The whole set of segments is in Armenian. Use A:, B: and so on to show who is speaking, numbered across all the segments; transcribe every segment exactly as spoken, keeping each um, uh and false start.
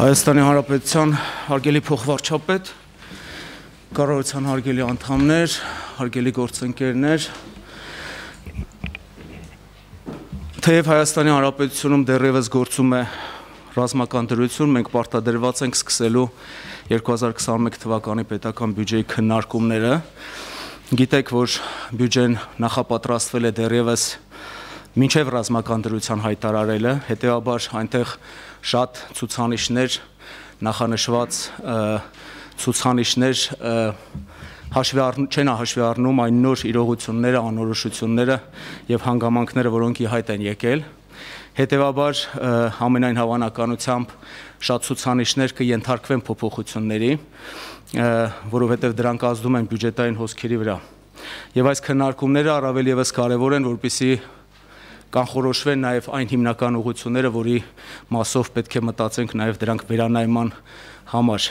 A: Հայաստանի Հանրապետության հարգելի փոխվարչապետ, կառավարության հարգելի անդամներ, հարգելի գործընկերներ, թեև Հայաստանի Հանրապետությունում դեռևս գործում է ռազմական դրություն, մենք պարտադրված ենք սկսելու երկու հազար քսաներորդ թվականի պետական բյուջեի քննարկումները։ Գիտեք, որ բյուջեն նախապատրաստվել է դեռևս մինչև ռազմական դրության հայտարարելը, հետևաբար այնտեղ շատ ցուցանիշներ, նախանշված ցուցանիշներ հաշվի չեն հաշվի առնում այն նոր իրողությունները, անորոշությունները եւ հանգամանքները, որոնք ի հայտ են եկել։ Հետևաբար ամենայն հավանականությամբ շատ ցուցանիշներ կենթարկվեն փոփոխությունների, որովհետեւ դրանք ազդում են բյուջետային հոսքերի վրա։ Եվ այս քննարկումները առավել եւս կարեւոր են, որպեսզի կանխորոշվեն նաև այն հիմնական ուղղությունները, որի մասով պետք է մտածենք նաև դրանք վերանայման համար։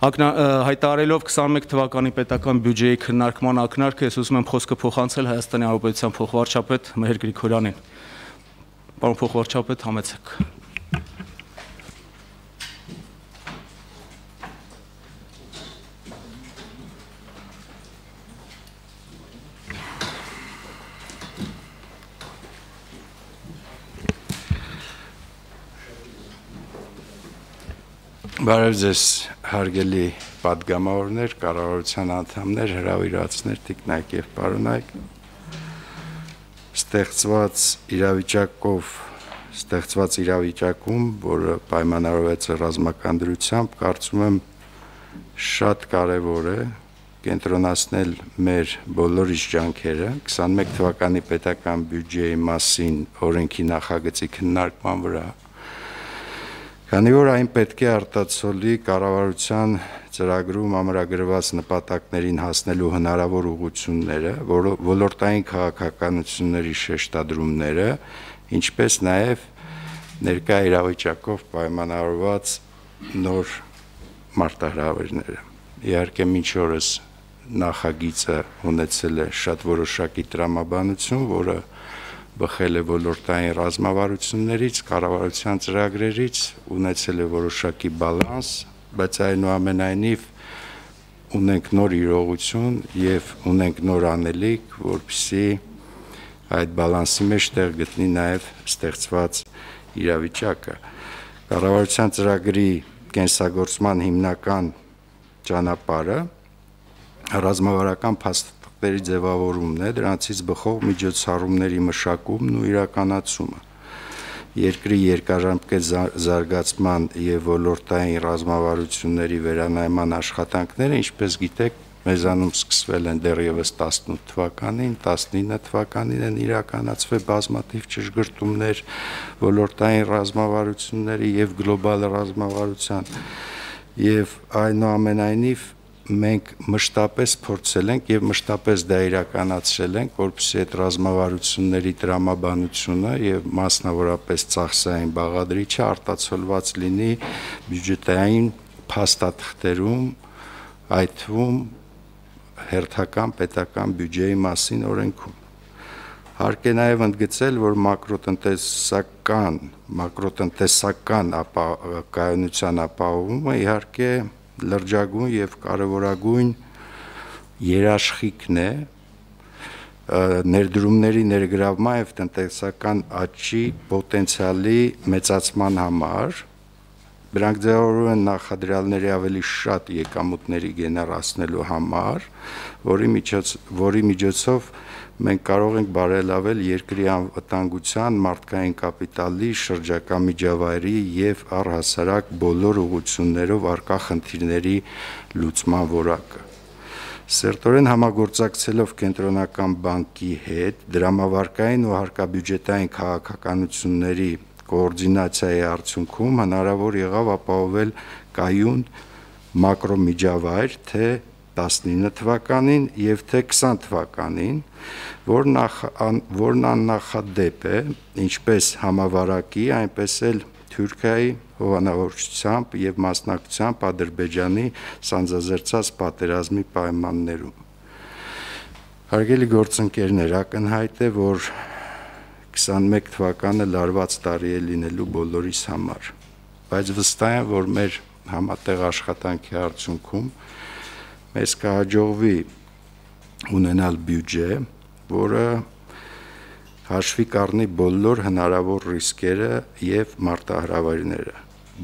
A: Հայտարարելով քսաներորդ թվականի պետական բյուջեի քննարկման ակնարկը, ես ուզում եմ խոսքը փոխանցել Հայաստանի Հանրապետության փոխվարչապետ Մհեր Գրիգորյանին։ Պարոն փոխվարչապետ, համեցեք։
B: Բարև ձեզ հարգելի պատգամավորներ, կառավարության անդամներ, հրավիրվածներ, տիկնայք եւ պարոնայք։ Ստեղծված իրավիճակով, ստեղծված իրավիճակում, որը պայմանավորված է ռազմական դրությամբ, կարծում եմ շատ կարեւոր է կենտրոնացնել մեր բոլորիս ջանքերը քսաներորդ թվականի պետական բյուջեի մասին օրենքի նախագծի քննարկման վրա։ Քանի որ այն պետք է արտացոլի կառավարության ծրագրում ամրագրված նպատակներին հասնելու հնարավոր ուղղությունները, ոլորտային քաղաքականությունների շեշտադրումները, ինչպես նաև ներկա իրավիճակով պայմանավորված նոր մարտահրավերները։ Իհարկե մինչ օրս նախագիծը ունեցել է շատ որոշակի տրամաբանություն, որը բխել է ոլորտային ռազմավարություններից, կառավարության ծրագրերից, ունեցել է որոշակի բալանս, բայց այնուամենայնիվ ունենք նոր իրողություն եւ ունենք նոր անելիք, որպեսզի այդ բալանսի մեջ տեղ գտնի նաեւ ստեղծված իրավիճակը։ Կառավարության ծրագրի կենսագործման հիմնական ճանապարհը ռազմավարական փաստաթղթերի ձևավորումն է, դրանցից բխող միջոցառումների մշակումն ու իրականացումը, երկրի երկարաժամկետ զարգացման եւ ոլորտային ռազմավարությունների վերանայման աշխատանքները, ինչպես գիտեք, մեզանում սկսվել են դեռևս տասնութ թվականին, տասնինը թվականին են իրականացվել բազմաթիվ ճշգրտումներ ոլորտային ռազմավարությունների եւ գլոբալ ռազմավարության, եւ այնուամենայնիվ մենք մշտապես փորձել ենք եւ մշտապես դա իրականացրել ենք, որպեսզի այդ ռազմավարությունների տրամաբանությունը եւ մասնավորապես ծախսային բաղադրիչը արտացոլված լինի բյուջետային փաստաթղթերում, այդ թվում հերթական պետական բյուջեի մասին օրենքում։ Հարկ է նաեւ ընդգծել, որ մակրոտնտեսական, մակրոտնտեսական կայունության ապահովումը իհարկե լրջագույն եւ կարեւորագույն երաշխիքն է ներդրումների ներգրավման եւ տնտեսական աճի պոտենցիալի մեծացման համար։ Դրանք ձևավորվում են նախադրյալների ավելի շատ եկամուտների գեներացնելու համար, որի միջոց, որի միջոցով մենք կարող ենք բարելավել երկրի անվտանգության, մարդկային կապիտալի, շրջակա միջավայրի եւ առհասարակ բոլոր ուղղություններով առկա խնդիրների լուծման որակը։ Սերտորեն համագործակցելով Կենտրոնական բանկի հետ դրամավարկային ու հարկաբյուջետային քաղաքականությունների կոորդինացիայի արդյունքում հնարավոր եղավ ապահովել կայուն մակրոմիջավայր թե տասնինը թվականին եւ թե քսան թվականին, որն որն աննախադեպ է ինչպես համավարակի, այնպես էլ Թուրքիայի հովանավորչությամբ եւ մասնակցությամբ Ադրբեջանի սանձազերծած պատերազմի պայմաններում։ Հարգելի գործընկերներ, ակնհայտ է, որ քսաներորդ թվականը լարված տարի է լինելու բոլորիս համար։ բայց վստահ եմ, որ մեր համատեղ աշխատանքի արդյունքում մեզ կհաջողվի ունենալ բյուջե, որը հաշվի կառնի բոլոր հնարավոր ռիսկերը եւ մարտահրավերները,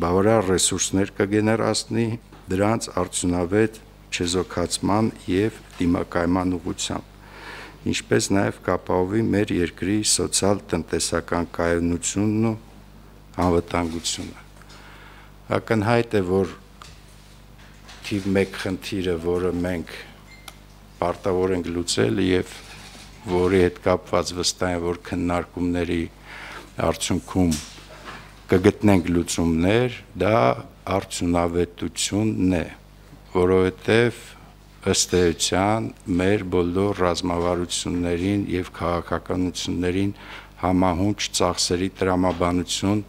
B: բավարար ռեսուրսներ կգեներացնի դրանց արդյունավետ չեզոքացման եւ դիմակայման ուղղությամբ, ինչպես նաեւ կապահովի մեր երկրի սոցիալ-տնտեսական կայունությունն ու անվտանգությունը։ Ակնհայտ է, որ թիվ մեկ խնդիրը, որը մենք պարտավոր ենք լուծել եւ որի հետ կապված վստահ եմ, որ քննարկումների արդյունքում կգտնենք լուծումներ, դա արդյունավետությունն է, որովհետեւ ըստ էության մեր բոլոր ռազմավարություններին եւ քաղաքականություններին համահունչ ծախսերի տրամաբանություն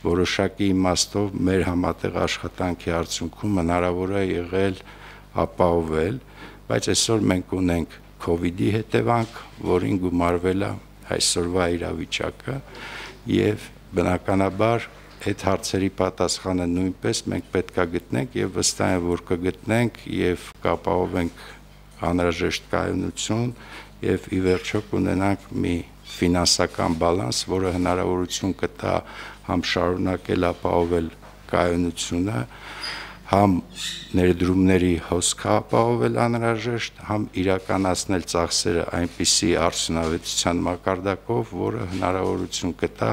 B: որոշակի իմաստով մեր համատեղ աշխատանքի արդյունքում հնարավոր է եղել ապահովել, բայց այսօր մենք ունենք COVID-ի հետևանք, որին գումարվել է այսօրվա իրավիճակը եւ բնականաբար այդ հարցերի պատասխանը նույնպես մենք պետք է գտնենք եւ վստահ եմ, որ կգտնենք եւ կապահովենք անհրաժեշտ կայունություն եւ ի վերջո կունենանք մի ֆինանսական բալանս, որը հնարավորություն կտա համ շարունակել ապահովել կայունությունը, համ ներդրումների հոսքը ապահովել անհրաժեշտ, համ իրականացնել ծախսերը այնպիսի արդյունավետության մակարդակով, որը հնարավորություն կտա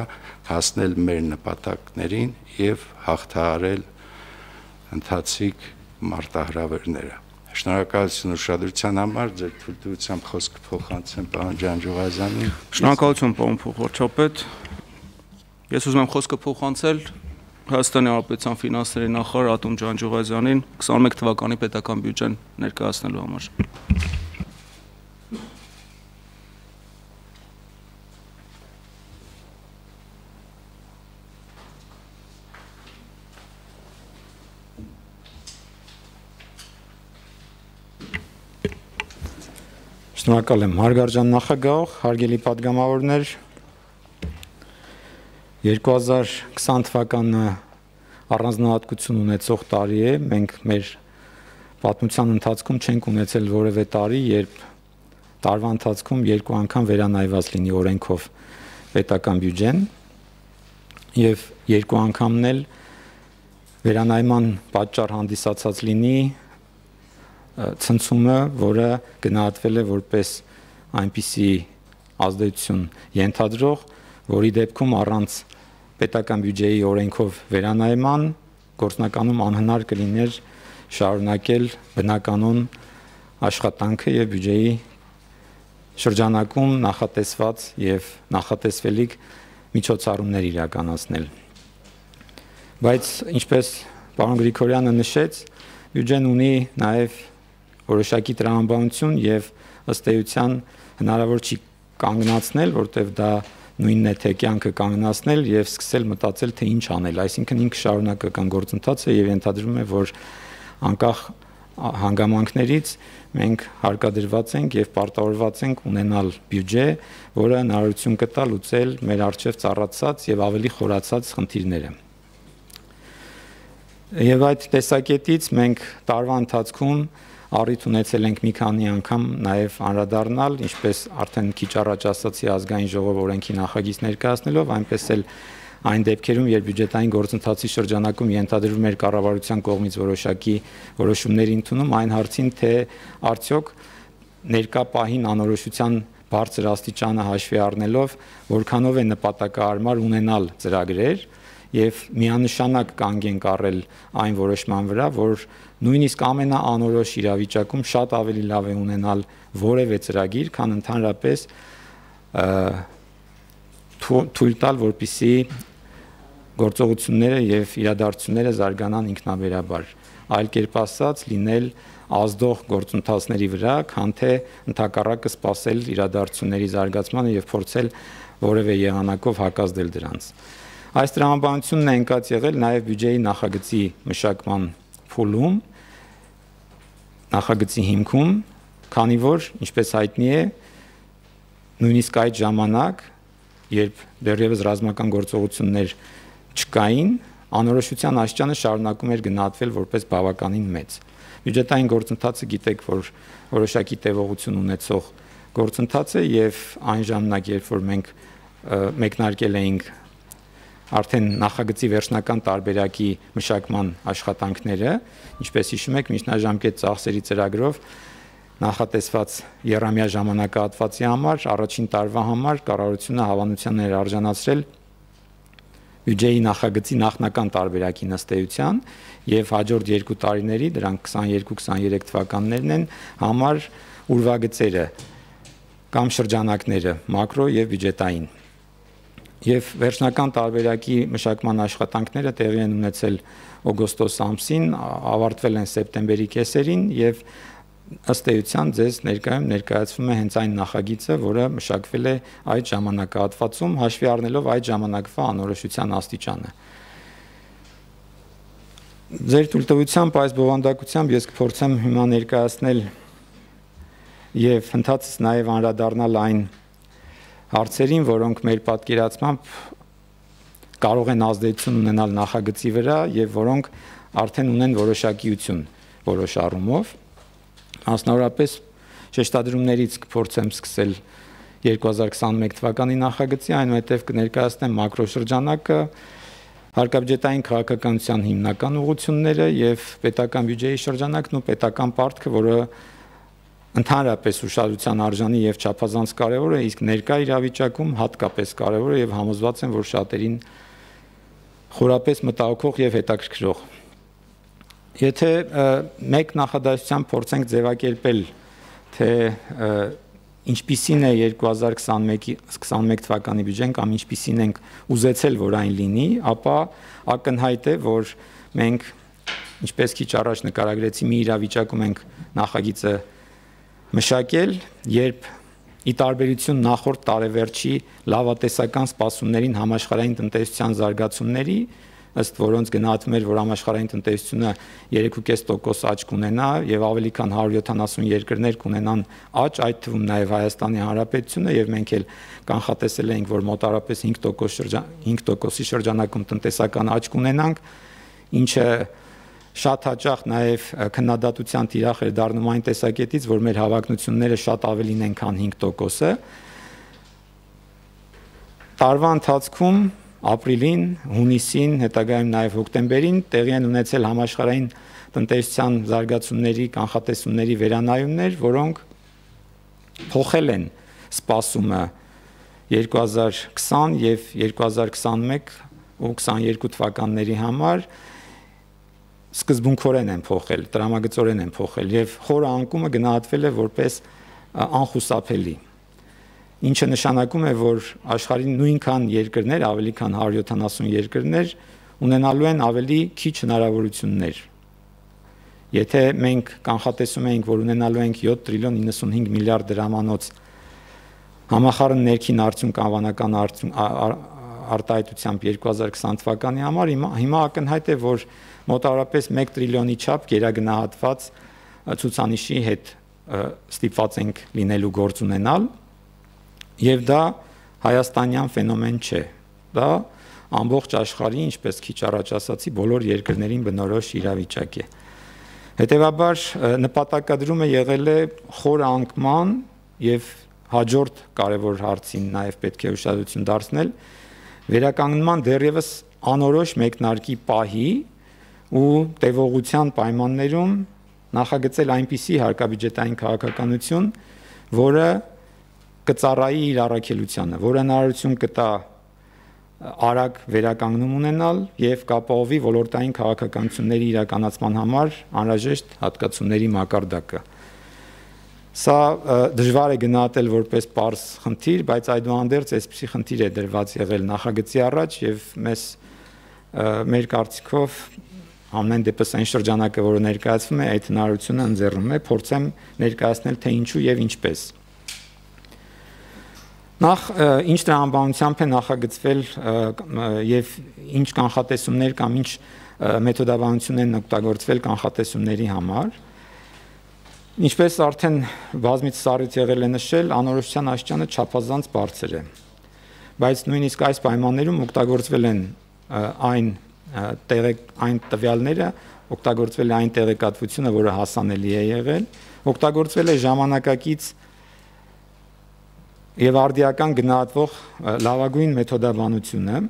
B: հասնել մեր նպատակներին եւ հաղթահարել ընթացիկ մարտահրավերները։ Շնորհակալություն ուշադրության համար, ձեր թույլտվությամբ խոսքը փոխանցեմ պարոն Ջանջուղազյանին։
A: Շնորհակալություն պարոն փոխվարչապետ։ Ես ուզում եմ խոսքը փոխանցել Հայաստանի Հանրապետության ֆինանսների նախարար Ատոմ Ջանջուղազյանին քսաներեք թվականի պետական բյուջեն ներկայացնելու համար։
C: Շնորհակալ եմ հարգարժան նախագահ, հարգելի պատգամավորներ, երկու հազար քսան թվականը առանձնահատկություն ունեցող տարի է, մենք մեր պատմության ընթացքում չենք ունեցել որևէ տարի, երբ տարվա ընթացքում երկու անգամ վերանայված լինի օրենքով պետական բյուջեն եւ երկու անգամն էլ վերանայման պատճառ հանդիսացած լինի ցնցումը, որը գնահատվել է որպես այնպիսի ազդեցություն ենթադրող, որի դեպքում առանց պետական բյուջեի օրենքով վերանայման գործնականում անհնար կլիներ շարունակել բնականon աշխատանքը եւ բյուջեի շրջանակում նախատեսված եւ նախատեսվելիք միջոցառումներ իրականացնել։ Բայց ինչպես պարոն Գրիգորյանը նշեց, բյուջեն ունի նաեւ որոշակի տրամաբանություն եւ ըստ էության հնարավոր չի կանգնացնել, որտեղ դա նույնն է թե կյանքը կանգնացնել եւ սկսել մտածել թե ինչ անել, այսինքն ինքը շարունակական գործընթաց է եւ ենթադրում է, որ անկախ հանգամանքներից մենք հարկադրված ենք եւ պարտավորված ենք ունենալ բյուջե, որը հնարավորություն կտա լուծել մեր առջեւ ծառացած եւ ավելի խորացած խնդիրները։ Եվ այդ տեսակետից մենք տարվա ընթացքում առիթ ունեցել ենք մի քանի անգամ նաև անդրադառնալ, ինչպես արդեն քիչ առաջ ասացի ազգային ժողով օրենքի նախագիծ ներկայացնելով, այնպես էլ այն դեպքերում, երբ բյուջետային գործընթացի շրջանակում ենթադրվում էր կառավարության կողմից որոշակի որոշումների ընդունում, այն հարցին, թե արդյոք ներկա պահին անորոշության բարձր աստիճանը հաշվի առնելով, որքանով է նպատակահարմար ունենալ ծրագրեր եւ միանշանակ կանգ ենք առել այն որոշման վրա, որ նույնիսկ ամենաանորոշ իրավիճակում շատ ավելի լավ է ունենալ որևէ ծրագիր, քան ընդհանրապես թույլ տալ, որպեսզի գործողությունները եւ իրադարձությունները զարգանան ինքնաբերաբար, այլ կերպ ասած, լինել ազդող գործընթացների վրա, քան թե ընդհակառակը սпасել իրադարձությունների զարգացմանը եւ փորձել որևէ եղանակով հակազդել դրանց։ Այս տրամաբանությունն է ընկած եղել նաև բյուջեի նախագծի մշակման փուլում, նախագծի հիմքում, քանի որ, ինչպես հայտնի է, նույնիսկ այդ ժամանակ, երբ դեռևս ռազմական գործողություններ չկային, անորոշության աստիճանը շարունակում էր գնահատվել որպես բավականին մեծ։ Բյուջետային գործընթացը գիտեք, որ որոշակի տևողություն ունեցող գործընթաց է եւ այն ժամանակ, երբ որ մենք մեկնարկել էինք արդեն նախագծի վերջնական տարբերակի մշակման աշխատանքները, ինչպես հիշում եք, միջնաժամկետ ծախսերի ծրագրով նախատեսված եռամյա ժամանակահատվածի համար, առաջին տարվա համար կառավարությունը հավանության էր արժանացրել բյուջեի նախագծի նախնական տարբերակի նստեյության եւ հաջորդ երկու տարիների, դրանք քսաներկու քսաներեք թվականներն են, համար ուրվագծերը կամ շրջանակները մակրո եւ բյուջետային։ Եվ վերջնական տարբերակի մշակման աշխատանքները տեղի են ունեցել օգոստոս ամսին, ավարտվել են սեպտեմբերի կեսերին եւ ըստ էության ձեզ ներկայում ներկայացվում է հենց այն նախագիծը, որը մշակվել է այդ ժամանակահատվածում, հաշվի առնելով այդ ժամանակվա անորոշության աստիճանը։ Ձեր թույլտվությամբ այս բովանդակությամբ ես կփորձեմ հիմա ներկայացնել եւ ընդհանրապես նաեւ անդրադառնալ այն հարցերին, որոնք մեր պատկերացմամբ կարող են ազդեցություն ունենալ նախագծի վրա եւ որոնք արդեն ունեն որոշակիություն որոշ առումով։ Մասնավորապես շեշտադրումներից կփորձեմ սկսել երկու հազար քսանմեկ թվականի նախագծի, այնուհետև կներկայացնեմ մակրոշրջանակը, հարկաբյուջետային քաղաքականության հիմնական ուղղությունները եւ պետական բյուջեի շրջանակն ու պետական պարտքը, որը ընդհանրապես ուշադրության արժանի եւ չափազանց կարեւոր է, իսկ ներկա իրավիճակում հատկապես կարեւոր է եւ համոզված եմ, որ շատերին խորապես մտահոգող եւ հետաքրքրող։ Եթե մեկ նախադասությամբ փորձենք ձևակերպել, թե ինչպիսին է երկու հազար քսանմեկ թվականի բյուջեն կամ ինչպիսին ենք ուզեցել, որ այն լինի, ապա ակնհայտ է, որ մենք ինչպես քիչ առաջ նկարագրեցի, մի իրավիճակում ենք նախագիծը մշակել, երբ ի տարբերություն նախորդ տարեվերջի լավատեսական սպասումներին համաշխարհային տնտեսության զարգացումների, ըստ որոնց գնահատվում էր, որ համաշխարհային տնտեսությունը երեք կես տոկոս աճ կունենա եւ ավելի քան հարյուր յոթանասուն երկրներ կունենան աճ, այդ թվում նաեւ Հայաստանի Հանրապետությունը, եւ մենք էլ կանխատեսել էինք, որ մոտարապես հինգ տոկոսի շրջանակում տնտեսական աճ կունենանք, ինչը շատ հաճախ նաեւ քննադատության տիրախ էր դառնում այն տեսակետից, որ մեր հավակնությունները շատ ավելին են, քան հինգ տոկոսը։ Տարվա ընթացքում ապրիլին, հունիսին, հետագայում նաև հոկտեմբերին տեղի են ունեցել համաշխարհային տնտեսության զարգացումների, կանխատեսումների վերանայումներ, որոնք փոխել են սպասումը երկու հազար քսան եւ երկու հազար քսանմեկ ու քսաներկու թվականների համար սկզբունքորեն են փոխել, տրամագծորեն են փոխել եւ խորը անկումը գնահատվել է որպես անխուսափելի, ինչը նշանակում է, որ աշխարհի նույնքան երկրներ, ավելի քան հարյուր յոթանասուն երկրներ ունենալու են ավելի քիչ հնարավորություններ։ Եթե մենք կանխատեսում ենք, որ ունենալու ենք յոթ տրիլիոն նինսունհինգ միլիարդ դրամանոց համախառն ներքին արդյունք անվանական արտահայտությամբ երկու հազար քսան թվականի համար, հիմա ակնհայտ է, որ մոտավորապես մեկ տրիլիոնի չափ գերագնահատված ցուցանիշի հետ ստիպված ենք լինելու գործ ունենալ, եւ դա հայաստանյան ֆենոմեն չէ, դա ամբողջ աշխարհի, ինչպես քիչ առաջ ասացի, բոլոր երկրներին բնորոշ իրավիճակ է։ Հետևաբար նպատակադրումը եղել է խոր անկման եւ հաջորդ կարևոր հարցին նաեւ պետք է ուշադրություն դարձնել վերականգնման դեռևս անորոշ մեկնարկի պահի ու տևողության պայմաններում նախագծել այնպիսի հարկաբյուջետային քաղաքականություն, որը կծառայի իր առաքելությանը, որը հնարավորություն կտա արագ վերականգնում ունենալ եւ կապահովի ոլորտային քաղաքականությունների իրականացման համար անհրաժեշտ հատկացումների մակարդակը։ Սա դժվար է գնահատել որպես պարզ խնդիր, բայց այդուհանդերձ այսպիսի խնդիր է դրված եղել նախագծի առաջ եւ մեզ մեր կարծիքով ամեն դեպս այն շրջանակը, որը ներկայացվում է, այդ հնարավորությունը ընձեռում է, փորձեմ ներկայացնել թե ինչու եւ ինչպես։ Նախ ինչ տրամաբանությամբ է նախագծվել եւ ինչ կանխատեսումներ կամ ինչ մեթոդաբանություն են օգտագործվել կանխատեսումների համար։ Ինչպես արդեն բազմիցս առիթ եղել է նշել, անորոշության աստիճանը չափազանց բարձր է։ Բայց նույնիսկ այս պայմաններում օգտագործվել են այն տեղեկ այն տվյալները, օգտագործվել է այն տեղեկատվությունը, որը հասանելի է եղել, օգտագործվել է ժամանակակից եւ արդիական գնահատվող լավագույն մեթոդաբանությունը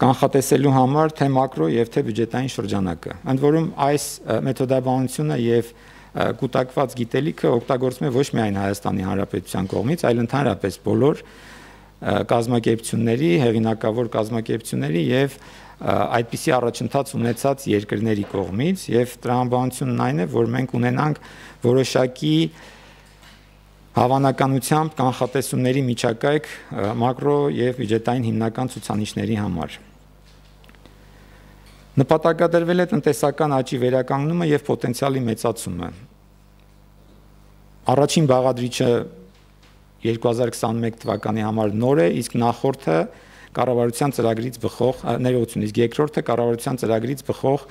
C: կանխատեսելու համար թե մակրո եւ թե բյուջետային շրջանակը։ Ընդ որում այս մեթոդաբանությունը եւ կուտակված գիտելիքը օգտագործվում է ոչ միայն Հայաստանի Հանրապետության կողմից, այլ ընդհանրապես բոլոր կազմակերպությունների, հեղինակավոր կազմակերպությունների եւ այդպիսի առաջընթաց ունեցած երկրների կողմից եւ տրամաբանությունն այն է, որ մենք ունենանք որոշակի հավանականությամբ կանխատեսումների միջակայք մակրո եւ բյուջետային հիմնական ցուցանիշների համար։ Նպատակադրվել է տնտեսական աճի վերականգնումը եւ պոտենցիալի մեծացումը։ Առաջին բաղադրիչը երկու հազար քսանմեկ թվականի համար նոր է, իսկ նախորդը կառավարության ծրագրից բխող ներողություն, իսկ երկրորդը կառավարության ծրագրից բխող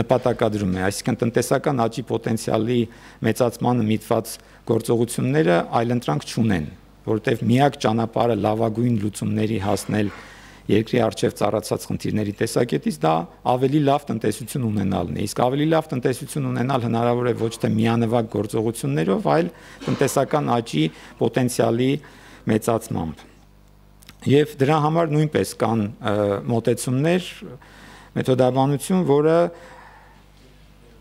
C: նպատակադրում է, այսինքն տնտեսական աճի պոտենցիալի մեծացմանը միտված գործողությունները այլընտրանք չունեն, որտեղ միակ ճանապարհը լավագույն լուծումների հասնել երկրի առջև ծառացած խնդիրների տեսակետից դա ավելի լավ տնտեսություն ունենալն է, իսկ ավելի լավ տնտեսություն ունենալ հնարավոր է ոչ թե միանվագ գործողություններով, այլ տնտեսական աճի պոտենցիալի մեծացմամբ։ Եվ դրա համար նույնպես կան մոտեցումներ, մեթոդաբանություն, որը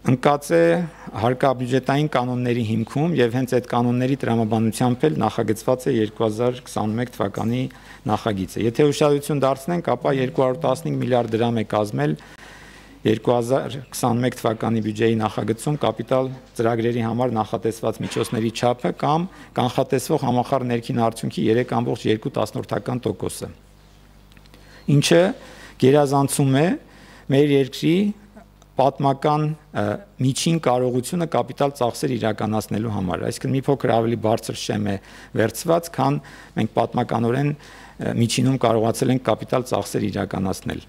C: ընկած է հարկաբյուջետային կանոնների հիմքում եւ հենց այդ կանոնների տրամաբանությամբ էլ նախագծված է երկու հազար քսանմեկ թվականի նախագիծը։ Եթե ուշադրություն դարձնենք, ապա երկու հարյուր տասնհինգ միլիարդ դրամ է կազմել երկու հազար քսանմեկ թվականի բյուջեի նախագծում կապիտալ ծրագրերի համար նախատեսված միջոցների չափը կամ կանխատեսվող համախառն ներքին արդյունքի երեք կόμ երկու տոկոսը, ինչը գերազանցում է մեր երկրի պատմական միջին կարողությունը կապիտալ ծախսեր իրականացնելու համար, այսինքն մի փոքր ավելի բարձր շեմ է վերցված, քան մենք պատմականորեն միջինում կարողացել ենք կապիտալ ծախսեր իրականացնել։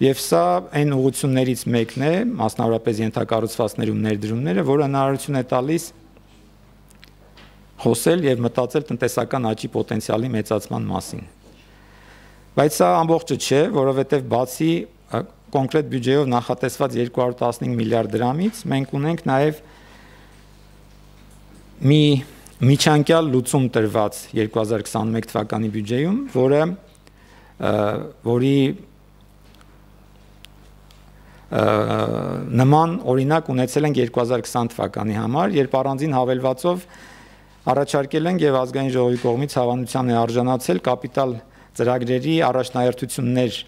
C: Եվ սա այն ուղղություններից մեկն է, մասնավորապես ենթակառուցվածքներում ներդրումները, որը հնարավորություն է տալիս խոսել եւ մտածել տնտեսական աճի պոտենցիալի մեծացման մասին։ Բայց սա ամբողջը չէ, որովհետեւ բացի կոնկրետ բյուջեով նախատեսված երկու հարյուր տասնհինգ միլիարդ դրամից մենք ունենք նաև մի միջանկյալ լուծում տրված երկու հազար քսանմեկ թվականի բյուջեում, որը որի նման օրինակ ունեցել ենք երկու հազար քսան թվականի համար, երբ առանձին հավելվածով առաջարկել ենք եւ ազգային ժողովի կողմից հավանության է արժանացել կապիտալ ծրագրերի առաջնահերթություններ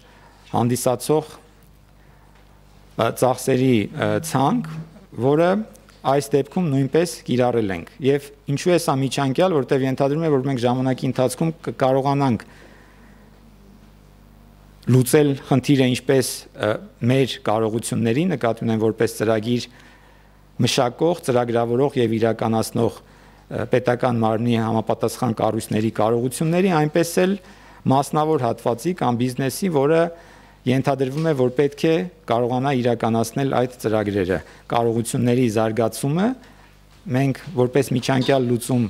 C: հանդիսացող ծախսերի ցանկ, որը այս դեպքում նույնպես կիրառել ենք։ Եվ ինչու է սա միջանկյալ, որտեղ ենթադրում է, որ մենք ժամանակի ընթացքում կարողանանք լուծել խնդիրը ինչպես մեր կարողությունների, նկատի ունեմ որպես ծրագիր մշակող, ծրագրավորող եւ իրականացնող պետական մարմնի համապատասխան կառույցների կարողությունների, այնպես էլ մասնավոր հատվածի կամ բիզնեսի, որը ենթադրվում է, որ պետք է կարողանա իրականացնել այդ ծրագրերը։ Կարողությունների զարգացումը մենք որպես միջանկյալ լուծում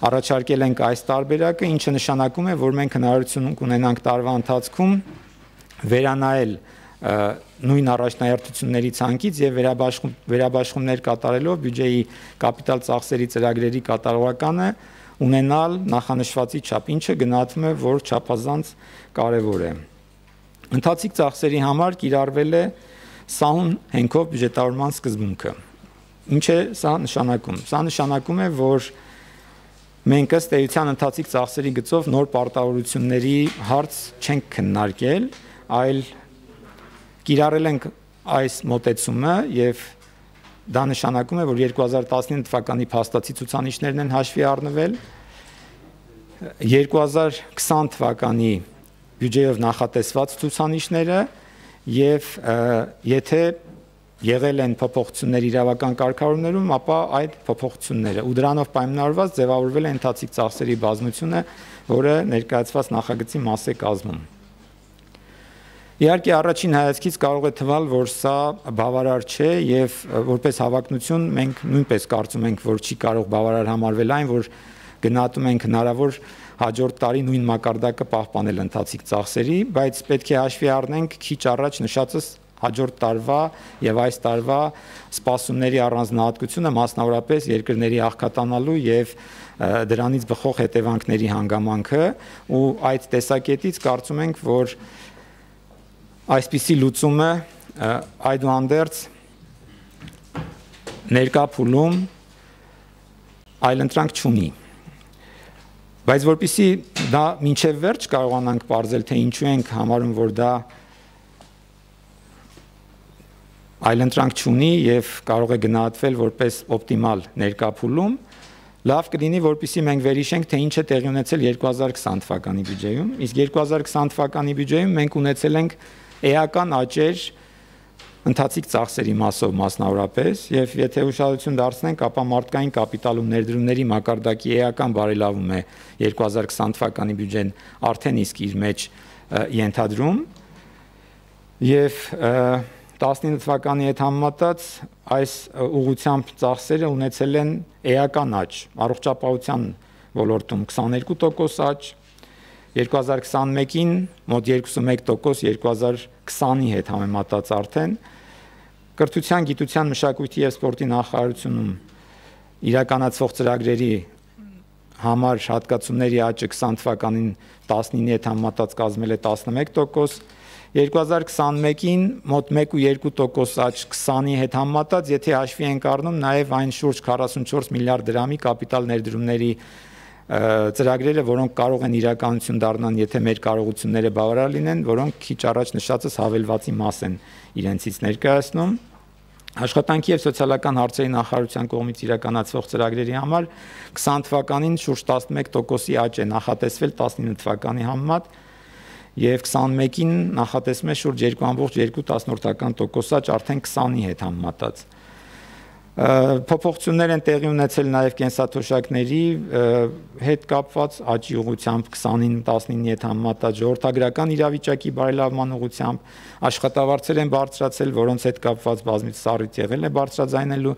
C: առաջարկել ենք այս տարբերակը, ինչը նշանակում է, որ մենք հնարավորություն կունենանք տարվա ընթացքում վերանայել նույն առաջնահերթությունների ցանկից եւ վերաբաշխում վերաբաշխումներ կատարելով բյուջեի կապիտալ ծախսերի ծրագրերի կատարողականը ունենալ նախանշվածի չափ, ինչը գնահատվում է, որ չափազանց կարեւոր է։ Ընթացիկ ծախսերի համար կիրառվել է սահուն հենքով բյուջետավորման սկզբունքը։ Ինչ է սա նշանակում։ Սա նշանակում է, որ մենք ըստ էության ընթացիկ ծախսերի գծով նոր պարտավորությունների հարց չենք քննարկել, այլ կիրառել ենք այս մոտեցումը եւ դա նշանակում է, որ երկու հազար տասնինը թվականի փաստացի ցուցանիշներն են հաշվի առնվել, երկու հազար քսան թվականի բյուջեով նախատեսված ցուցանիշները եւ եթե եղել են փոփոխություններ իրավական կարգավորումներում, ապա այդ փոփոխությունները ու դրանով պայմանավորված ձևավորվել է ընթացիկ ծախսերի բազմությունը, որը ներկայացված նախագծի մաս է կազմում։ Իհարկե առաջին հայացքից կարող է թվալ, որ սա բավարար չէ եւ որպես հավակնություն մենք նույնպես կարծում ենք, որ չի կարող բավարար համարվել այն, որ գնահատում ենք հնարավոր հաջորդ տարի նույն մակարդակը պահպանել ընթացիկ ծախսերի, բայց պետք է հաշվի առնենք քիչ առաջ նշածս հաջորդ տարվա եւ այս տարվա սպասումների առանձնահատկությունը, մասնավորապես երկրների աղքատանալու եւ դրանից բխող հետևանքների հանգամանքը, ու այդ տեսակետից կարծում ենք, որ այսպիսի լուծումը այդուհանդերձ ներկա փուլում այլընտրանք չունի։ Բայց որպեսզի դա մինչև վերջ կարողանանք պարզել, թե ինչու ենք համարում, որ դա այլընտրանք չունի եւ կարող է գնահատվել որպես օպտիմալ ներկա փուլում, լավ կլինի, որպեսզի մենք վերհիշենք, թե ինչ է տեղի ունեցել երկու հազար քսան թվականի բյուջեում, իսկ երկու հազար քսան թվականի բյուջեում մենք ունեցել ենք էական աճեր ընթացիկ ծախսերի մասով մասնավորապես, եւ եթե ուշադրություն դարձնենք, ապա մարդկային կապիտալ ու ներդրումների մակարդակի էական բարելավում է երկու հազար քսան թվականի բյուջեն արդեն իսկ իր մեջ ենթադրում, եւ տասնինը թվականի հետ համեմատած այս ուղղությամբ ծախսերը ունեցել են էական աճ, առողջապահության ոլորտում քսաներկու տոկոս աճ, երկու հազար քսանմեկին մոտ երկուսունմեկ տոկոս, երկու հազար քսանի հետ համեմատած արդեն, կրթության, գիտության, մշակույթի եւ սպորտի նախարարությունում իրականացվող ծրագրերի համար հատկացումների աճը քսան թվականին տասնինի հետ համեմատած կազմել է տասնմեկ տոկոս, երկու հազար քսանմեկին մոտ մեկ ու երկու տոկոս աճ քսանի հետ համեմատած, եթե հաշվի ենք առնում նաև այն շուրջ քառասունչորս միլիարդ դրամի կապիտալ ներդրումների ծրագրերը, որոնք կարող են իրականություն դառնան, եթե մեր կարողությունները բավարար լինեն, որոնք քիչ առաջ նշածս հավելվածի մաս են իրենցից ներկայացնում։ Աշխատանքի եւ սոցիալական հարցերի նախարարության կողմից իրականացվող ծրագրերի համար քսան թվականին շուրջ տասնմեկ տոկոսի աճ է նախատեսվել տասնինը թվականի համեմատ, եւ քսանմեկին նախատեսվում է շուրջ երկու ամբողջ երկու տոկոս աճ արդեն քսանի հետ համեմատած։ Փոփոխություններ են տեղի ունեցել նաև կենսաթոշակների հետ կապված աճի ուղղությամբ քսանին տասնինի հետ համեմատած, ժողովրդագրական իրավիճակի բարելավման ուղղությամբ աշխատավարձեր են բարձրացել, որոնց հետ կապված բազմիցս առիթ եղել է բարձրաձայնելու,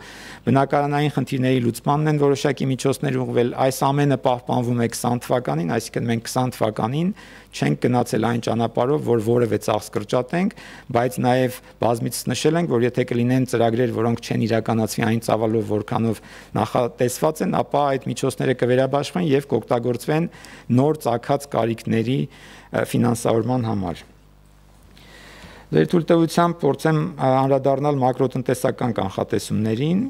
C: բնակարանային խնդիրների լուծմանն են որոշակի միջոցներ ուղղվել, այս ամենը պահպանվում է քսան թվականին, այսինքն մենք քսան թվականին չենք գնացել այն ճանապարհով, որ որևէ ծախս կրճատենք, բայց նաև բազմիցս նշել ենք, որ եթե կլինեն ծրագրեր, որոնք չեն իրականացվի այն ծավալով, որքանով նախատեսված են, ապա այդ միջոցները կվերաբաշխվեն եւ կօգտագործվեն նոր ծագած կարիքների ֆինանսավորման համար։ Ձեր թույլտվությամբ փորձեմ անդրադառնալ մակրոտնտեսական կանխատեսումներին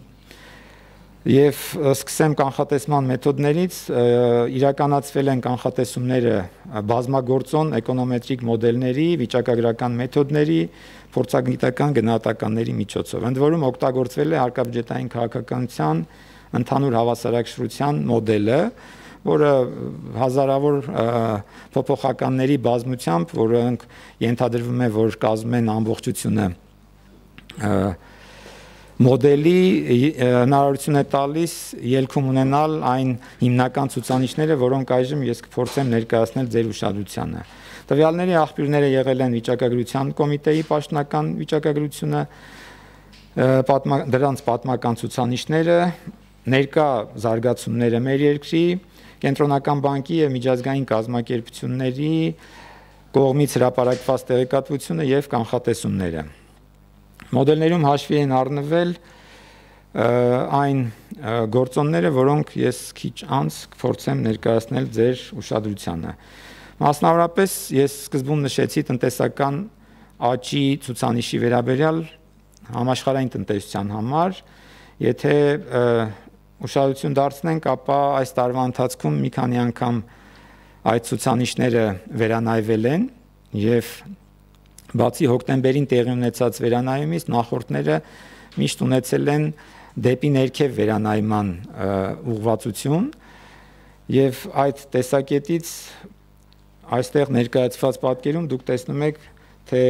C: եւ սկսեմ կանխատեսման մեթոդներից, իրականացվել են կանխատեսումները բազմագործոն էկոնոմետրիկ մոդելների, վիճակագրական մեթոդների, փորձագիտական գնահատականների միջոցով։ Ընդ որում օգտագործվել է հարկաբյուջետային քաղաքականության ընդհանուր հավասարակշռության մոդելը, որը հազարավոր փոփոխականների բազմությամբ, որոնք ենթադրվում է, որ կազմում են ամբողջությունը մոդելի հնարավորություն է տալիս ելքում ունենալ այն հիմնական ցուցանիշները, որոնք այժմ ես կփորձեմ ներկայացնել ձեր ուշադրությանը։ Տվյալների աղբյուրները եղել են վիճակագրության կոմիտեի պաշտոնական վիճակագրությունը, դրանց պատմական ցուցանիշները, ներկա զարգացումները մեր երկրի, կենտրոնական բանկի եւ միջազգային կազմակերպությունների կողմից հրապարակված տեղեկատվությունը եւ կանխատեսումները։ Մոդելներում հաշվի են առնվել այն գործոնները, որոնք ես քիչ անց կփորձեմ ներկայացնել ձեր ուշադրությանը։ Մասնավորապես ես սկզբում նշեցի տնտեսական աճի ցուցանիշի վերաբերյալ համաշխարհային տնտեսության համար, եթե ուշադրություն դարձնենք, ապա այս տարվա ընթացքում մի քանի անգամ այդ ցուցանիշները վերանայվել են եւ բացի հոկտեմբերին տեղի ունեցած վերանայումից նախորդները միշտ ունեցել են դեպի ներքև վերանայման ուղղվածություն եւ այդ տեսակետից այստեղ ներկայացված պատկերում դուք տեսնում եք, թե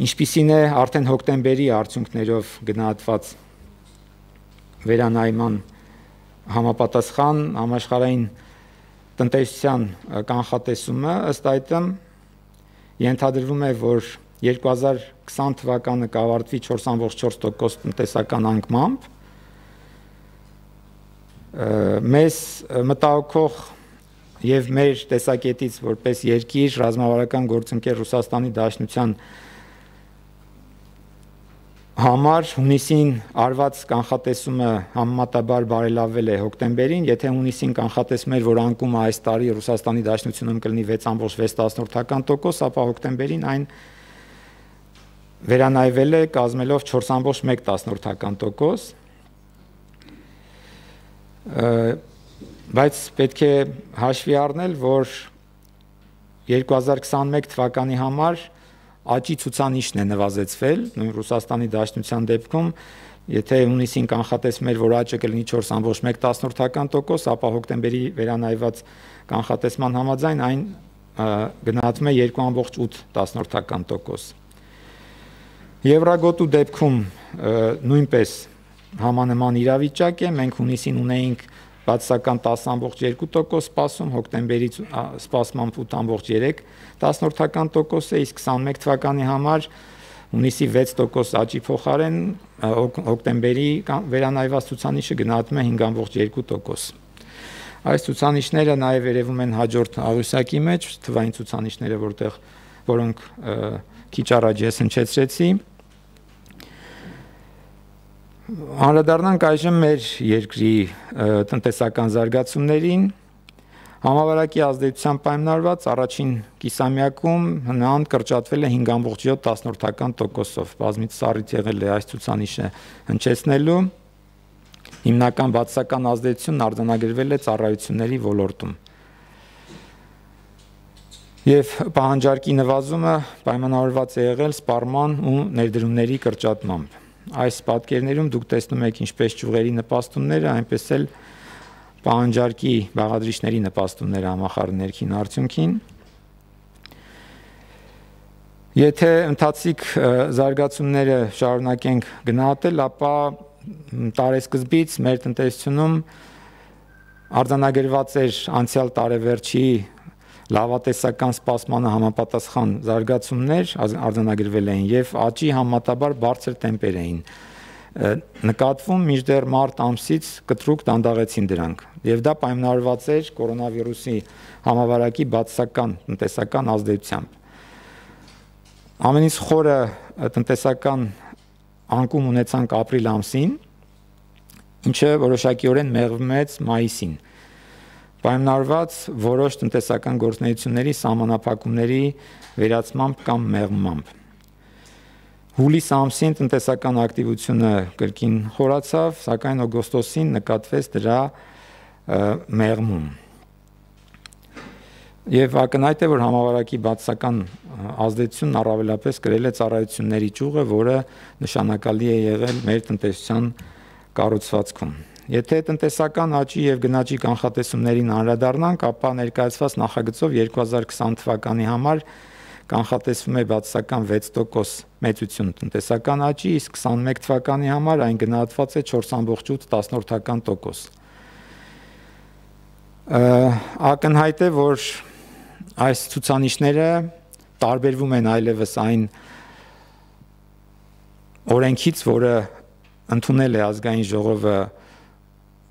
C: ինչպիսին է արդեն հոկտեմբերի արդյունքներով գնահատված վերանայման համապատասխան համաշխարհային տնտեսության կանխատեսումը, ըստ այդմ ենթադրվում է, որ երկու հազար քսան թվականը կավարտվի չորս ամբողջ չորս տոկոս տնտեսական անկմամբ, Մեզ մտահոգող եւ մեր տեսակետից որպես երկիր ռազմավարական գործընկեր Ռուսաստանի Դաշնության համար հունիսին արված կանխատեսումը համեմատաբար բարելավվել է հոկտեմբերին, եթե հունիսին կանխատեսում էր, որ անկումը այս տարի Ռուսաստանի Դաշնությունում կլինի վեց կόμma վեց տոկոս, ապա հոկտեմբերին այն վերանայվել է կազմելով չորս կόμma մեկ տոկոս, բայց պետք է հաշվի առնել, որ երկու հազար քսանմեկ թվականի համար աճի ցուցանիշն է նվազեցվել, նույն Ռուսաստանի Դաշնության դեպքում, եթե հունիսին կանխատեսում էր, որ աճը կլինի չորս կόμma մեկ տոկոս, ապա հոկտեմբերի վերանայված կանխատեսման համաձայն այն գնահատվում է երկու կόμma ութ տոկոս։ Եվրագոտու դեպքում նույնպես համանման իրավիճակ է, մենք հունիսին ունեինք բացասական տասը կόμma երկու տոկոս սպասում, հոկտեմբերի սպասմամբ ութ կόμma երեք տոկոս է, իսկ քսանմեկ թվականի համար հունիսի վեց տոկոս աճի փոխարեն հոկտեմբերի վերանայված ցուցանիշը գնահատվում է հինգ կόμma երկու տոկոս։ Այս ցուցանիշները նաև երևում են հաջորդ աղյուսակի մեջ, թվային ցուցանիշները, որտեղ որոնք քիչ առաջ ես հնչեցրեցի։ Անդրադառնանք այժմ մեր երկրի տնտեսական զարգացումներին։ Համավարակի ազդեցությամբ պայմանավորված առաջին կիսամյակում ՀՆԱ-ն կրճատվել է հինգ կόμma յոթ տոկոսով, բազմիցս առիթ եղել է այս ցուցանիշը հնչեցնելու։ Հիմնական բացասական ազդեցությունն արձանագրվել է ծառայությունների ոլորտում։ Եվ պահանջարկի նվազումը պայմանավորված է եղել սպառման ու ներդրումների կրճատմամբ։ Այս պատկերներում դուք տեսնում եք ինչպես ճյուղերի նպաստումները, այնպես էլ պահանջարկի բաղադրիչների նպաստումները համախառն ներքին արդյունքին։ Եթե ընթացիկ զարգացումները շարունակենք գնահատել, ապա տարեսկզբից մեր տնտեսությունում արձանագրված էր անցյալ տարեվերջի լավատեսական սպասմանը համապատասխան զարգացումներ արձանագրվել էին եւ աճի համեմատաբար բարձր տեմպեր էին նկատվում, մինչդեռ մարտ ամսից կտրուկ դանդաղեցին դրանք եւ դա պայմանավորված էր կորոնավիրուսի համավարակի բացասական տնտեսական ազդեցությամբ։ Ամենից խորը տնտեսական անկում ունեցանք ապրիլ ամսին, ինչը որոշակիորեն մեղմեց մայիսին, պայմանավորված որոշ տնտեսական գործունեությունների սահմանափակումների վերացմամբ կամ մեղմմամբ։ Հուլիս ամսին տնտեսական ակտիվությունը կրկին խորացավ, սակայն օգոստոսին նկատվեց դրա մեղմում։ Եվ ակնհայտ է, որ համավարակի բացասական ազդեցությունն առավելապես կրել է ծառայությունների ճյուղը, որը նշանակալի է եղել մեր տնտեսության կառուցվածքում։ Եթե տնտեսական աճի եւ գնաճի կանխատեսումներին անդրադառնանք, ապա ներկայացված նախագծով երկու հազար քսան թվականի համար կանխատեսվում է բացասական վեց տոկոս մեծություն տնտեսական աճի, իսկ քսանմեկ թվականի համար այն գնահատված է չորս կόμma ութ տոկոս։ Ակնհայտ է, որ այս ցուցանիշները տարբերվում են այլևս այն օրենքից, որը ընդունել է ազգային ժողովը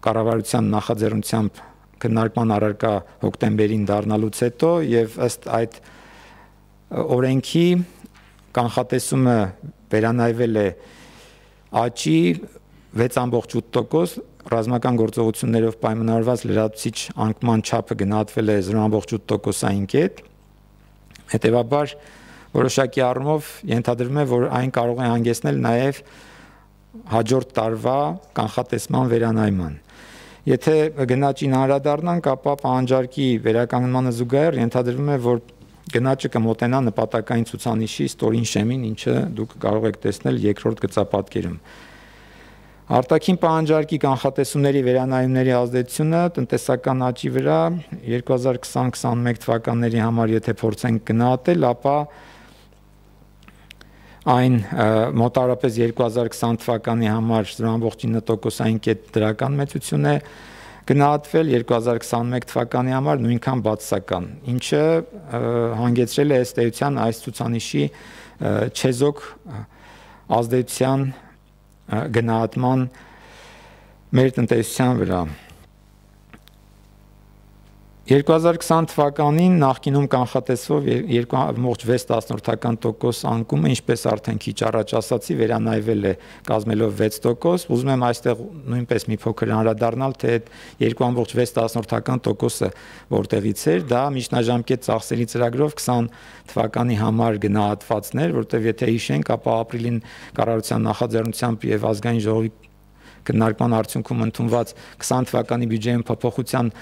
C: կառավարության նախաձեռնությամբ քննարկման առարկա հոկտեմբերին դառնալուց հետո եւ ըստ այդ օրենքի կանխատեսումը վերանայվել է աճի վեց կόμma ութ տոկոս, ռազմական գործողություններով պայմանավորված լրացուցիչ անկման չափը գնահատվել է զրո կόμma ութ տոկոսային կետ։ Հետևաբար որոշակի առումով ենթադրվում է, որ այն կարող է հանգեցնել նաեւ հաջորդ տարվա կանխատեսման վերանայման։ Եթե գնաճին անդրադառնանք, ապա պահանջարկի վերականգնմանը զուգահեռ ենթադրվում է, որ գնաճը կմոտենա նպատակային ցուցանիշի ստորին շեմին, ինչը դուք կարող եք տեսնել երկրորդ գծապատկերում։ Արտաքին պահանջարկի կանխատեսումների վերանայումների ազդեցությունը տնտեսական աճի վրա երկու հազար քսան քսանմեկ թվականների համար եթե փորձենք գնահատել, ապա այն մոտավորապես երկու հազար քսան թվականի համար զրո կόμma ինը տոկոսային կետ դրական մեծություն է գնահատվել, երկու հազար քսանմեկ թվականի համար նույնքան բացասական, ինչը հանգեցրել է ըստ էության այս ցուցանիշի չեզոք ազդեցության գնահատման մեր տնտեսության վրա։ երկու հազար քսան թվականին նախկինում կանխատեսվող երկու կόμma վեց տոկոս անկումը, ինչպես արդեն քիչ առաջ ասացի, վերանայվել է կազմելով վեց տոկոս, ուզում եմ այստեղ նույնպես մի փոքր անդրադառնալ, թե այդ երկու կόμma վեց տոկոսը որտեղից էր, դա միջնաժամկետ ծախսերի ծրագրով քսան թվականի համար գնահատվածներ, որտեղ եթե հիշենք, ապա ապրիլին կառավարության նախաձեռնությամբ եւ ազգային ժողովի քննարկման արդյունքում ընդունված քսան թվականի բյուջեի փոփոխության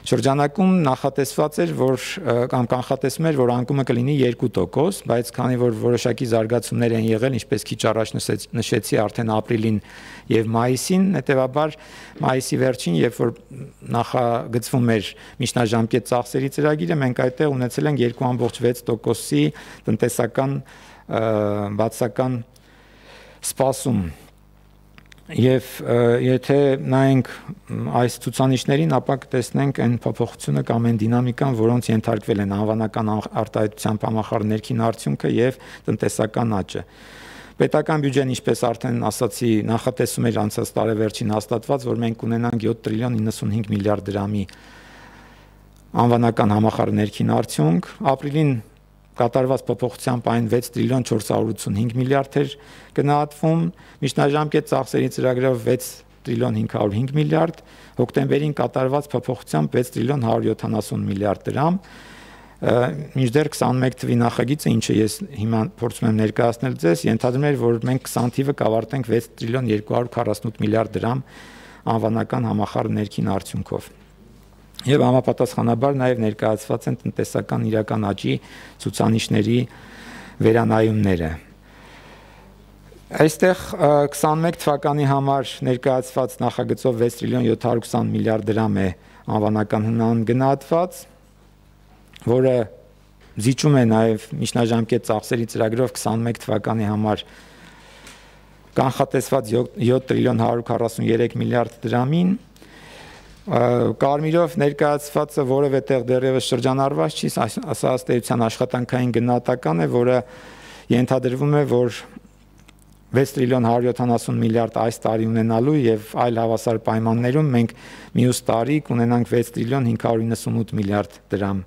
C: շրջանակում նախատեսված էր, որ կամ կանխատեսվում էր, որ անկումը կլինի երկու տոկոս, բայց քանի որ որոշակի զարգացումներ են եղել, ինչպես քիչ առաջ նշեցի, արդեն ապրիլին եւ մայիսին, հետեւաբար մայիսի վերջին, երբ որ նախագծվում էր միջնաժամկետ ծախսերի ծրագիրը, մենք այդտեղ ունեցել ենք երկու կόμma վեց տոկոսի տնտեսական բացական սպասում։ Եվ եթե նայենք այս ցուցանիշներին, ապա կտեսնենք այն փոփոխությունը կամ այն դինամիկան, որոնց ենթարկվել են անվանական արտահայտությամբ համախառն ներքին արդյունքը եւ տնտեսական աճը։ Պետական բյուջեն, ինչպես արդեն ասացի, նախատեսում էր անցած տարեվերջին հաստատված, որ մենք ունենանք յոթ տրիլիոն նվաթ միլիարդ դրամի անվանական համախառն ներքին արդյունք, ապրիլին կատարված փոփոխությամբ այն վեց տրիլիոն չորս հարյուր ութսունհինգ միլիարդ էր գնահատվում, միջնաժամկետ ծախսերի ծրագրով վեց տրիլիոն հինգ հարյուր հինգ միլիարդ, հոկտեմբերին կատարված փոփոխությամբ վեց տրիլիոն հարյուր յոթանասուն միլիարդ դրամ, մինչդեռ քսանմեկ թվականի նախագիծը, ինչը ես հիմա փորձում եմ ներկայացնել ձեզ, ենթադրում էր, որ մենք քսան թիվը կավարտենք վեց տրիլիոն երկու հարյուր քառասունութ միլիարդ դրամ անվանական համախառն ներքին արդյունքով։ Եվ համապատասխանաբար նաև ներկայացված են տնտեսական իրական աճի ցուցանիշների վերանայումները։ Այստեղ քսանմեկ թվականի համար ներկայացված նախագծով վեց տրիլիոն յոթ հարյուր քսան միլիարդ դրամ է անվանական հնան գնահատված, որը զիջում է նաև միջնաժամկետ ծախսերի ծրագրով քսանմեկ թվականի համար կանխատեսված յոթ տրիլիոն հարյուր քառասուներեք միլիարդ դրամին, կարմիրով ներկայացվածը որևէ տեղ դեռևս շրջանառված չի, սա ըստ էության աշխատանքային գնահատական է, որը ենթադրվում է, որ վեց տրիլիոն հարյուր յոթանասուն միլիարդ այս տարի ունենալու եւ այլ հավասար պայմաններում մենք մյուս տարի կունենանք վեց տրիլիոն հինգ հարյուր իննսունութ միլիարդ դրամ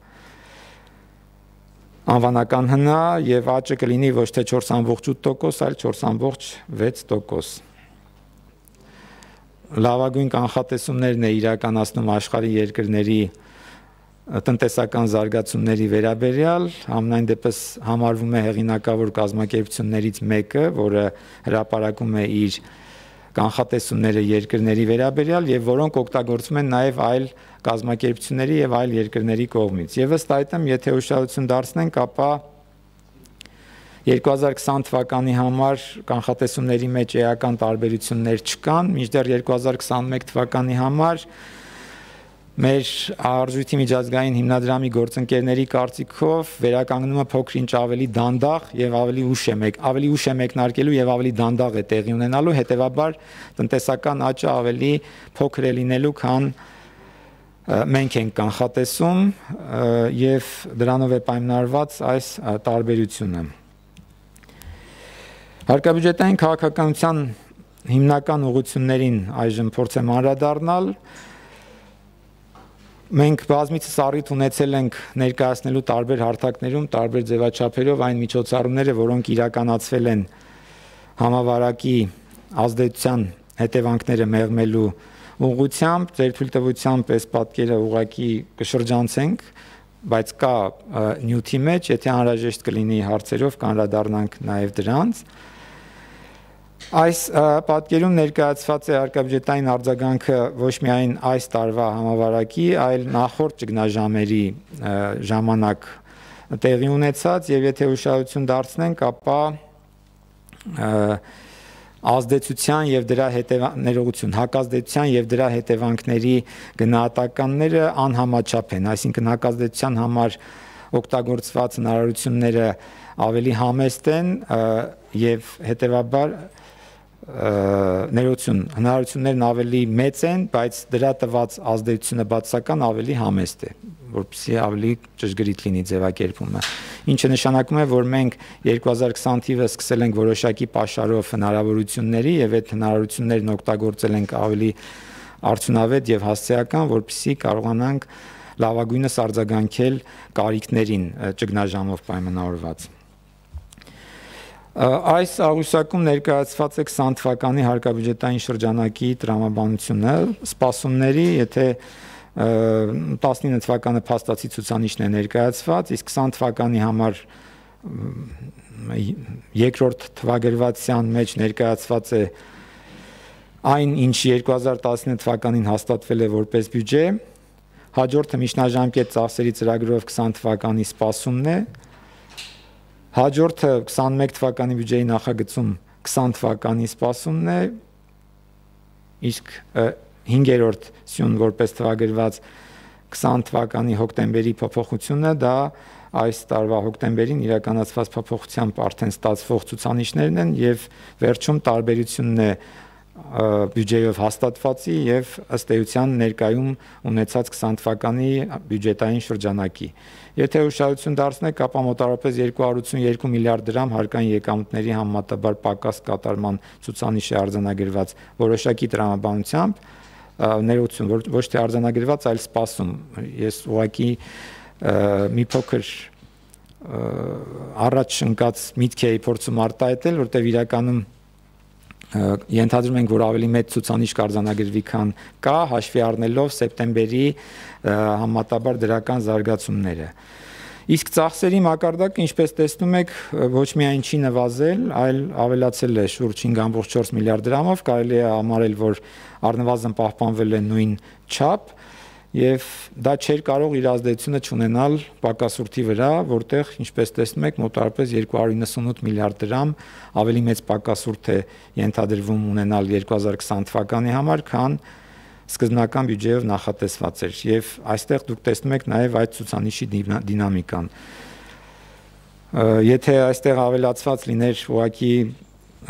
C: անվանական հնա եւ աճը կլինի ոչ թե չորս կόμma օգ տոկոս, այլ չորս կόμma վեց տոկոս։ Լավագույն կանխատեսումներն է իրականացնում աշխարհի երկրների տնտեսական զարգացումների վերաբերյալ, համենայն դեպս համարվում է հեղինակավոր կազմակերպություններից մեկը, որը հրապարակում է իր կանխատեսումները երկրների վերաբերյալ եւ որոնք օգտագործվում են նաեւ այլ կազմակերպությունների եւ այլ երկրների կողմից։ Եվ ըստ այդմ, եթե ուշադրություն դարձնենք, ապա երկու հազար քսան թվականի համար կանխատեսումների մեջ էական տարբերություններ չկան, մինչդեռ երկու հազար քսանմեկ թվականի համար մեր արժույթի միջազգային հիմնադրամի գործընկերների կարծիքով վերականգնումը փոքր-ինչ ավելի դանդաղ եւ ավելի ուշ է մեկ ավելի ուշ է մեկնարկելու եւ ավելի դանդաղ է տեղի ունենալու, հետեւաբար տնտեսական աճը ավելի փոքր է լինելու, քան մենք ենք կանխատեսում եւ դրանով է պայմանավորված այս տարբերությունը։ Հարկաբյուջետային քաղաքականության հիմնական ուղղություններին այժմ փորձեմ անդրադառնալ։ Մենք բազմիցս առիթ ունեցել ենք ներկայացնելու տարբեր հարթակներում, տարբեր ձևաչափերով այն միջոցառումները, որոնք իրականացվել են համավարակի ազդեցության հետևանքները մեղմելու ուղղությամբ, ձեր թույլտվությամբ այս պատկերը ուղղակի կշրջանցենք, բայց կա նյութի մեջ, եթե անհրաժեշտ կլինի հարցերով կանդրադառնանք նաև դրանց։ Այս պատկերում ներկայացված է հարկաբյուջետային արձագանքը ոչ միայն այս տարվա համավարակի, այլ նախորդ ճգնաժամերի ժամանակ տեղի ունեցած, եւ եթե ուշադրություն դարձնենք, ապա ազդեցության եւ դրա հետևանքներողություն, հակազդեցության եւ դրա հետևանքների գնահատականները անհամաչափ են, այսինքն հակազդեցության համար օգտագործված հնարավորությունները ավելի համեստ են եւ հետեւաբար ներողություն, հնարավորություններն ավելի մեծ են, բայց դրա տված ազդեցությունը բացասական ավելի համեստ է, որպեսզի ավելի ճշգրիտ լինի ձևակերպումը։ Ինչը նշանակում է, որ մենք երկու հազար քսան թիվը սկսել ենք որոշակի պաշարով հնարավորությունների եւ այդ հնարավորություններն օգտագործել ենք ավելի արդյունավետ եւ հասցեական, որպեսզի կարողանանք լավագույնս արձագանքել կարիքներին ճգնաժամով պայմանավորված։ Այս աղյուսակում ներկայացված է քսան թվականի հարկաբյուջետային շրջանակի տրամաբանությունը, սպասումների, եթե տասնինը թվականը փաստացի ցուցանիշն է ներկայացված, իսկ քսան թվականի համար երկրորդ թվագրվածության մեջ ներկայացված է այն, ինչ երկու հազար տասնինը թվականին հաստատվել է որպես բյուջե, հաջորդը միջնաժամկետ ծախսերի ծրագրով քսան թվականի սպասումն է, հաջորդը քսանմեկ թվականի բյուջեի նախագծում քսան թվականի սպասումն է, իսկ հինգերորդ սյուն որպես թվագրված քսան թվականի հոկտեմբերի փոփոխությունը, դա այս տարվա հոկտեմբերին իրականացված փոփոխությամբ արդեն ստացվող ցուցանիշներն են եւ վերջում տարբերությունն է բյուջեով հաստատվածի եւ ըստ էության ներկայում ունեցած քսան թվականի բյուջետային շրջանակի։ Եթե ուշադրություն դարձնեք, ապա մոտավորապես երկու հարյուր ութսունյոթ միլիարդ դրամ հարկային եկամուտների համեմատաբար պակաս կատարման ցուցանիշ է արձանագրված որոշակի տրամաբանությամբ, ներողություն, ոչ թե արձանագրված, այլ սպասում։ Ես ուղղակի մի փոքր առաջ ընկած միտք էի փորձում արտահայտել, որտեղ իրականում ենթադրում ենք, որ ավելի մեծ ցուցանիշ կարձանագրվի, քան կա, հաշվի առնելով սեպտեմբերի համեմատաբար դրական զարգացումները։ Իսկ ծախսերի մակարդակը, ինչպես տեսնում եք, ոչ միայն չի նվազել, այլ ավելացել է շուրջ հինգ կoma չորս միլիարդ դրամով, կարելի է համարել, որ առնվազն պահպանվել է նույն չափ, եւ դա չէր կարող իր ազդեցությունը չունենալ պակասուրդի վրա, որտեղ, ինչպես տեսնում եք, մոտավորապես երկու հարյուր իննսունութ միլիարդ դրամ ավելի մեծ պակասուրդ է ենթադրվում ունենալ երկու հազար քսան թվականի համար, քան սկզբնական բյուջեով նախատեսված էր, եւ այստեղ դուք տեսնում եք նաեւ այդ ցուցանիշի դինամիկան։ Եթե այստեղ ավելացված լիներ, ուղղակի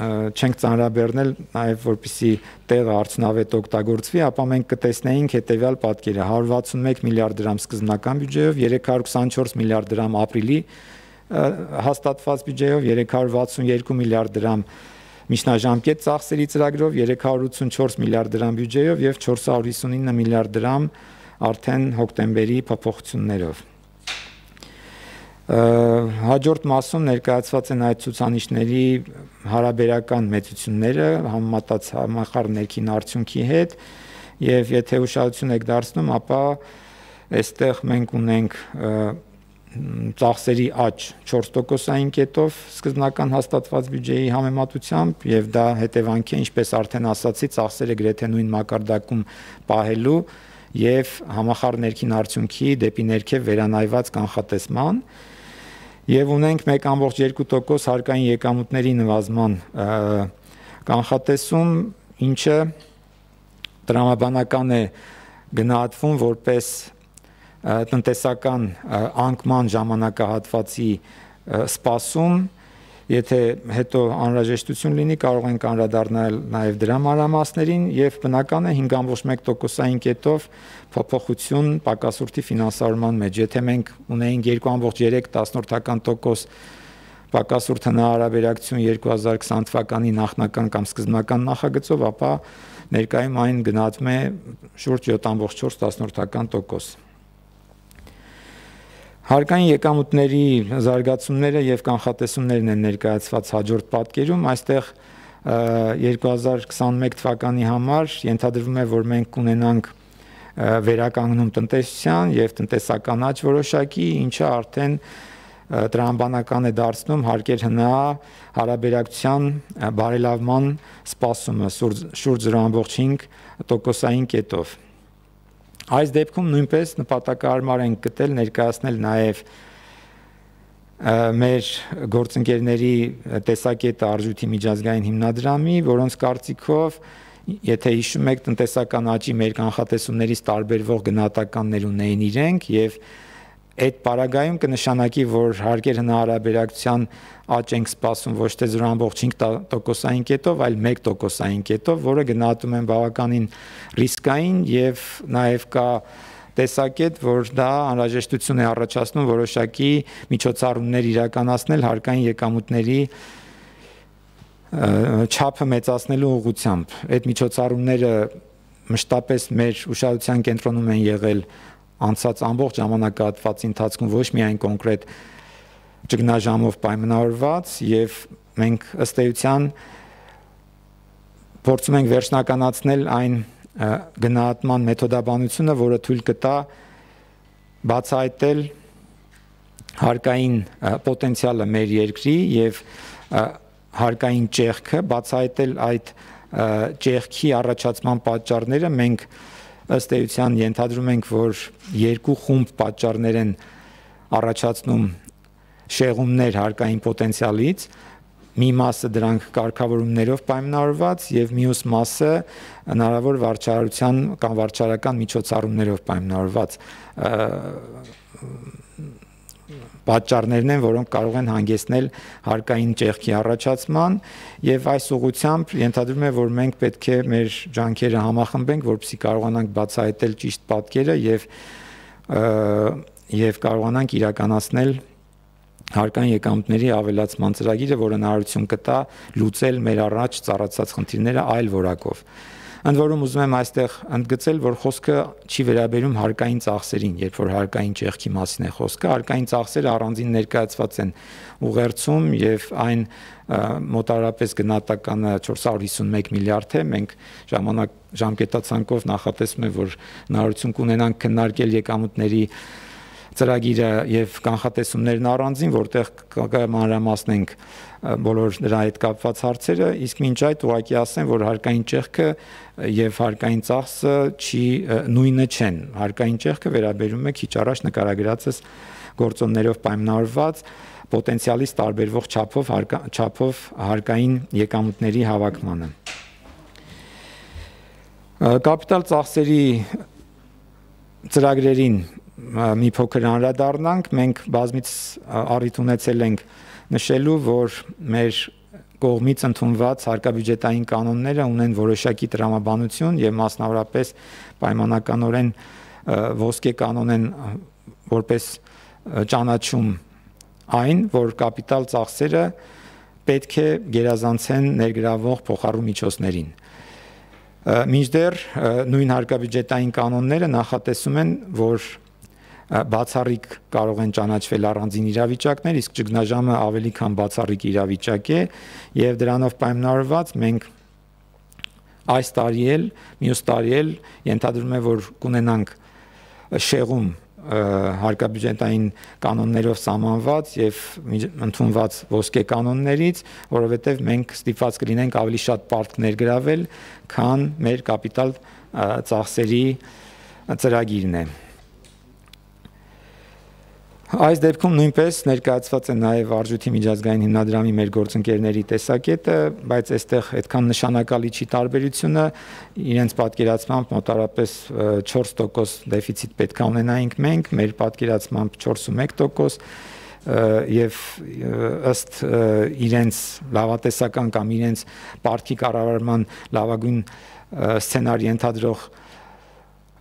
C: չենք ծանրաբեռնել նաև որպեսզի տեղը արդյունավետ օգտագործվի, ապա մենք կտեսնեինք հետևյալ պատկերը՝ հարյուր վաթսունմեկ միլիարդ դրամ սկզբնական բյուջեով, երեք հարյուր քսանչորս միլիարդ դրամ ապրիլի հաստատված բյուջեով, երեք հարյուր վաթսունյոթ միլիարդ դրամ միջնաժամկետ ծախսերի ծրագրով, երեք հարյուր ութսունչորս միլիարդ դրամ բյուջեով եւ չորս հարյուր հիսունինը միլիարդ դրամ արդեն հոկտեմբերի փոփոխություններով։ Հաջորդ մասում ներկայացված են այդ ցուցանիշների հարաբերական մեծությունները համեմատած համախառն ներքին արդյունքի հետ, եւ եթե ուշադրություն եք դարձնում, ապա այստեղ մենք ունենք ծախսերի աճ չորս տոկոսային կետով սկզբնական հաստատված բյուջեի համեմատությամբ, եւ դա հետևանք է, ինչպես արդեն ասացի, ծախսերը գրեթե նույն մակարդակում պահելու եւ համախառն ներքին արդյունքի դեպի ներքև վերանայված կանխատեսման, եւ ունենք մեկ կoma երկու տոկոս հարկային եկամուտների նվազման կանխատեսում, ինչը տրամաբանական է գնահատվում որպես տնտեսական անկման ժամանակահատվածի սպասում, եթե հետո անհրաժեշտություն լինի, կարող ենք անդրադառնալ նաև դրա մանրամասներին, եւ բնական է հինգ կoma մեկ տոկոսային կետով փոփոխություն պակասուրդի ֆինանսավորման մեջ։ Եթե մենք ունեինք երկու կoma երեք տոկոս պակասուրդ հնարաբերակցություն երկու հազար քսան թվականի նախնական կամ սկզբնական նախագծով, ապա ներկայում այն գնահատվում է շուրջ յոթ կoma չորս տոկոս։ Հարկային եկամուտների զարգացումները եւ կանխատեսումներն են ներկայացված հաջորդ պատկերում, այստեղ երկու հազար քսանմեկ թվականի համար ենթադրվում է, որ մենք կունենանք վերականգնում տնտեսության եւ տնտեսական աճ որոշակի, ինչը արդեն տրամաբանական է դարձնում հարկեր հնա հարաբերակցության բարելավման սպասումը շուրջ զրո կoma հինգ տոկոսային կետով։ Այս դեպքում նույնպես նպատակահարմար ենք գտել ներկայացնել նաև մեր գործընկերների տեսակետը արժույթի միջազգային հիմնադրամի, որոնց կարծիքով, եթե հիշում եք, տնտեսական աճի մեր կանխատեսումներից տարբերվող գնահատականներ ունեին իրենք, եւ այդ պարագայում կնշանակի, որ հարկեր հնարաբերակցության աճ ենք սպասում ոչ թե զրո կoma հինգ տոկոսային կետով, այլ մեկ տոկոսային կետով, որը գնահատում են բավականին ռիսկային, եւ նաեւ կա տեսակետ, որ դա անհրաժեշտություն է առաջացնում որոշակի միջոցառումներ իրականացնել հարկային եկամուտների չափը մեծացնելու ուղղությամբ։ Այդ միջոցառումները մշտապես մեր ուշադրության կենտրոնում են եղել անցած ամբողջ ժամանակահատվածի ընթացքում ոչ միայն կոնկրետ ճգնաժամով պայմանավորված եւ մենք ըստ էության փորձում ենք վերջնականացնել այն գնահատման մեթոդաբանությունը, որը թույլ կտա բացահայտել հարկային պոտենցիալը մեր երկրի եւ հարկային ճեղքը, բացահայտել այդ ճեղքի առաջացման պատճառները։ Մենք ըստ էության ենթադրում ենք, որ երկու խումբ պատճառներ են առաջացնում շեղումներ հարկային պոտենցիալից, մի մասը դրանք կարգավորումներով պայմանավորված եւ մյուս մասը հնարավոր վարչարության կամ վարչարական միջոցառումներով պայմանավորված պատճառներն են, որոնք կարող են հանգեցնել հարկային ճեղքի առաջացման, եւ այս ուղղությամբ ենթադրում է, որ մենք պետք է մեր ջանքերը համախմբենք, որպեսզի կարողանանք բացահայտել ճիշտ պատկերը եւ եւ կարողանանք իրականացնել հարկային եկամուտների ավելացման ծրագիրը, որը հնարավորություն կտա լուծել մեր առաջ ծառացած խնդիրները այլ որակով։ Ընդ որում ուզում եմ այստեղ ընդգծել, որ խոսքը չի վերաբերում հարկային ծախսերին, երբ որ հարկային ճեղքի մասին է խոսքը, հարկային ծախսերը առանձին ներկայացված են ուղերձում եւ այն մոտավորապես գնահատականը չորս հարյուր հիսունմեկ միլիարդ է, մենք ժամանակ ժամկետացանկով նախատեսում ենք, որ հնարավորություն կունենանք քննարկել եկամուտների ծրագիրը եւ կանխատեսումներն առանձին, որտեղ մանրամասնենք բոլոր դրա հետ կապված հարցերը, իսկ մինչ այդ ուղղակի ասեմ, որ հարկային ճեղքը եւ հարկային ծախսը չի նույնը չեն։ Հարկային ճեղքը վերաբերում է քիչ առաջ նկարագրածս գործոններով պայմանավորված պոտենցիալից տարբերվող չափով չափով հարկային եկամուտների հավաքմանը։ Կապիտալ ծախսերի ծրագրերին մի փոքր անդրադառնանք, մենք բազմից առիթ ունեցել ենք նշելու, որ մեր կողմից ընդունված հարկաբյուջետային կանոնները ունեն որոշակի տրամաբանություն եւ մասնավորապես պայմանականորեն ոսկե կանոն են որպես ճանաչում այն, որ կապիտալ ծախսերը պետք է գերազանցեն ներգրավող փոխառու միջոցներին։ Մինչդեռ նույն հարկաբյուջետային կանոնները նախատեսում են, որ բացառիկ կարող են ճանաչվել առանձին իրավիճակներ, իսկ ճգնաժամը ավելի քան բացառիկ իրավիճակ է եւ դրանով պայմանավորված մենք այս տարի էլ, մյուս տարի էլ ենթադրում է, որ կունենանք շեղում հարկաբյուջետային կանոններով սահմանված եւ ընդունված ոսկե կանոններից, որովհետեւ մենք ստիպված կլինենք ավելի շատ պարտք ներգրավել, քան մեր կապիտալ ծախսերի ծրագիրն է։ Այս դեպքում նույնպես ներկայացված է նաև Արժույթի միջազգային հիմնադրամի մեր գործընկերների տեսակետը, բայց այստեղ այդքան նշանակալի չի տարբերությունը, իրենց պատկերացմամբ մոտավորապես չորս տոկոս դեֆիցիտ պետք է ունենայինք մենք, մեր պատկերացմամբ չորսունմեկ տոկոս եւ ըստ իրենց լավատեսական կամ իրենց պարտքի կառավարման լավագույն սցենարի ենթադրող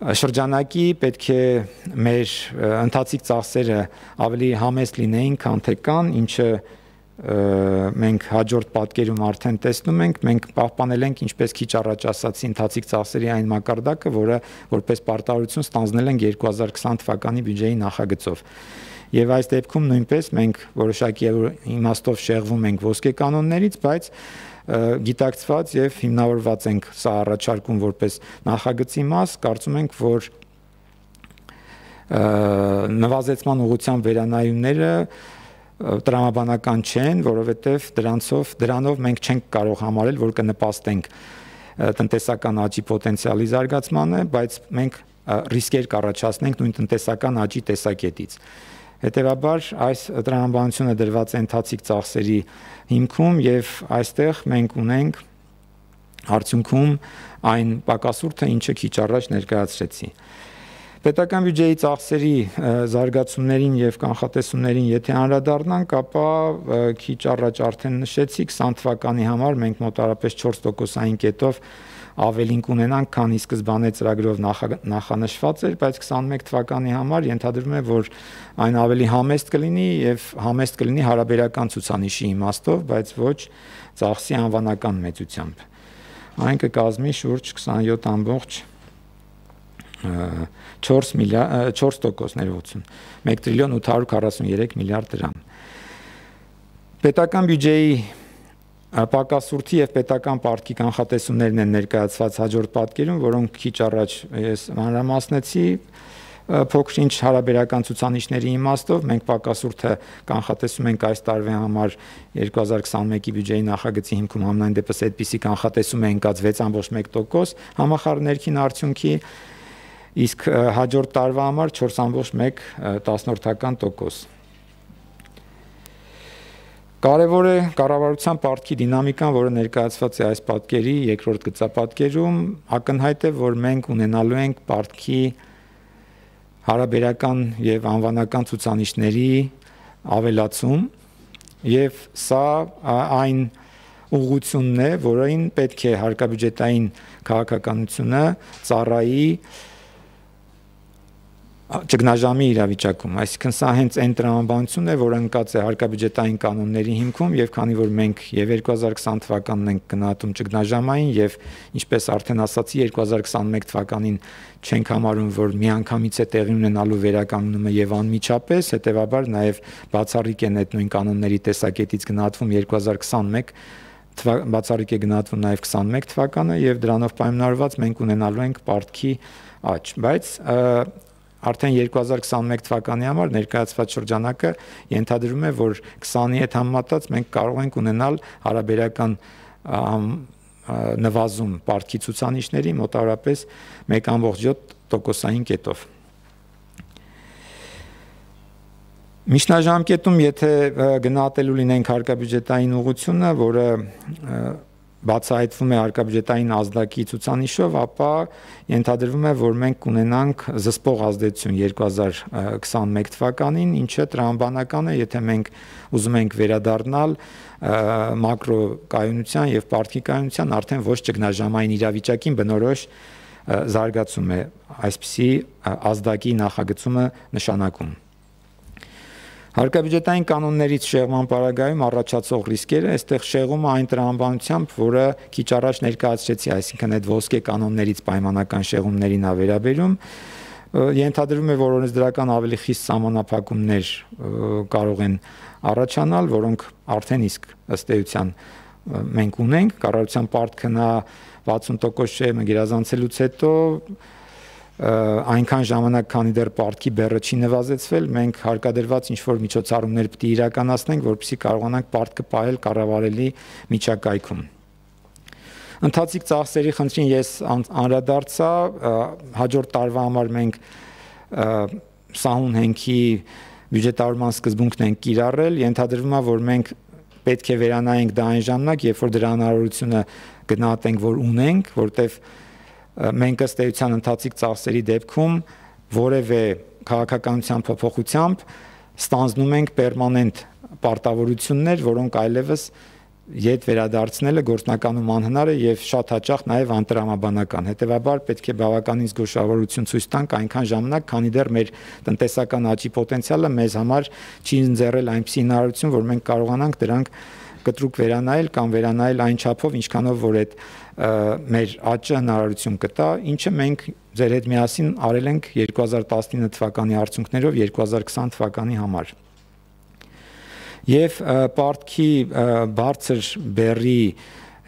C: շրջանակի պետք է մեր ընթացիկ ծախսերը ավելի համեստ լինեին, քան թե կան, ինչը մենք հաջորդ պատկերում արդեն տեսնում ենք, մենք պահպանել ենք, ինչպես քիչ առաջ ասացի, ընթացիկ ծախսերի այն մակարդակը, որը որպես պարտավորություն ստանձնել ենք երկու հազար քսան թվականի բյուջեի նախագծով։ Եվ այս դեպքում նույնպես մենք որոշակի իմաստով շեղվում ենք ոսկե կանոններից, բայց գիտակցված եւ հիմնավորված ենք սա առաջարկում որպես նախագծի մաս, կարծում ենք, որ նվազեցման ուղղությամբ վերանայումները տրամաբանական չեն, որովհետեւ դրանցով դրանով մենք չենք կարող համարել, որ կնպաստենք տնտեսական աճի պոտենցիալի զարգացմանը, բայց մենք ռիսկեր կառաջացնենք նույն տնտեսական աճի տեսակետից։ Հետևաբար այս տրամաբանությունը դրված է ընթացիկ ծախսերի հիմքում եւ այստեղ մենք ունենք արդյունքում այն պակասուրդը, ինչը քիչ առաջ ներկայացրեցի։ Պետական բյուջեի ծախսերի զարգացումներին եւ կանխատեսումներին եթե անդրադառնանք, ապա քիչ առաջ արդեն նշեցի, քսան թվականի համար մենք մոտավորապես չորս տոկոսային կետով ավելին կունենանք, քան ի սկզբանե ծրագրով նախանշված էր, բայց քսանմեկ թվականի համար ենթադրվում է, որ այն ավելի համեստ կլինի եւ համեստ կլինի հարաբերական ցուցանիշի իմաստով, բայց ոչ ծախսի անվանական մեծությամբ։ Այն կկազմի շուրջ քսանյոթ ամբողջ չորս միլիարդ չորս տոկոս ներողություն մեկ տրիլիոն ութ հարյուր քառասուններեք միլիարդ դրամ։ Պետական բյուջեի պակասուրդի եւ պետական պարտքի կանխատեսումներն են ներկայացված հաջորդ պատկերում, որոնք քիչ առաջ ես մանրամասնեցի փոքր-ինչ հարաբերական ցուցանիշների իմաստով մենք պակասուրդը կանխատեսում ենք այս տարվա համար երկու հազար քսանմեկի բյուջեի նախագծի հիմքում համենայն դեպս այդպիսի կանխատեսում է ընկած վեց կόμma մեկ տոկոս համախառն ներքին արդյունքի, իսկ հաջորդ տարվա համար չորս կόμma մեկ տոկոս։ Կարևոր է կառավարության պարտքի դինամիկան, որը ներկայացված է այս պատկերի երկրորդ գծապատկերում, ակնհայտ է, որ մենք ունենալու ենք պարտքի հարաբերական եւ անվանական ցուցանիշների ավելացում եւ սա այն ուղղությունն է, որին պետք է հարկաբյուջետային քաղաքականությունը ծառայի ճգնաժամի իրավիճակում, այսինքն սա հենց այն տրամաբանությունն է, որը ընկած է հարկաբյուջետային կանոնների հիմքում եւ քանի որ մենք եւ երկու հազար քսան թվականն ենք գնահատում ճգնաժամային եւ ինչպես արդեն ասացի երկու հազար քսանմեկ թվականին չենք համարում, որ միանգամից է տեղի ունենալու վերականգնումը եւ անմիջապես, հետեւաբար նաեւ բացառիկ են այդ նույն կանոնների տեսակետից գնահատվում երկու հազար քսանմեկ բացառիկ է գնահատվում նաեւ քսանմեկ թվականը եւ դրանով պայմանավորված մենք ունենալու ենք պարտքի աճ, բայց արդեն երկու հազար քսանմեկ թվականի համար ներկայացված շրջանակը ենթադրում է, որ քսանի հետ համեմատած մենք կարող ենք ունենալ հարաբերական նվազում պարտքի ցուցանիշների մոտավորապես մեկ կόμma յոթ տոկոսային կետով։ Միջնաժամկետում, եթե գնահատելու լինենք հարկաբյուջետային ուղղությունը, որը բացահայտվում է հարկաբյուջետային ազդակի ցուցանիշով, ապա ենթադրվում է, որ մենք կունենանք զսպող ազդեցություն երկու հազար քսանմեկ թվականին, ինչը տրամաբանական է, եթե մենք ուզում ենք վերադառնալ մակրոկայունության եւ պարտքի կայունության արդեն ոչ ճգնաժամային իրավիճակին բնորոշ զարգացում է այսպիսի ազդակի նախագծումը նշանակում։ Հարկաբյուջետային կանոններից շեղման պարագայում առաջացող ռիսկերը, այստեղ շեղումը այն տրամաբանությամբ, որը քիչ առաջ ներկայացրեցի, այսինքն այդ ոսկե կանոններից պայմանական շեղումներին ա վերաբերում, ենթադրվում է, որ օրենսդրական ավելի խիստ սահմանափակումներ կարող են առաջանալ, որոնք արդեն իսկ ըստ էության մենք ունենք, կառավարության պարտքը նա վաթսուն տոկոս շեղումը գերազանցելուց հետո այնքան ժամանակ, քանի դեռ պարտքի բեռը չի նվազեցվել, մենք հարկադրված ինչ-որ միջոցառումներ պետք է իրականացնենք, որպեսզի կարողանանք պարտքը պահել կառավարելի միջակայքում։ Ընթացիկ ծախսերի խնդրին ես անդրադարձա, հաջորդ տարվա համար մենք սահուն հենքի բյուջետավորման սկզբունքն ենք կիրառել, ենթադրվում է, որ մենք պետք է վերանայենք դա այն ժամանակ, երբ որ դրա հնարավորությունը գնահատենք, որ ունենք, որտեղ մենք ըստ էության ընթացիկ ծախսերի դեպքում որևէ քաղաքականության փոփոխությամբ ստանձնում ենք պերմանենտ պարտավորություններ, որոնք այլևս ետ վերադարձնելը գործնականում անհնար է եւ շատ հաճախ նաեւ անտրամաբանական։ Հետեւաբար պետք է բավականին զգուշավորություն ցույց տանք այնքան ժամանակ, քանի դեռ մեր տնտեսական աճի պոտենցիալը մեզ համար չի ընձեռել այնպիսի հնարավորություն, որ մենք կարողանանք դրանք կտրուկ վերանայել կամ վերանայել այն չափով, ինչքանով որ այդ մեր աճը հնարավորություն կտա, ինչը մենք ձեր հետ միասին արել ենք երկու հազար տասնինը թվականի արդյունքներով երկու հազար քսան թվականի համար։ Եվ պարտքի բարձր բեռի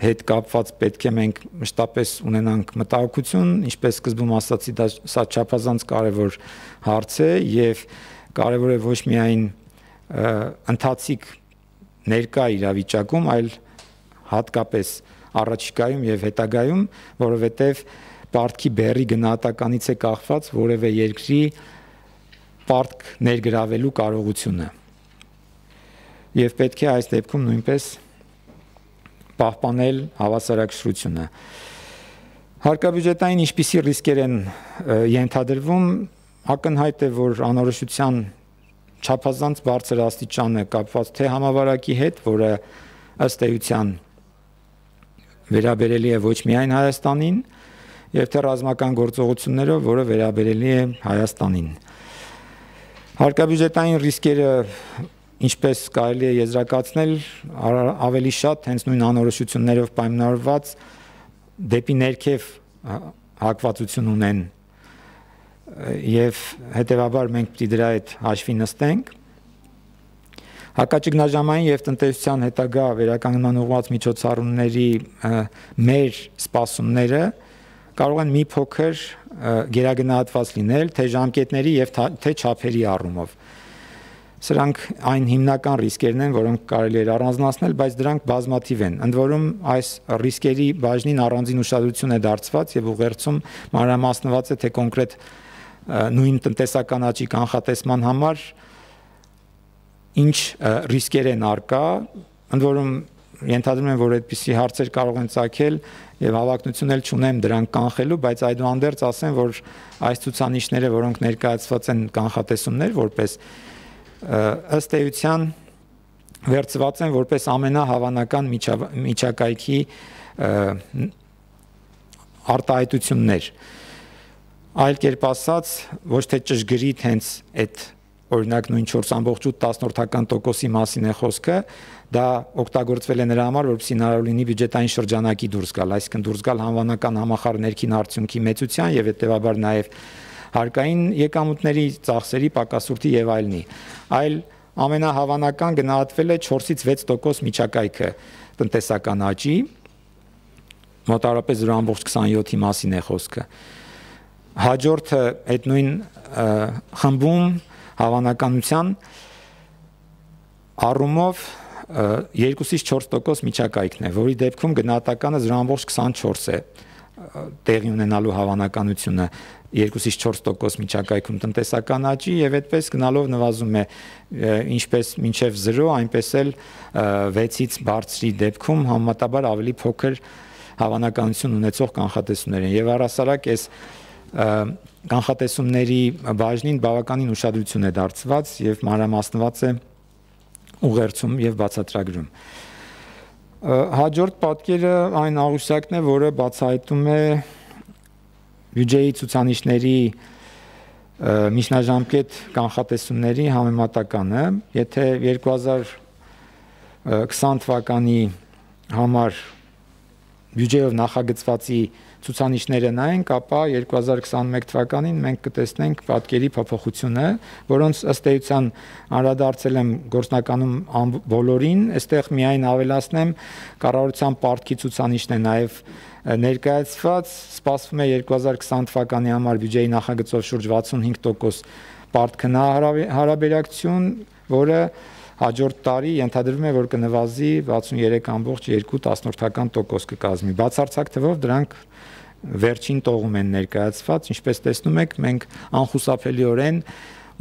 C: հետ կապված պետք է մենք մշտապես ունենանք մտահոգություն, ինչպես սկզբում ասացի, դա սա չափազանց կարևոր հարց է եւ կարևոր է ոչ միայն ընթացիկ ներկա իրավիճակում, այլ հատկապես առաջիկայում եւ հետագայում, որովհետեւ պարտքի բեռի գնահատականից է կախված որևէ երկրի պարտք ներգրավելու կարողությունը։ Եվ պետք է այս դեպքում նույնպես պահպանել հավասարակշռությունը։ Հարկաբյուջետային ինչպիսի ռիսկեր են ենթադրվում, ակնհայտ է, որ անորոշության չափազանց բարձր աստիճանը կապված թե համավարակի հետ, որը ըստ էության վերաբերելի է ոչ միայն Հայաստանին, եւ թե ռազմական գործողություններով, որը վերաբերելի է Հայաստանին։ Հարկաբյուջետային ռիսկերը, ինչպես կարելի է եզրակացնել, ավելի շատ հենց նույն անորոշություններով պայմանավորված դեպի ներքև հակվածություն ունեն եւ հետեւաբար մենք պիտի դրա հետ հաշվի նստենք։ Հակաճգնաժամային եւ տնտեսության հետագա վերականգնման ուղղված միջոցառումների մեր սպասումները կարող են մի փոքր գերագնահատված լինել թե ժամկետների եւ թե չափերի առումով։ Սրանք այն հիմնական ռիսկերն են, որոնք կարելի է առանձնացնել, բայց դրանք բազմաթիվ են։ Ընդ որում այս ռիսկերի բաժնին առանձին ուշադրություն է դարձված եւ ուղերձում մանրամասնված է թե կոնկրետ նույն տնտեսական աճի կանխատեսման համար ինչ ռիսկեր են արկա, ընդ որում ենթադրում եմ, որ այդպիսի հարցեր կարող են ծագել եւ հավակնություն էլ չունեմ դրանք կանխելու, բայց այդուհանդերձ ասեմ, որ այս ցուցանիշները, որոնք ներկայացված են կանխատեսումներ, որպես ըստ էության վերծված են որպես ամենահավանական միջակայքի արտահայտություններ։ Այլ կերպ ասած, ոչ թե ճշգրիտ հենց այդ օրինակ նույն չորս ամբողջ ութ տոկոսի մասին է խոսքը, դա օգտագործվել է նրա համար, որպեսզի հնարավոր լինի բյուջետային շրջանակի դուրս գալ, այսինքն դուրս գալ անվանական համախառն ներքին արդյունքի մեծության եւ հետեւաբար նաեւ հարկային եկամուտների, ծախսերի, պակասուրդի եւ այլնի։ Այլ ամենահավանական գնահատվել է չորսից վեց տոկոս միջակայքը տնտեսական աճի, մոտավորապես զրո ամբողջ քսանյոթի մասին է խոսքը։ Հաջորդը այդ նույն խմբում հավանականության առումով երկուսից չորս տոկոս միջակայքն է, որի դեպքում գնահատականը զրո ամբողջ քսանչորս է տեղի ունենալու հավանականությունը երկուսից չորս տոկոս միջակայքում տնտեսական աճի եւ այդպես գնալով նվազում է ինչպես մինչեւ զրո, այնպես էլ վեցից բարձրի դեպքում համեմատաբար ավելի փոքր հավանականություն ունեցող կանխատեսումներ են եւ առհասարակ այս կանխատեսումների բաժնին բավականին ուշադրություն է դարձված եւ մանրամասնված է ուղերձում եւ բացատրագրում։ Հաջորդ պատկերը այն աղյուսակն է, որը բացահայտում է բյուջեի ցուցանիշների միջնաժամկետ կանխատեսումների համեմատականը, եթե երկու հազար քսան թվականի համար բյուջեով նախագծվածի ցուցանիշները նայենք, ապա երկու հազար քսանմեկ թվականին մենք կտեսնենք պատկերի փոփոխությունը, որոնց ըստ էության անդրադարձել եմ գործնականում բոլորին, այստեղ միայն ավելացնեմ կառավարության պարտքի ցուցանիշն է նաև ներկայացված, սպասվում է երկու հազար քսան թվականի համար բյուջեի նախագծով շուրջ վաթսունհինգ տոկոս պարտքնա հարաբերակցություն, որը հաջորդ տարի ենթադրվում է, որ կնվազի վաթսուներեք ամբողջ երկու տոկոս կկազմի։ Բացարձակ թվով դրանք վերջին տողում են ներկայացված, ինչպես տեսնում եք, մենք անխուսափելիորեն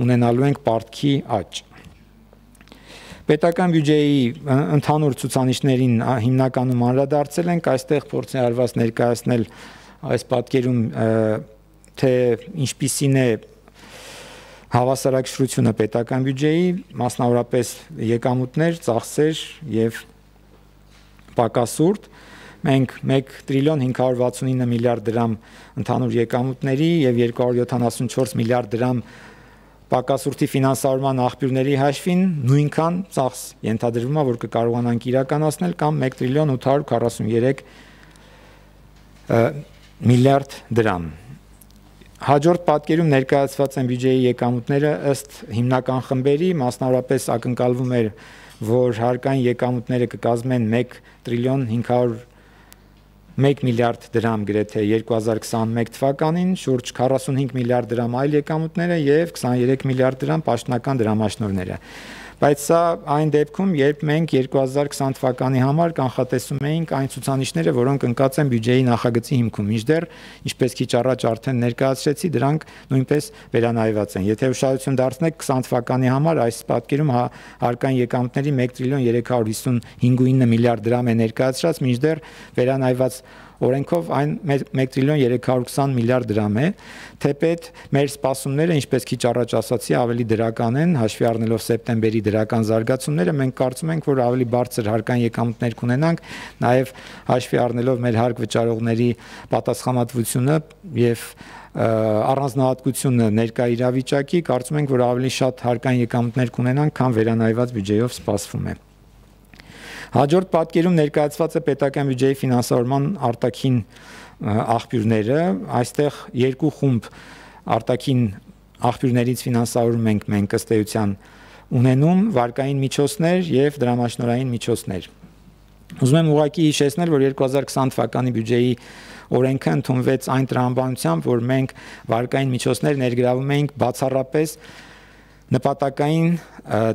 C: ունենալու ենք պարտքի աճ։ Պետական բյուջեի ընդհանուր ցուցանիշներին հիմնականում անդրադարձել ենք, այստեղ փորձ է արված ներկայացնել այս պատկերում թե ինչպիսին է հավասարակշռությունը պետական բյուջեի, մասնավորապես եկամուտներ, ծախսեր եւ պակասուրդ։ Մենք մեկ տրիլիոն հինգ հարյուր վաթսունինը միլիարդ դրամ ընդհանուր եկամուտների եւ երկու հարյուր յոթանասունչորս միլիարդ դրամ պակասուրդի ֆինանսավորման աղբյուրների հաշվին նույնքան ծախս ենթադրվում է, որ կկարողանանք իրականացնել կամ մեկ տրիլիոն ութ հարյուր քառասուներեք միլիարդ դրամ։ Հաջորդ պատկերում ներկայացված են բյուջեի եկամուտները ըստ հիմնական խմբերի, մասնավորապես ակնկալվում էր, որ հարկային եկամուտները կկազմեն մեկ տրիլիոն հինգ հարյուր մեկ միլիարդ դրամ գրեթե երկու հազար քսանմեկ թվականին, շուրջ քառասունհինգ միլիարդ դրամ այլ եկամուտները եւ քսաներեք միլիարդ դրամ պաշտոնական դրամաշնորհները։ Բայց սա այն դեպքում, երբ մենք երկու հազար քսան թվականի համար կանխատեսում էինք այն ցուցանիշները, որոնք ընկած են բյուջեի նախագծի հիմքում, մինչդեռ, ինչպես քիչ առաջ արդեն ներկայացրեցի, դրանք նույնպես վերանայված են։ Եթե ուշադրություն դարձնեք քսան թվականի համար, այս պատկերում հարկային եկամուտների մեկ տրիլիոն երեք հարյուր հիսունհինգ միլիարդ դրամ է ներկայացրած, մինչդեռ վերանայված օրենքով այն մեկ տրիլիոն երեք հարյուր քսան միլիարդ դրամ է, թեպետ մեր սպասումները, ինչպես քիչ առաջ ասացի, ավելի դրական են, հաշվի առնելով սեպտեմբերի դրական զարգացումները, մենք կարծում ենք, որ ավելի բարձր հարկային եկամուտներ կունենանք, նաև հաշվի առնելով մեր հարկ վճարողների պատասխանատվությունը եւ առանձնահատկությունը ներկա իրավիճակի, կարծում ենք, որ ավելի շատ հարկային եկամուտներ կունենանք, քան վերանայված բյուջեով սպասվում է։ Հաջորդ պատկերում ներկայացված է պետական բյուջեի ֆինանսավորման արտաքին աղբյուրները, այստեղ երկու խումբ արտաքին աղբյուրներից ֆինանսավորում ենք մենք ըստ էության ունենում վարկային միջոցներ եւ դրամաշնորհային միջոցներ։ Ուզում եմ ուղղակի հիշեցնել, որ երկու հազար քսան թվականի բյուջեի օրենքը ընդունվեց այն տրամաբանությամբ, որ մենք վարկային միջոցներ ներգրավում էինք բացառապես նպատակային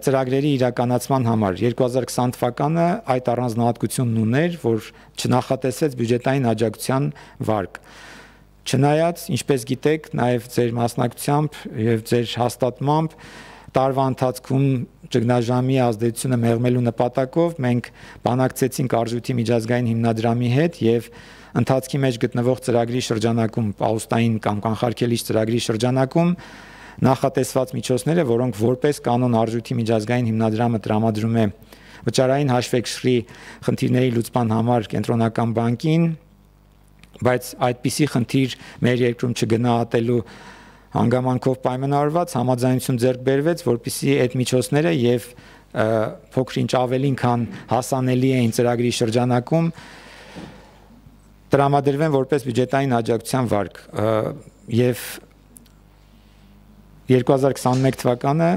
C: ծրագրերի իրականացման համար։ երկու հազար քսան թվականը այդ առանձնահատկությունն ուներ, որ չնախատեսվեց բյուջետային աջակցության վարկ։ Չնայած, ինչպես գիտեք, նաև ձեր մասնակցությամբ եւ ձեր հաստատմամբ տարվա ընթացքում ճգնաժամի ազդեցությունը մեղմելու նպատակով մենք բանակցեցինք Արժույթի միջազգային հիմնադրամի հետ եւ ընթացքի մեջ գտնվող ծրագրի շրջանակում, պաուստային կամ կանխարգելիչ ծրագրի շրջանակում նախատեսված միջոցները, որոնք որպես կանոն Արժույթի միջազգային հիմնադրամը տրամադրում է վճարային հաշվեկշռի խնդիրների լուծման համար կենտրոնական բանկին, բայց այդպիսի խնդիր մեր երկրում չգնահատելու հանգամանքով պայմանավորված համաձայնություն ձեռք բերվեց, որպեսզի այդ միջոցները եւ փոքր-ինչ ավելին քան հասանելի էին ծրագրի շրջանակում տրամադրվեն որպես բյուջետային աջակցության վարկ եւ երկու հազար քսաներկու թվականը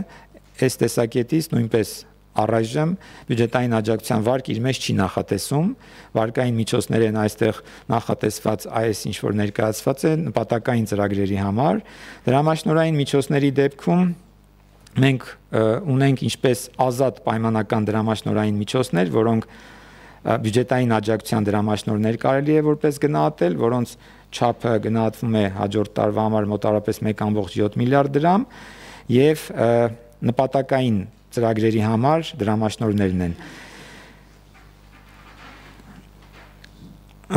C: այս տեսակետից նույնպես առայժմ բյուջետային աջակցության վարկ իր մեջ չի նախատեսում, վարկային միջոցներ են այստեղ նախատեսված այս ինչ որ ներկայացված է նպատակային ծրագրերի համար, դրամաշնորհային միջոցների դեպքում մենք ունենք ինչպես ազատ պայմանական դրամաշնորհային միջոցներ, որոնք բյուջետային աջակցության դրամաշնորհներ կարելի է որպես գնահատել, որոնց չափը գնահատվում է հաջորդ տարվա համար մոտարապես մեկ կόμma յոթ միլիարդ դրամ եւ նպատակային ծրագրերի համար դրամաշնորհներն են։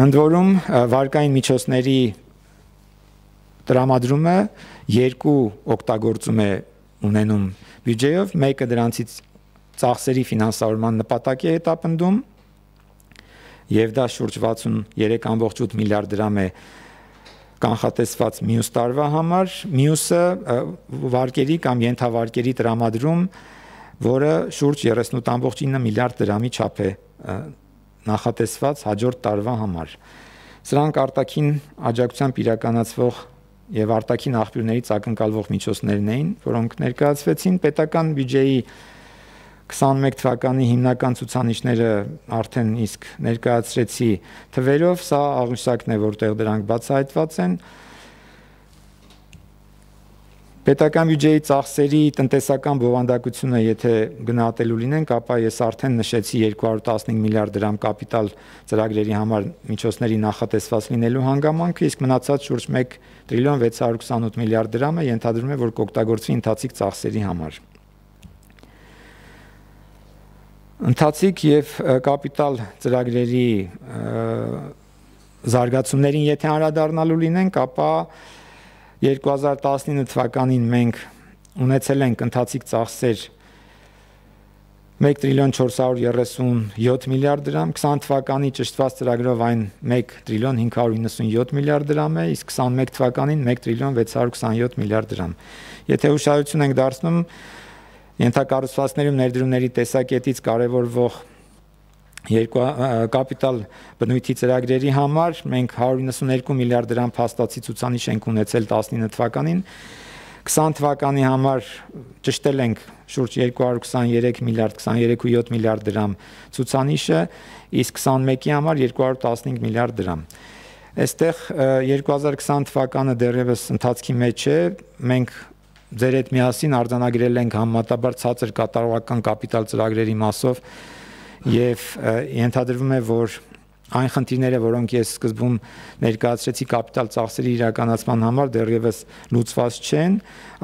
C: Ընդ որում վարկային միջոցների տրամադրումը երկու օգտագործում է ունենում բյուջեով, մեկը դրանցից ծախսերի ֆինանսավորման նպատակ է հետապնդում եւ դա շուրջ վաթսուներեք կόμma ութ միլիարդ դրամ է կանխատեսված մյուս տարվա համար, մյուսը վարկերի կամ ենթավարկերի տրամադրում, որը շուրջ երեսունութ կόμma ինը միլիարդ դրամի չափ է նախատեսված հաջորդ տարվա համար։ Սրանք արտաքին աջակցությամբ իրականացվող եւ արտաքին աղբյուրներից ակնկալվող միջոցներն էին, որոնք ներկայացվեցին պետական բյուջեի քսաներկու թվականի հիմնական ցուցանիշները արդեն իսկ ներկայացրեցի թվերով, սա աղյուսակն է, որտեղ դրանք բացահայտված են։ Պետական բյուջեի ծախսերի տնտեսական բովանդակությունը, եթե գնահատելու լինենք, ապա ես արդեն նշեցի երկու հարյուր տասնհինգ միլիարդ դրամ կապիտալ ծրագրերի համար միջոցների նախատեսված լինելու հանգամանքը, իսկ մնացած շուրջ մեկ տրիլիոն վեց հարյուր քսանութ միլիարդ դրամը ենթադրում է, որ կօգտագործվի ընթացիկ ծախսերի համար։ Ընթացիկ եւ կապիտալ ծրագրերի զարգացումներին եթե անդրադառնալու լինենք, ապա երկու հազար տասնինը թվականին մենք ունեցել ենք ընթացիկ ծախսեր մեկ տրիլիոն չորս հարյուր երեսունյոթ միլիարդ դրամ, քսան թվականի ճշտված ծրագրով այն մեկ տրիլիոն հինգ հարյուր իննսունյոթ միլիարդ դրամ է, իսկ քսաներկու թվականին մեկ տրիլիոն վեց հարյուր քսանյոթ միլիարդ դրամ։ Եթե ուշադրություն ենք դարձնում ենթակառուցվածքներում ներդրումների տեսակետից կարևորվող երկու կապիտալ բնույթի ծրագրերի համար մենք հարյուր իննսուներկու միլիարդ դրամ փաստացի ցուցանիշ ենք ունեցել տասնինը թվականին, քսան թվականի համար ճշտել ենք շուրջ երկու հարյուր քսաներեք միլիարդ քսաներեք կόμma յոթ միլիարդ դրամ ցուցանիշը, իսկ քսաներկուի համար երկու հարյուր տասնհինգ միլիարդ դրամ։ Այստեղ երկու հազար քսան թվականը դեռևս ընթացքի մեջ է, մենք ձեր հետ միասին արձանագրել ենք համեմատաբար ցածր կատարողական կապիտալ ծրագրերի մասով եւ ենթադրվում է, որ այն խնդիրները, որոնք ես սկզբում ներկայացրեցի կապիտալ ծախսերի իրականացման համար, դեռևս լուծված չեն։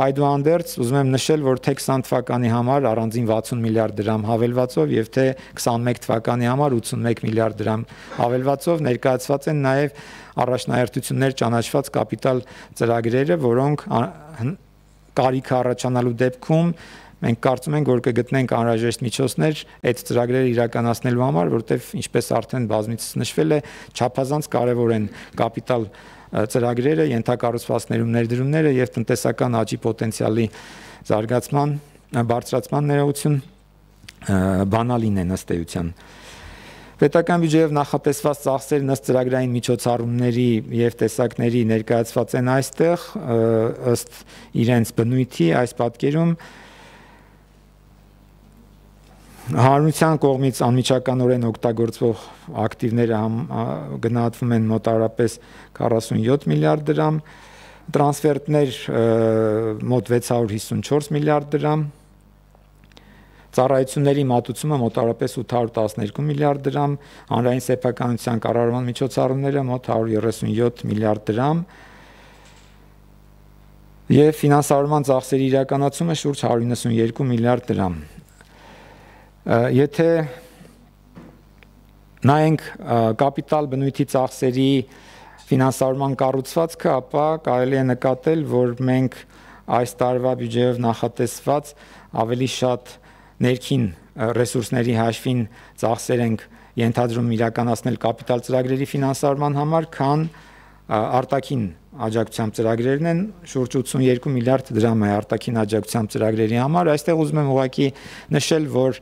C: Այդուհանդերձ ուզում եմ նշել, որ թե քսան թվականի համար առանձին վաթսուն միլիարդ դրամ հավելվածով եւ թե քսաներկու թվականի համար ութսունմեկ միլիարդ դրամ հավելվածով ներկայացված են նաեւ առաջնահերթություններ ճանաչված կապիտալ ծրագրերը, որոնք կարիք առաջանալու դեպքում մենք կարծում ենք, որ կգտնենք անհրաժեշտ միջոցներ այդ ծրագրերը իրականացնելու համար, որտեղ ինչպես արդեն բազմիցս նշվել է, չափազանց կարևոր են կապիտալ ծրագրերը, ենթակառուցվածքներում ներդրումները եւ տնտեսական աճի պոտենցիալի զարգացման, բարձրացման ներողություն բանալին են ըստ էության։ Պետական բյուջեով նախատեսված ծախսերն ըստ ծրագրային միջոցառումների եւ տեսակների ներկայացված են այստեղ ըստ իրենց բնույթի այս պատկերում Հանրության կողմից անմիջականորեն օգտագործվող ակտիվները գնահատվում են մոտավորապես քառասունյոթ միլիարդ դրամ, տրանսֆերտներ մոտ վեց հարյուր հիսունչորս միլիարդ դրամ, ծառայությունների մատուցումը մոտավորապես ութ հարյուր տասներկու միլիարդ դրամ, հանրային սեփականության կառավարման միջոցառումները մոտ հարյուր երեսունյոթ միլիարդ դրամ եւ ֆինանսավորման ծախսերի իրականացումը շուրջ հարյուր իննսունյերկու միլիարդ դրամ։ Եթե նայենք կապիտալ բնույթի ծախսերի ֆինանսավորման կառուցվածքը, ապա կարելի է նկատել, որ մենք այս տարվա բյուջեով նախատեսված ավելի շատ ներքին ռեսուրսների հաշվին ծախսեր ենք ենթադրում իրականացնել կապիտալ ծրագրերի ֆինանսավորման համար, քան արտաքին աջակցությամբ ծրագրերն են, շուրջ ութսունյերկու միլիարդ դրամ է արտաքին աջակցությամբ ծրագրերի համար։ Այստեղ ուզում եմ ուղղակի նշել, որ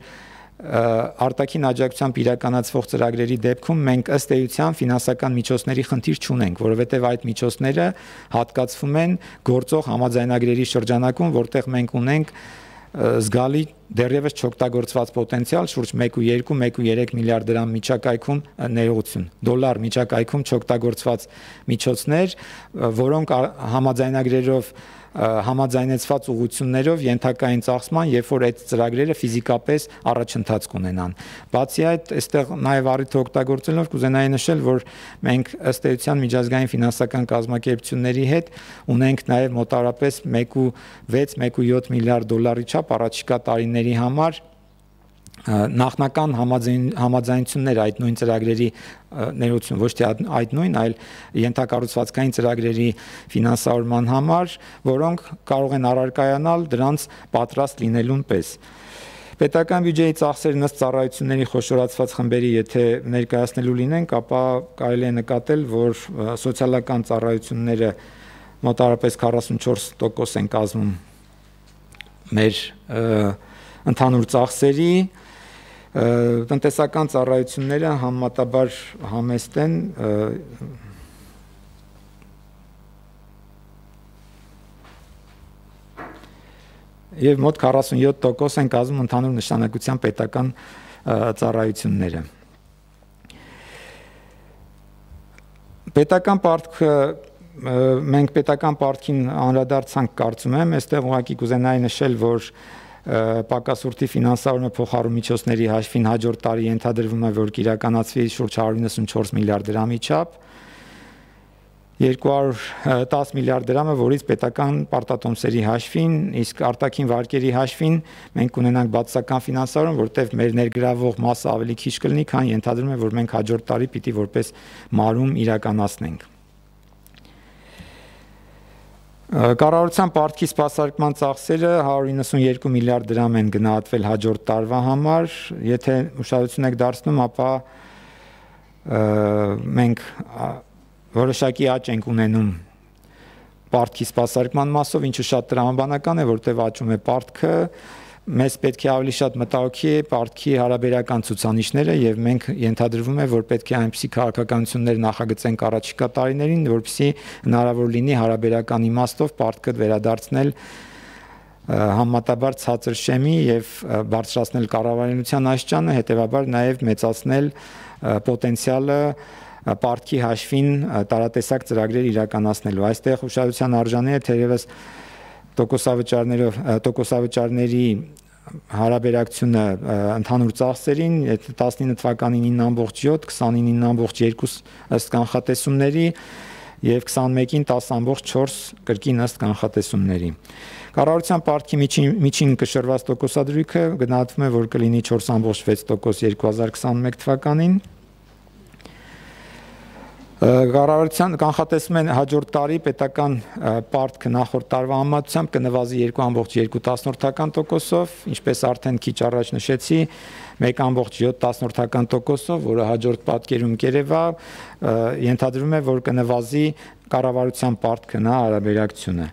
C: արտաքին աջակցությամբ իրականացվող ծրագրերի դեպքում մենք ըստ էության ֆինանսական միջոցների խնդիր չունենք, որովհետև այդ միջոցները հատկացվում են գործող համաձայնագրերի շրջանակում, որտեղ մենք ունենք զգալի դեռևս չօգտագործված պոտենցիալ շուրջ մեկ ու երկու մեկ ու երեք միլիարդ դրամ միջակայքում ներողություն, դոլար միջակայքում չօգտագործված միջոցներ, որոնք համաձայնագրերով համաձայնեցված ուղղություններով ենթակային ծախսման, երբ որ այդ ծրագրերը ֆիզիկապես առաջընթաց կունենան։ Բացի այդ, այստեղ նաև առիթը օգտագործելով կուզենայի նշել, որ մենք ըստ էության միջազգային ֆինանսական կազմակերպությունների հետ ունենք նաև մոտավորապես մեկ ու վեց մեկ ու յոթ միլիարդ դոլարի չափ առաջիկա տարիների համար նախնական համաձայնություններ այդ նույն ծրագրերի ներողություն ոչ թե այդ նույն, այլ ենթակառուցվածքային ծրագրերի ֆինանսավորման համար, որոնք կարող են առարկայանալ դրանց պատրաստ լինելուն պես։ Պետական բյուջեի ծախսերն ըստ ծառայությունների խոշորացված խմբերի եթե ներկայացնելու լինենք, ապա կարելի է նկատել, որ սոցիալական ծառայությունները մոտավորապես քառասունչորս տոկոս են կազմում մեր ընդհանուր ծախսերի, տնտեսական ծառայությունները համեմատաբար համեստ են եւ մոտ քառասունյոթ տոկոս են կազմում ընդհանուր նշանակության պետական ծառայությունները։ Պետական պարտքը մենք պետական պարտքին անդրադարձանք, կարծում եմ, այստեղ ուղղակի կուզենայի նշել, որ պակասուրդի ֆինանսավորումը փոխառու միջոցների հաշվին հաջորդ տարի ենթադրվում է, որ կիրականացվի շուրջ հարյուր իննսունչորս միլիարդ դրամի չափ, երկու հարյուր տասը միլիարդ դրամը, որից պետական պարտատոմսերի հաշվին, իսկ արտաքին վարկերի հաշվին մենք կունենանք բացասական ֆինանսավորում, որտեղ մեր ներգրավող մասը ավելի քիչ կլինի, քան ենթադրում է, որ մենք հաջորդ տարի պիտի որպես մարում իրականացնենք։ Կառավարության պարտքի սպասարկման ծախսերը հարյուր իննսունյերկու միլիարդ դրամ են գնահատվել հաջորդ տարվա համար, եթե ուշադրություն եք դարձնում, ապա մենք որոշակի աճ ենք ունենում պարտքի սպասարկման մասով, ինչը շատ տրամաբանական է, որտեղ աճում է պարտքը, մեզ պետք է ավելի շատ մտահոգի է պարտքի հարաբերական ցուցանիշները եւ մենք ենթադրվում է, որ պետք է այնպիսի քաղաքականություններ նախագծենք առաջիկա տարիներին, որպեսզի հնարավոր լինի հարաբերական իմաստով պարտքը վերադարձնել համեմատաբար ցածր շեմի եւ բարձրացնել կառավարության աստիճանը, հետեւաբար նաեւ մեծացնել պոտենցիալը պարտքի հաշվին տարատեսակ ծրագրեր իրականացնելու։ Այստեղ ուշադրության արժանի է թերևս տոկոսավճարներով տոկոսավճարների հարաբերակցությունը ընդհանուր ծախսերին տասնինը թվականին ինը ամբողջ յոթ, քսանինը ինը ամբողջ երկու ըստ կանխատեսումների եւ քսանմեկին տասը ամբողջ չորս կրկին ըստ կանխատեսումների։ Կառավարության պարտքի միջին միջին կշռված տոկոսադրույքը գնահատվում է, որ կլինի չորս ամբողջ վեց տոկոս երկու հազար քսանմեկ թվականին։ Կառավարության կանխատեսում են հաջորդ տարի պետական պարտքը նախորդ տարվա համեմատությամբ կնվազի երկու ամբողջ երկու տասնորդական տոկոսով, ինչպես արդեն քիչ առաջ նշեցի, մեկ ամբողջ յոթ տասնորդական տոկոսով, որը հաջորդ պատկերում կերևա, ենթադրվում է, որ կնվազի կառավարության պարտքը նա հարաբերակցությունը։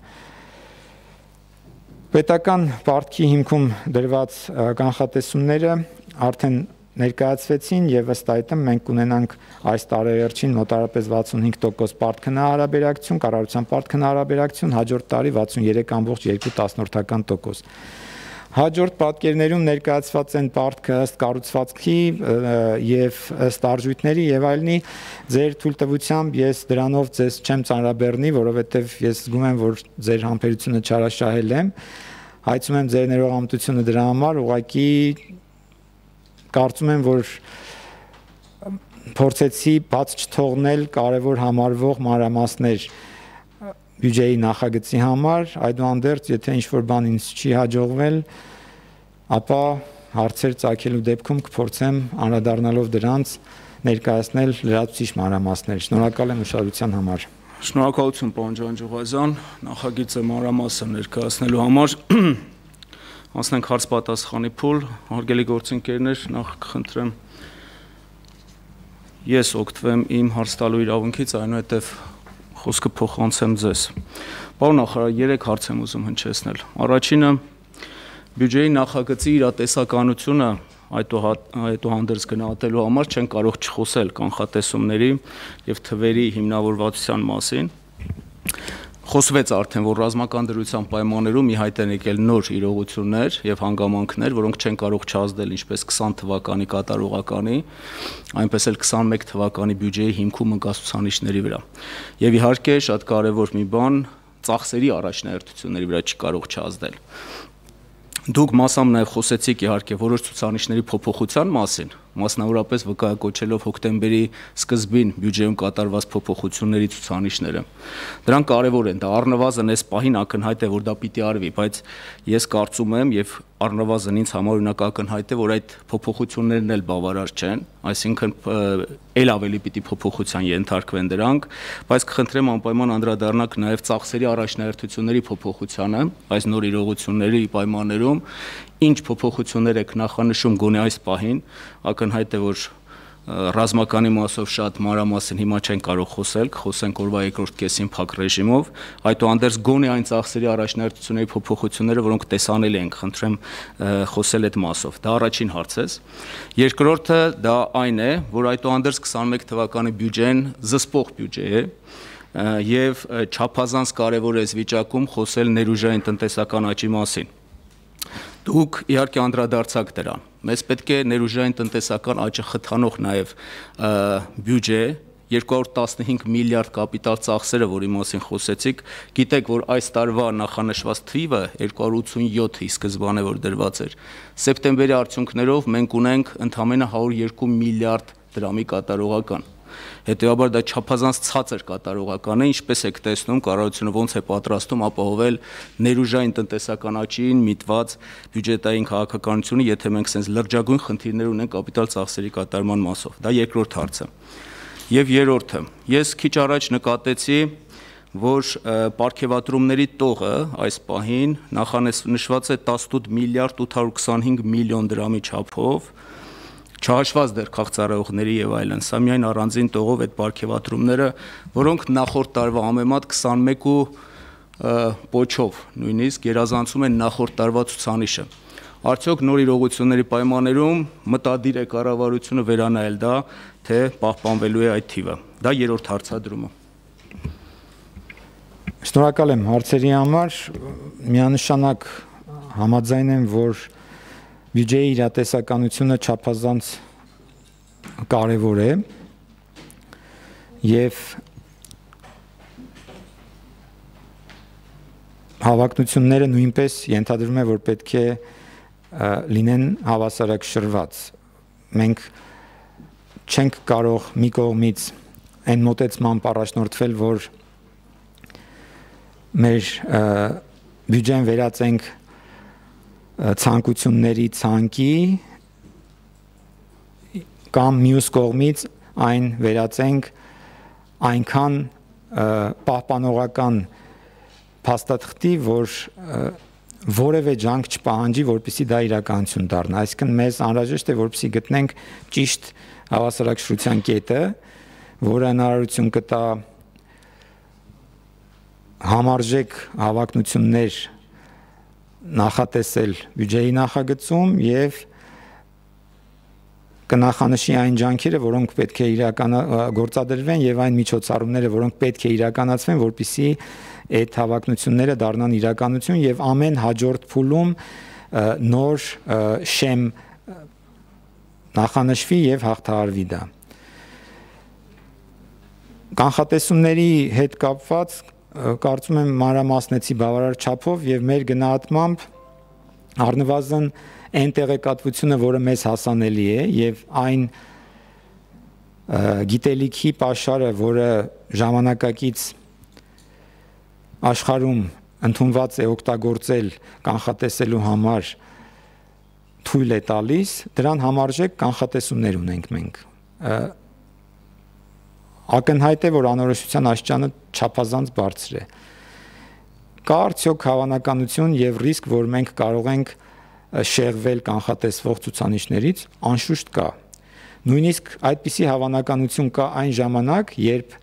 C: Պետական պարտքի հիմքում դրված կանխատեսումները արդեն ներկայացվեցին եւ ըստ այդմ մենք կունենանք այս տարեվերջին մոտարապես վաթսունհինգ տոկոս պարտքնահարաբերակցություն, կառավարության պարտքնահարաբերակցություն, հաջորդ տարի վաթսունյոթ կամբողջ երկու տասնորդական տոկոս։ Հաջորդ պատկերներում ներկայացված են պարտքը ըստ կառուցվածքի եւ ըստ արժույթների եւ այլնի, ձեր թույլտվությամբ ես դրանով ձեզ չեմ ծանրաբեռնի, որովհետեւ ես զգում եմ, որ ձեր համբերությունը չարաշահել եմ, հայցում եմ ձեր ներողամտությունը դրա համար, ուղղակի կարծում եմ, որ փորձեցի բաց չթողնել կարևոր համարվող մանրամասներ բյուջեի նախագծի համար, այդուհանդերձ, եթե ինչ-որ բան ինձ չի հաջողվել, ապա հարցեր ծագելու դեպքում կփորձեմ անդրադառնալով դրանց ներկայացնել լրացուցիչ մանրամասներ։ Շնորհակալ եմ ուշադրության համար։
A: Շնորհակալություն, պարոն Ջանջուղազյան, նախագիծը մանրամասն ներկայացնելու համար։ Անցնենք հարց պատասխանի փուլ, հարգելի գործընկերներ, նախ կխնդրեմ ես օգտվեմ իմ հարց տալու իրավունքից, այնուհետև խոսքը փոխանցեմ ձեզ։ Պարոն նախարար, երեք հարց եմ ուզում հնչեցնել։ Առաջինը բյուջեի նախագծի իրատեսականությունը այդուհանդերձ գնահատելու համար չեն կարող չխոսել կանխատեսումների եւ թվերի հիմնավորվածության մասին։ Խոսվեց արդեն, որ ռազմական դրության պայմաններում ի հայտ են եկել նոր իրողություններ եւ հանգամանքներ, որոնք չեն կարող չազդել ինչպես քսան թվականի կատարողականի, այնպես էլ քսանմեկ թվականի բյուջեի հիմքում ընկած ցուցանիշների վրա։ Եվ իհարկե շատ կարեւոր մի բան, ծախսերի առաջնահերթությունների վրա չի կարող չազդել։ Դուք մասամբ նաև խոսեցիք իհարկե որոշ ցուցանիշների փոփոխության մասին, մասնավորապես վկայակոչելով հոկտեմբերի սկզբին բյուջեում կատարված փոփոխությունների ցուցանիշները։ Դրանք կարևոր են, դա առնվազն այս պահին ակնհայտ է, որ դա պիտի արվի, բայց ես կարծում եմ եւ առնվազն ինձ համար օրինակ ակնհայտ է, որ այդ փոփոխություններն էլ բավարար չեն, այսինքն ել ավելի պիտի փոփոխության ենթարկվեն դրանք, բայց կխնդրեմ անպայման անդրադառնաք նաև ծախսերի առաջնահերթությունների փոփոխությանը, այս նոր իրողությունների պայմաններում, ինչ փոփոխություններ եք նախանշում գոնե այս պահին, ակնհայտ է, որ ռազմականի մասով շատ մանրամասն հիմա չեն կարող խոսել, խոսենք օրվա երկրորդ կեսին փակ ռեժիմով, այդուհանդերձ գոնե այն ծախսերի առաջնահերթությունների փոփոխությունները, որոնք տեսանելի են, խնդրեմ խոսել այդ մասով։ Դա առաջին հարցս։ Երկրորդը դա այն է, որ այդուհանդերձ քսանմեկ թվականի բյուջեն զսպող բյուջե է եւ չափազանց կարեւոր է այս վիճակում խոսել ներուժային տնտեսական աճի մասին։ Դուք իհարկե անդրադարձաք դրան։ Մեզ պետք է ներուժային տնտեսական աճը խթանող նաև բյուջե, երկու հարյուր տասնհինգ միլիարդ կապիտալ ծախսերը, որի մասին խոսեցիք, գիտեք, որ այս տարվա նախանշված թիվը երկու հարյուր ութսունյոթ-ի սկզբանե որ դրված էր։ Սեպտեմբերի արդյունքներով մենք ունենք ընդամենը հարյուր երկու միլիարդ դրամի կատարողական։ Հետևաբար դա չափազանց ցածր կատարողական է, ինչպես եք տեսնում, կառավարությունը ոնց է պատրաստում ապահովել ներուժային տնտեսական աճին միտված բյուջետային քաղաքականությունը, եթե մենք sense լրջագույն խնդիրներ ունենք կապիտալ ծախսերի կատարման մասով։ Դա երկրորդ հարցը։ Եվ երրորդը, ես քիչ առաջ նկատեցի, որ պարգևատրումների տողը այս պահին նախանշված է տասնութ միլիարդ ութ հարյուր քսանհինգ միլիոն դրամի չափով, չհաշված դեռ քաղցարայողների եւ այլն, սա միայն առանձին տողով այդ պարգևատրումները, որոնք նախորդ տարվա համեմատ քսանմեկ ու պոչով նույնիսկ գերազանցում են նախորդ տարվա ցուցանիշը։ Արդյոք նոր իրողությունների պայմաններում մտադիր է կառավարությունը վերանայել դա, թե պահպանվելու է այդ թիվը։ Դա երրորդ հարցադրումը։
C: Շնորհակալ եմ հարցերի համար, միանշանակ համաձայն եմ, որ բյուջեի իրատեսականությունը չափազանց կարևոր է եւ հավակնությունները նույնպես ենթադրվում է, որ պետք է լինեն հավասարակշռված։ Մենք չենք կարող մի կողմից այն մոտեցմամբ առաջնորդվել, որ մեր բյուջեն վերածենք ցանկությունների ցանկի կամ մյուս կողմից այն վերածենք այնքան պահպանողական փաստաթղթի, որ որևէ ջանք չպահանջի, որպեսզի դա իրականություն դառնա։ Այսինքն մեզ անհրաժեշտ է, որպեսզի գտնենք ճիշտ հավասարակշռության կետը, որը հնարավորություն կտա համարժեք հավակնություններ նախատեսել բյուջեի նախագծում եւ կնախանշի այն ջանքերը, որոնք պետք է իրականագործադրվեն եւ այն միջոցառումները, որոնք պետք է իրականացվեն, որպեսզի այդ հավակնությունները դառնան իրականություն եւ ամեն հաջորդ փուլում նոր շեմ նախանշվի եւ հաղթահարվի դա։ Կանխատեսումների հետ կապված կարծում եմ մանրամասնեցի բավարար չափով եւ մեր գնահատմամբ առնվազն այն տեղեկատվությունը, որը մեզ հասանելի է եւ այն գիտելիքի պաշարը, որը ժամանակակից աշխարհում ընդունված է օգտագործել կանխատեսելու համար թույլ է տալիս, դրան համարժեք կանխատեսումներ ունենք մենք։ Ակնհայտ է, որ անորոշության աստիճանը չափազանց բարձր է։ Կա արդյոք հավանականություն եւ ռիսկ, որ մենք կարող ենք շեղվել կանխատեսվող ցուցանիշներից, անշուշտ կա։ Նույնիսկ այդպիսի հավանականություն կա այն ժամանակ, երբ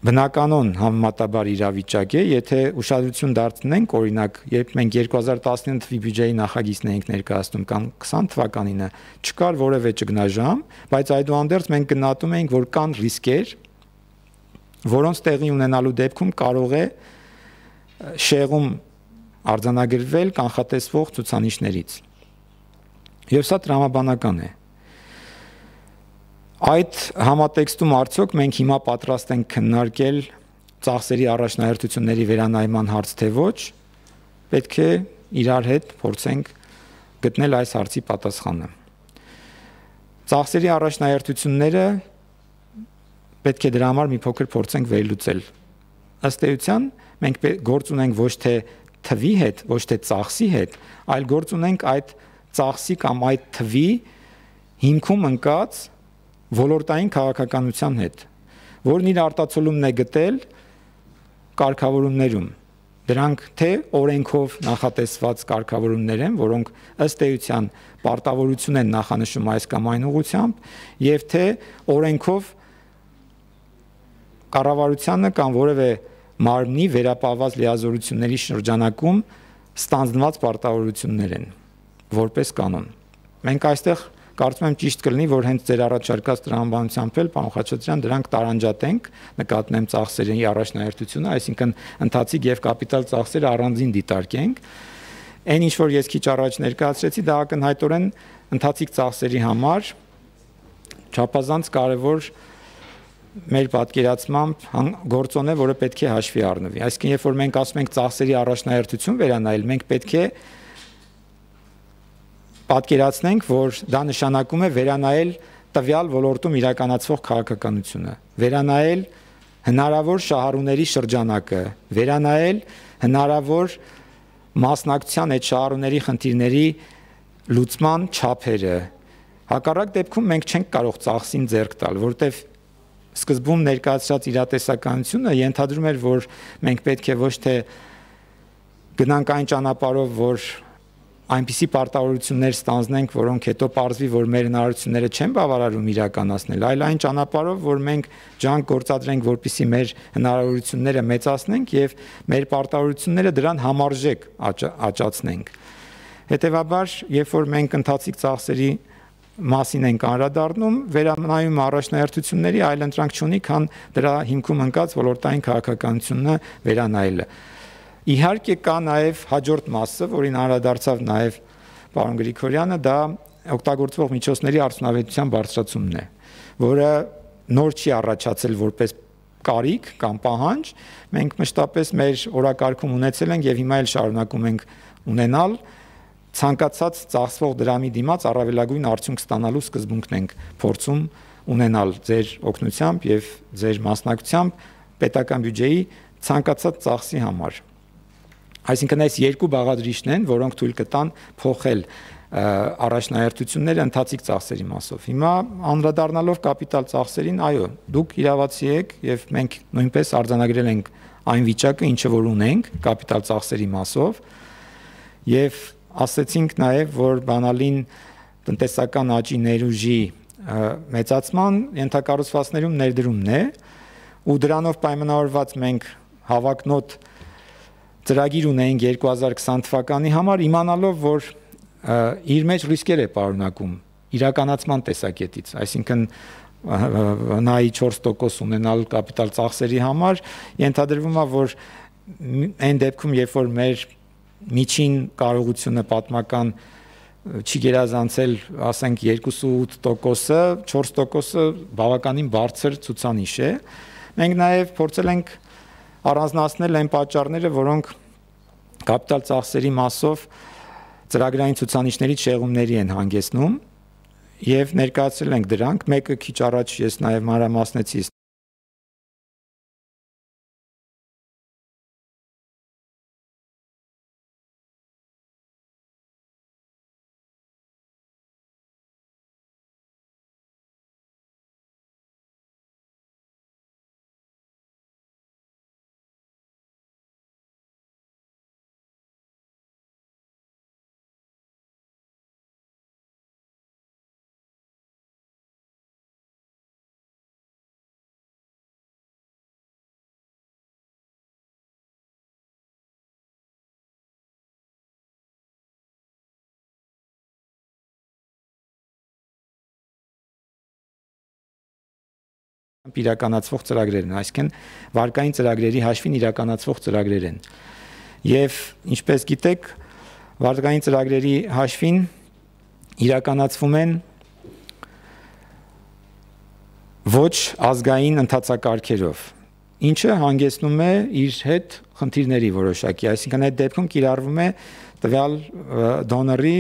C: բնականon համեմատաբար իրավիճակ է, եթե ուշադրություն դարձնենք, օրինակ, երբ մենք երկու հազար տասնինը թվականի բյուջեի նախագիծն էինք ներկայացնում կամ քսան թվականինը, չկար որևէ ճգնաժամ, բայց այդուհանդերձ մենք գնահատում էինք, որ կան ռիսկեր, որոնց տեղի ունենալու դեպքում կարող է շեղում արձանագրվել կանխատեսվող ցուցանիշներից։ Եվ սա տրամաբանական է։ Այդ համատեքստում արդյոք մենք հիմա պատրաստ ենք քննարկել ծախսերի առաջնահերթությունների վերանայման հարց թե ոչ, պետք է իրար հետ փորձենք գտնել այս հարցի պատասխանը։ Ծախսերի առաջնահերթությունները պետք է դրա համար մի փոքր փորձենք վերլուծել։ Ըստ էության մենք գործ ունենք ոչ թե թվի հետ, ոչ թե ծախսի հետ, այլ գործ ունենք այդ ծախսի կամ այդ թվի հիմքում ընկած ոլորտային քաղաքականության հետ, որն իր արտացոլումն է գտել կարգավորումներում։ Դրանք թե օրենքով նախատեսված կարգավորումներ են, որոնք ըստ էության պարտավորություն են նախանշում այս կամ այն ուղղությամբ, եւ թե օրենքով կառավարությանը կամ որևէ մարմնի վերապահված լիազորությունների շրջանակում ստանձնված պարտավորություններ են որպես կանոն։ Մենք այստեղ կարծում եմ ճիշտ կլինի, որ հենց ձեր առաջարկած տրամաբանությամբ էլ, պարոն Խաչատրյան, դրանք տարանջատենք, նկատնեմ ծախսերի առաջնահերթությունը, այսինքն ընթացիկ եւ կապիտալ ծախսերը առանձին դիտարկենք։ Այն ինչ որ ես քիչ առաջ ներկայացրեցի, դա ակնհայտորեն ընթացիկ ծախսերի համար չափազանց կարևոր մեր պատկերացմամբ գործոն է, որը պետք է հաշվի առնվի։ Այսինքն, երբ որ մենք ասում ենք ծախսերի առաջնահերթություն վերանայել, մենք պետք է պատկերացնենք, որ դա նշանակում է վերանայել տվյալ ոլորտում իրականացվող քաղաքականությունը, վերանայել հնարավոր շահառուների շրջանակը, վերանայել հնարավոր մասնակցության այդ շահառուների խնդիրների լուծման չափերը։ Հակառակ դեպքում մենք չենք կարող ծախսին ձեռք տալ, որտեղ սկզբում ներկայացրած իրատեսականությունը ենթադրում էր, որ մենք պետք է ոչ թե գնանք այն ճանապարհով, որ այնպիսի պարտավորություններ ստանձնենք, որոնք հետո պարզվի, որ մեր հնարավորությունները չեն բավարարում իրականացնել, այլ այն ճանապարհով, որ մենք ջանք գործադրենք, որպեսզի մեր հնարավորությունները մեծացնենք եւ մեր պարտավորությունները դրան համարժեք աճացնենք։ Հետևաբար, երբ որ մենք ընթացիկ ծախսերի մասին ենք անդրադառնում, վերանայում առաջնահերթությունների այլ ընտրանք չունի, քան դրա հիմքում ընկած ոլորտային քաղաքականությունը վերանայելը։ Իհարկե կա նաև հաջորդ մասը, որին անդրադարձավ նաև պարոն Գրիգորյանը, դա օգտագործվող միջոցների արդյունավետության բարձրացումն է, որը նոր չի առաջացել որպես կարիք կամ պահանջ, մենք մշտապես մեր օրակարգում ունեցել ենք եւ հիմա էլ շարունակում ենք ունենալ, ցանկացած ծախսվող դրամի դիմաց առավելագույն արդյունք ստանալու սկզբունքն ենք փորձում ունենալ ձեր օգնությամբ եւ ձեր մասնակցությամբ պետական բյուջեի ցանկացած ծախսի համար։ Այսինքն այս երկու բաղադրիչն են, որոնք թույլ կտան փոխել առաջնահերթությունները ընթացիկ ծախսերի մասով։ Հիմա անդրադառնալով կապիտալ ծախսերին, այո, դուք իրավացի եք եւ մենք նույնպես արձանագրել ենք այն վիճակը, ինչը որ ունենք կապիտալ ծախսերի մասով եւ ասացինք նաեւ, որ բանալին տնտեսական աճի ներուժի մեծացման ենթակառուցվածքներում ներդրումն է ու դրանով պայմանավորված մենք հավակնոտ ծրագիր ունեինք երկու հազար քսան թվականի համար, իմանալով, որ իր մեջ ռիսկեր է պարունակում իրականացման տեսակետից, այսինքն նայի չորս տոկոս ունենալ կապիտալ ծախսերի համար ենթադրվում է, որ այն դեպքում, երբ որ մեր միջին կարողությունը պատմական չի գերազանցել, ասենք երկուսուութ տոկոսը, չորս տոկոսը բավականին բարձր ցուցանիշ է։ Մենք նաև փորձել ենք առանձնացնել այն պատճառները, որոնք կապիտալ ծախսերի մասով ծրագրային ցուցանիշների շեղումների են հանգեցնում եւ ներկայացրել ենք դրանք, մեկը քիչ առաջ ես նաև մանրամասնեցի իրականացվող ծրագրեր են, այսինքն վարկային ծրագրերի հաշվին իրականացվող ծրագրեր են։ Եվ ինչպես գիտեք, վարկային ծրագրերի հաշվին իրականացվում են ոչ ազգային ընթացակարգերով, ինչը հանգեցնում է իր հետ խնդիրների որոշակի, այսինքն այդ դեպքում կիրառվում է տվյալ դոնորի,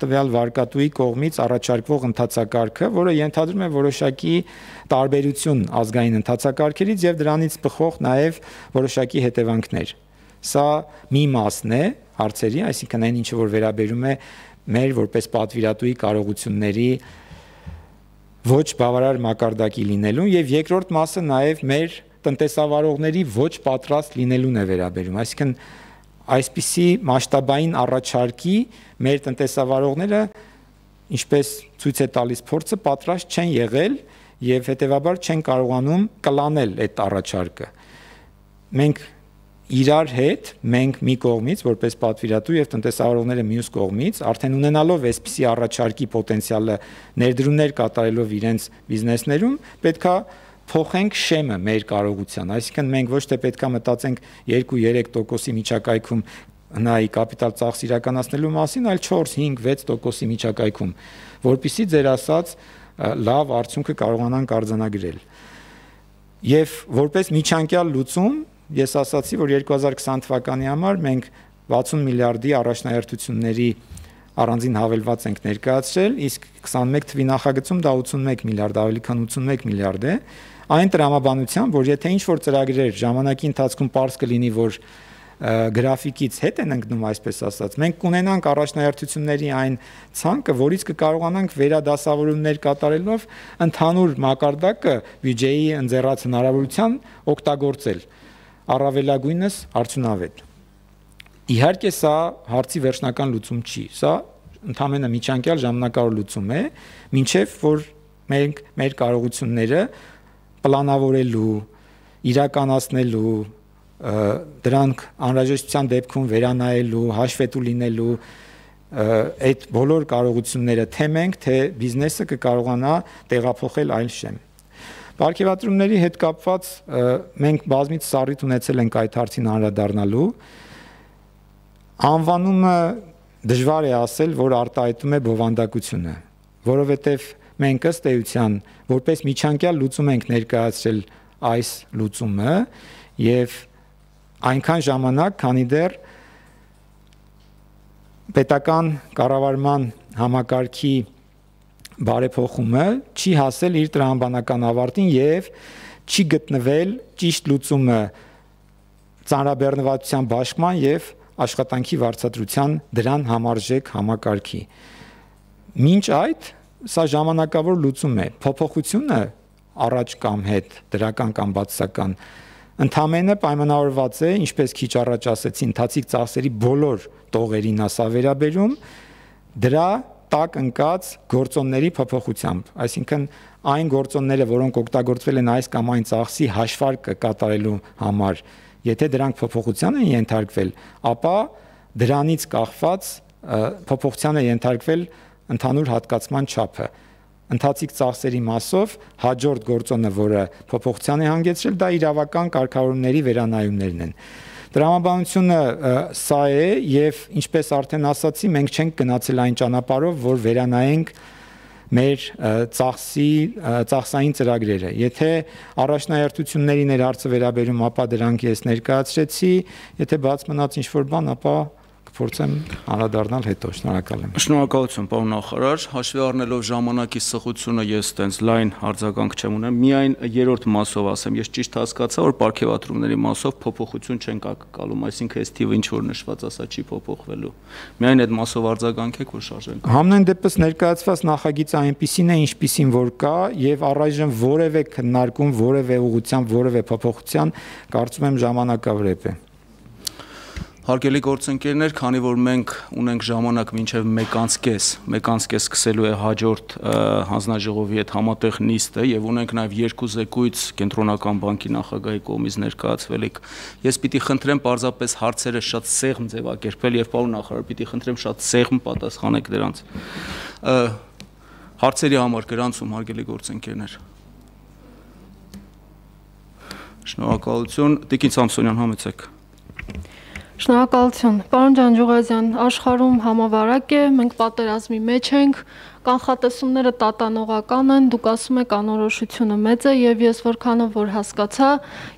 C: տվյալ վարկատուի կողմից առաջարկվող ընթացակարգը, որը ենթադրում է որոշակի տարբերություն ազգային ընթացակարգերից եւ դրանից բխող նաեւ որոշակի հետևանքներ։ Սա մի մասն է հարցերի, այսինքն այն ինչը որ վերաբերում է մեր որպես պատվիրատուի կարողությունների ոչ բավարար մակարդակի լինելուն եւ երկրորդ մասը նաեւ մեր տնտեսավարողների ոչ պատրաստ լինելուն է վերաբերում, այսինքն այսպիսի մասշտաբային առաջարկի մեր տնտեսավարողները, ինչպես ցույց է տալիս փորձը, պատրաստ չեն եղել եւ հետեւաբար չեն կարողանում կլանել այդ առաջարկը։ Մենք իրար հետ, մենք մի կողմից, որպես պատվիրատու եւ տնտեսավարողները մյուս կողմից, արդեն ունենալով այսպիսի առաջարկի պոտենցիալը ներդրումներ կատարելով իրենց բիզնեսներում, պետքա փոխենք շեմը մեր կարողության, այսինքն մենք ոչ թե պետքա մտածենք երկու-երեք տոկոսի միջակայքում նայի կապիտալ ծախս իրականացնելու մասին, այլ չորս, հինգ, վեց տոկոսի միջակայքում, որpիսի ձեր ասած լավ արդյունքը կարողանանք արձանագրել։ Եվ որպես միջանկյալ լուծում, ես ասացի, որ երկու հազար քսան թվականի համար մենք վաթսուն միլիարդի առաջնահերթությունների առանձին հավելված ենք ներկայացրել, իսկ քսանմեկ թվականի նախագծում դա ութսունմեկ միլիարդ, ավելի քան ութսունմեկ միլիարդ է, այն տրամաբանությամբ, որ եթե ինչ-որ ծրագրեր ժամանակի ընթացքում պարզ կլինի, որ գրաֆիկից հետ են ընկնում, այսպես ասած, մենք կունենանք առաջնահերթությունների այն ցանկը, որից կկարողանանք վերադասավորումներ կատարելով ընդհանուր մակարդակը բյուջեի ընձեռած հնարավորության օգտագործել, առավելագույնս արդյունավետ։ Իհարկե սա հարցի վերջնական լուծում չի, սա ընդհանրապես միջանկյալ ժամանակավոր լուծում է, մինչև որ մենք մեր կարողությունները պլանավորելու, իրականացնելու, դրանք անհրաժեշտության դեպքում վերանայելու, հաշվետու լինելու այդ բոլոր կարողությունները թե մենք, թե բիզնեսը կկարողանա տեղափոխել այլ շեմ։ Պարգևատրումների հետ կապված մենք բազմիցս առիթ ունեցել ենք այդ հարցին անդրադառնալու։ Անվանումը դժվար է ասել, որ արտահայտում է բովանդակությունը, որովհետև մենք ըստ էության որպես միջանկյալ լուծում ենք ներկայացրել այս լուծումը եւ այնքան ժամանակ, քանի դեռ պետական կառավարման համակարգի բարեփոխումը չի հասել իր տրամաբանական ավարտին եւ չի գտնվել ճիշտ լուծումը ծանրաբեռնվածության բաշխման եւ աշխատանքի վարձատրության դրան համարժեք համակարգի։ Մինչ այդ սա ժամանակավոր լուծում է, փոփոխությունը առաջ կամ հետ, դրական կամ բացասական, ընդհանրապես պայմանավորված է, ինչպես քիչ առաջ ասեցի, ընթացիկ ծախսերի բոլոր տողերին ասա վերաբերում, դրա տակ ընկած գործոնների փոփոխությամբ, այսինքն այն գործոնները, որոնք օգտագործվել են այս կամ այն ծախսի հաշվարկը կատարելու համար, եթե դրանք փոփոխության են ենթարկվել, ապա դրանից կախված փոփոխության է ենթարկվել ընդհանուր հատկացման չափը։ Ընթացիկ ծախսերի մասով հաջորդ գործոնը, որը փոփոխության է հանգեցրել, դա իրավական կարգավորումների վերանայումներն են։ Տրամաբանությունը սա է եւ ինչպես արդեն ասացի, մենք չենք գնացել այն ճանապարհով, որ վերանայենք մեր ծախսի ծախսային ծրագրերը։ Եթե առաջնահերթությունների ներհարցը վերաբերում, ապա դրանք ես ներկայացրեցի, եթե բաց մնաց ինչ-որ բան, ապա կփորձեմ անդրադառնալ հետո։ Շնորհակալ եմ։
A: Շնորհակալություն, պարոն նախարար։ Հաշվի առնելով ժամանակի սղությունը, ես տենց լայն արձագանք չեմ ունեմ։ Միայն երրորդ մասով ասեմ, ես ճիշտ հասկացա, որ պարգևատրումների մասով փոփոխություն չեն կալում, այսինքն այս թիվը ինչ որ նշված, ասա չի փոփոխվելու։ Միայն այդ մասով արձագանքեք, որ շարժենք։
C: Համենայն դեպս ներկայացված նախագիծը այնպիսին է, ինչպիսին որ կա, եւ առայժմ որևէ քննարկում, որևէ ուղղությամբ, որևէ փոփոխության կարծում եմ ժամանակավրեպ է։
A: Հարգելի գործընկերներ, քանի որ մենք ունենք ժամանակ մինչև մեկ անց կես, մեկ անց կես սկսելու է հաջորդ հանձնաժողովի հետ համատեղ նիստը եւ ունենք նաեւ երկու զեկույց Կենտրոնական բանկի նախագահի կողմից ներկայացվելիք, ես պիտի խնդրեմ պարզապես հարցերը շատ սեղմ ձևակերպել եւ պարոն նախարար, պիտի խնդրեմ շատ սեղմ պատասխանեք դրանց։ Հարցերի համար գրանցում, հարգելի գործընկերներ։ Շնորհակալություն, Տիկին Սամսոնյան, համեցեք։
D: Շնորհակալություն, պարոն Ջանջուղազյան, աշխարհում համավարակ է, մենք պատերազմի մեջ ենք, կանխատեսումները տատանողական են, դուք ասում եք անորոշությունը մեծ է եւ ես որքանով որ հասկացա,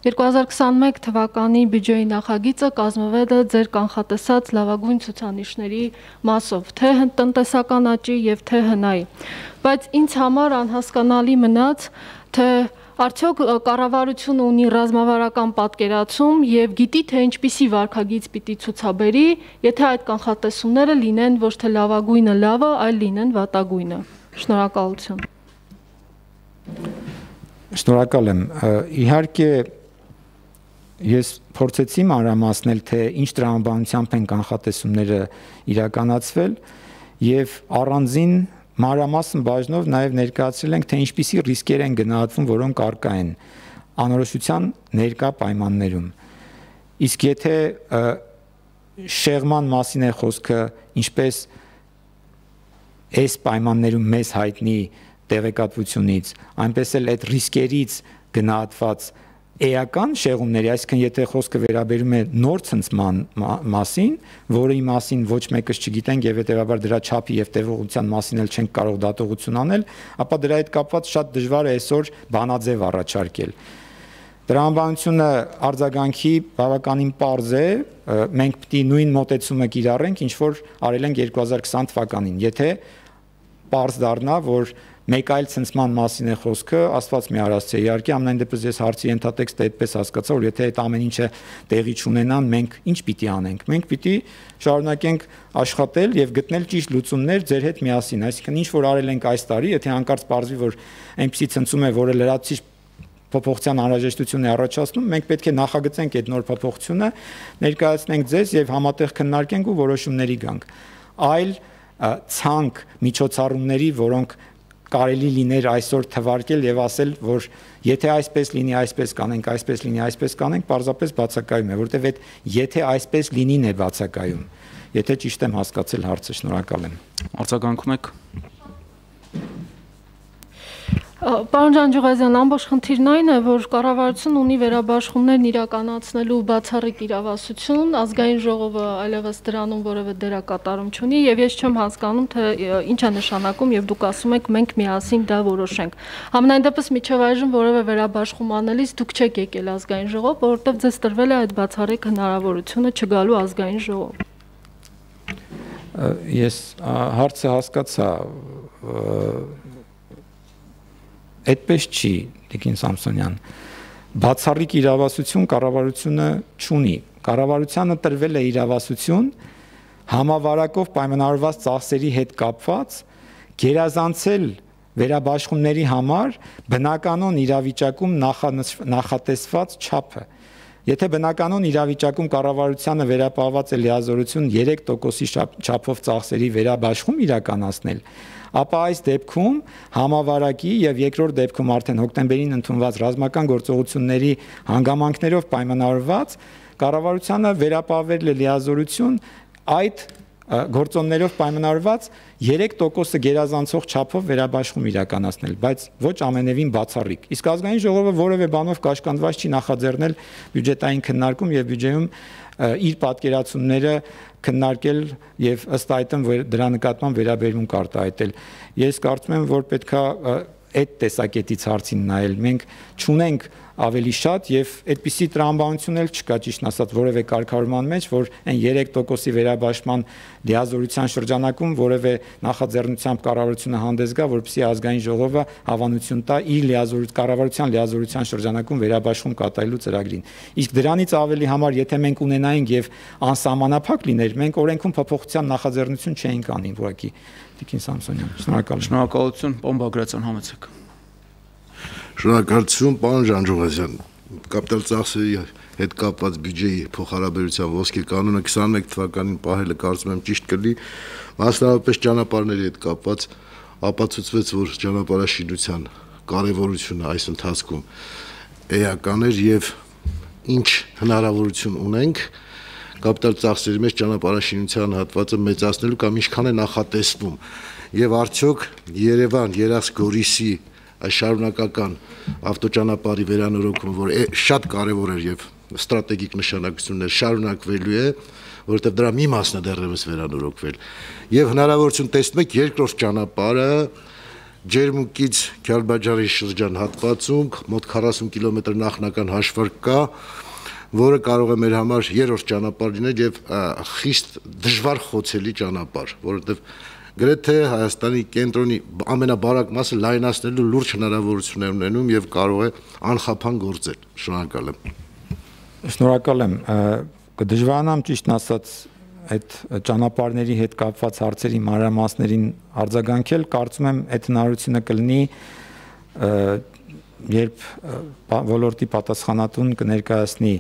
D: երկու հազար քսաներկու թվականի բյուջեի նախագիծը կազմվել է ձեր կանխատեսած լավագույն ցուցանիշների մասով, թե տնտեսական աճի եւ թե հնայի։ Բայց ինձ համար անհասկանալի մնաց, թե արդյոք կառավարությունը ունի ռազմավարական պատկերացում եւ գիտի թե ինչպիսի վարքագիծ պիտի ցուցաբերի, եթե այդ կանխատեսումները լինեն ոչ թե լավագույնը լավը, այլ լինեն վատագույնը։ Շնորհակալություն։
C: Շնորհակալ եմ։ Իհարկե ես փորձեցի մանրամասնել, թե ինչ տրամաբանությամբ են կանխատեսումները իրականացվել եւ առանձին մանրամասն բաժնով նաև ներկայացրել ենք, թե ինչպիսի ռիսկեր են գնահատվում, որոնք առկա են անորոշության ներկա պայմաններում։ Իսկ եթե շեղման մասին է խոսքը, ինչպես այս պայմաններում մեզ հայտնի տեղեկատվությունից, այնպես էլ այդ ռիսկերից գնահատված էական շեղումների, այսինքն եթե խոսքը վերաբերում է նոր ցնցման մասին, որի մասին ոչ մեկս չգիտենք եւ հետեւաբար դրա չափի եւ տևողության մասին էլ չենք կարող դատողություն անել, ապա դրա հետ կապված շատ դժվար է այսօր բանաձև առաջարկել։ Տրամաբանությունը արձագանքի բավականին պարզ է, մենք պետք է նույն մոտեցումը կիրառենք, ինչ որ արել ենք երկու հազար քսան թվականին, եթե պարզ դառնա, որ մեկ այլ ցնցման մասին է խոսքը, Աստված մի արածի է, իհարկե ամենայն դեպս ես հարցի ենթատեքստը այդպես հասկացա, որ եթե այդ ամեն ինչը տեղի չունենան, մենք ինչ պիտի անենք։ Մենք պիտի շարունակենք աշխատել եւ գտնել ճիշտ լուծումներ ձեր հետ միասին, այսինքն ինչ որ արել ենք այս տարի, եթե հանկարծ պարզվի, որ այնպեսի ցնցում է, որը լրացուցիչ փոփոխության անհրաժեշտություն է առաջացնում, մենք պետք է նախագծենք այդ նոր փոփոխությունը, ներկայացնենք ձեզ եւ համատեղ քննարկենք ու որոշումների գանք։ Այլ ցանկ միջոցառումների, որոնք կարելի լիներ այսօր թվարկել եւ ասել, որ եթե այսպես լինի, այսպես կանենք, այսպես լինի, այսպես կանենք, պարզապես բացակայում է, որտեվ այդ եթե այսպես լինին է բացակայում։ Եթե ճիշտ եմ հասկացել հարցը, շնորհակալ եմ։
A: Արձագանքում եք։
D: Պարոն Ջանջուղազյան, ամբողջ խնդիրն այն է, որ կառավարությունն ունի վերաբաշխումներն իրականացնելու բացառիկ իրավասություն, ազգային ժողովը այլևս դրանում որևէ դերակատարում չունի եւ ես չեմ հասկանում, թե ինչ է նշանակում եւ դուք ասում եք մենք միասին դա որոշենք։ Համենայն դեպս միջև այժմ որևէ վերաբաշխում անելիս դուք չեք եկել ազգային ժողով, որովհետեւ ձեզ տրվել է այդ բացառիկ հնարավորությունը չգալու ազգային ժողով։
C: Ես հարցը հասկացա, այդպես չի, Տիկին Սամսոնյան, բացառիկ իրավասություն կառավարությունը չունի, կառավարությանը տրվել է իրավասություն համավարակով պայմանավորված ծախսերի հետ կապված գերազանցել վերաբաշխումների համար բնականոն իրավիճակում նախատեսված չափը։ Եթե բնականոն իրավիճակում կառավարությանը վերապահված է լիազորություն երեք տոկոսի չափով ծախսերի վերաբաշխում իրականացնել, ապա այս դեպքում համավարակի եւ երկրորդ դեպքում արդեն հոկտեմբերին ընդունված ռազմական գործողությունների հանգամանքներով պայմանավորված կառավարությանը վերապահվել է լիազորություն այդ գործոններով պայմանավորված երեք տոկոսը գերազանցող չափով վերաբաշխում իրականացնել, բայց ոչ ամենևին բացառիկ։ Իսկ ազգային ժողովը որևէ բանով կաշկանդված չի նախաձեռնել բյուջետային քննարկում եւ բյուջեում իր պատկերացումները քննարկել եւ ըստ այդմ դրա նկատմամբ վերաբերմունք արտահայտել։ Ես կարծում եմ, որ պետքա այդ տեսակետից հարցին նայել։ Մենք չունենք ավելի շատ եւ այդպիսի տրամաբանություն էլ չկա, ճիշտ ասած, որևէ կարգավորման մեջ, որ այն երեք տոկոսի վերաբաշխման լիազորության շրջանակում որևէ նախաձեռնությամբ կառավարությունը հանդես գա, որպեսզի ազգային ժողովը հավանություն տա իր լիազորության կառավարության լիազորության շրջանակում վերաբաշխում կատարելու ծրագրին։ Իսկ դրանից ավելի համար, եթե մենք ունենայինք եւ անսահմանափակ լիներ, մենք օրենքում փոփոխության նախաձեռնություն չէինք անի, ուղղակի։ Տիկին Սամսոնյան, շնորհակալ եմ։
A: Շնորհակալություն, պարոն Բագրատյան, համեցեք։
E: Շնորհակալություն, պարոն Ժանջուղազյան։ Կապիտալ ծախսերի հետ կապված բյուջեի փոխհարաբերության ոսկե կանոնը քսաներեք թվականին պահելը կարծում եմ ճիշտ կլինի, մասնավորապես ճանապարհների հետ կապված ապացուցվեց, որ ճանապարհաշինության կարևորությունը այս ընթացքում էական էր եւ ինչ հնարավորություն ունենք կապիտալ ծախսերի մեջ ճանապարհաշինության հատվածը մեծացնելու կամ ինչքան է նախատեսվում եւ արդյոք Երևան, Երևան-Գորիսի այս շարունակական ավտոճանապարհի վերանորոգումը, որ շատ կարևոր էր եւ ստրատեգիկ նշանակություն էր, շարունակվելու է, որովհետեւ դրա մի մասն է դեռևս վերանորոգվել եւ հնարավորություն տեսնում եք երկրորդ ճանապարհը Ջերմուկից Քյալբաջարի շրջան հատվածում մոտ քառասուն կիլոմետր նախնական հաշվարկ կա, որը կարող է մեր համար երրորդ ճանապարհ լինել եւ խիստ դժվար խոցելի ճանապարհ, որովհետեւ գրեթե Հայաստանի կենտրոնի ամենաբարակ մասը լայնացնելու լուրջ հնարավորություն է ունենում եւ կարող է անխափան գործել։ Շնորհակալ եմ։
C: Շնորհակալ եմ։ Կդժվարանամ ճիշտ ասած այդ ճանապարհների հետ կապված հարցերի մանրամասներին արձագանքել, կարծում եմ այդ հնարավորությունը կլինի երբ ոլորտի պատասխանատուն կներկայացնի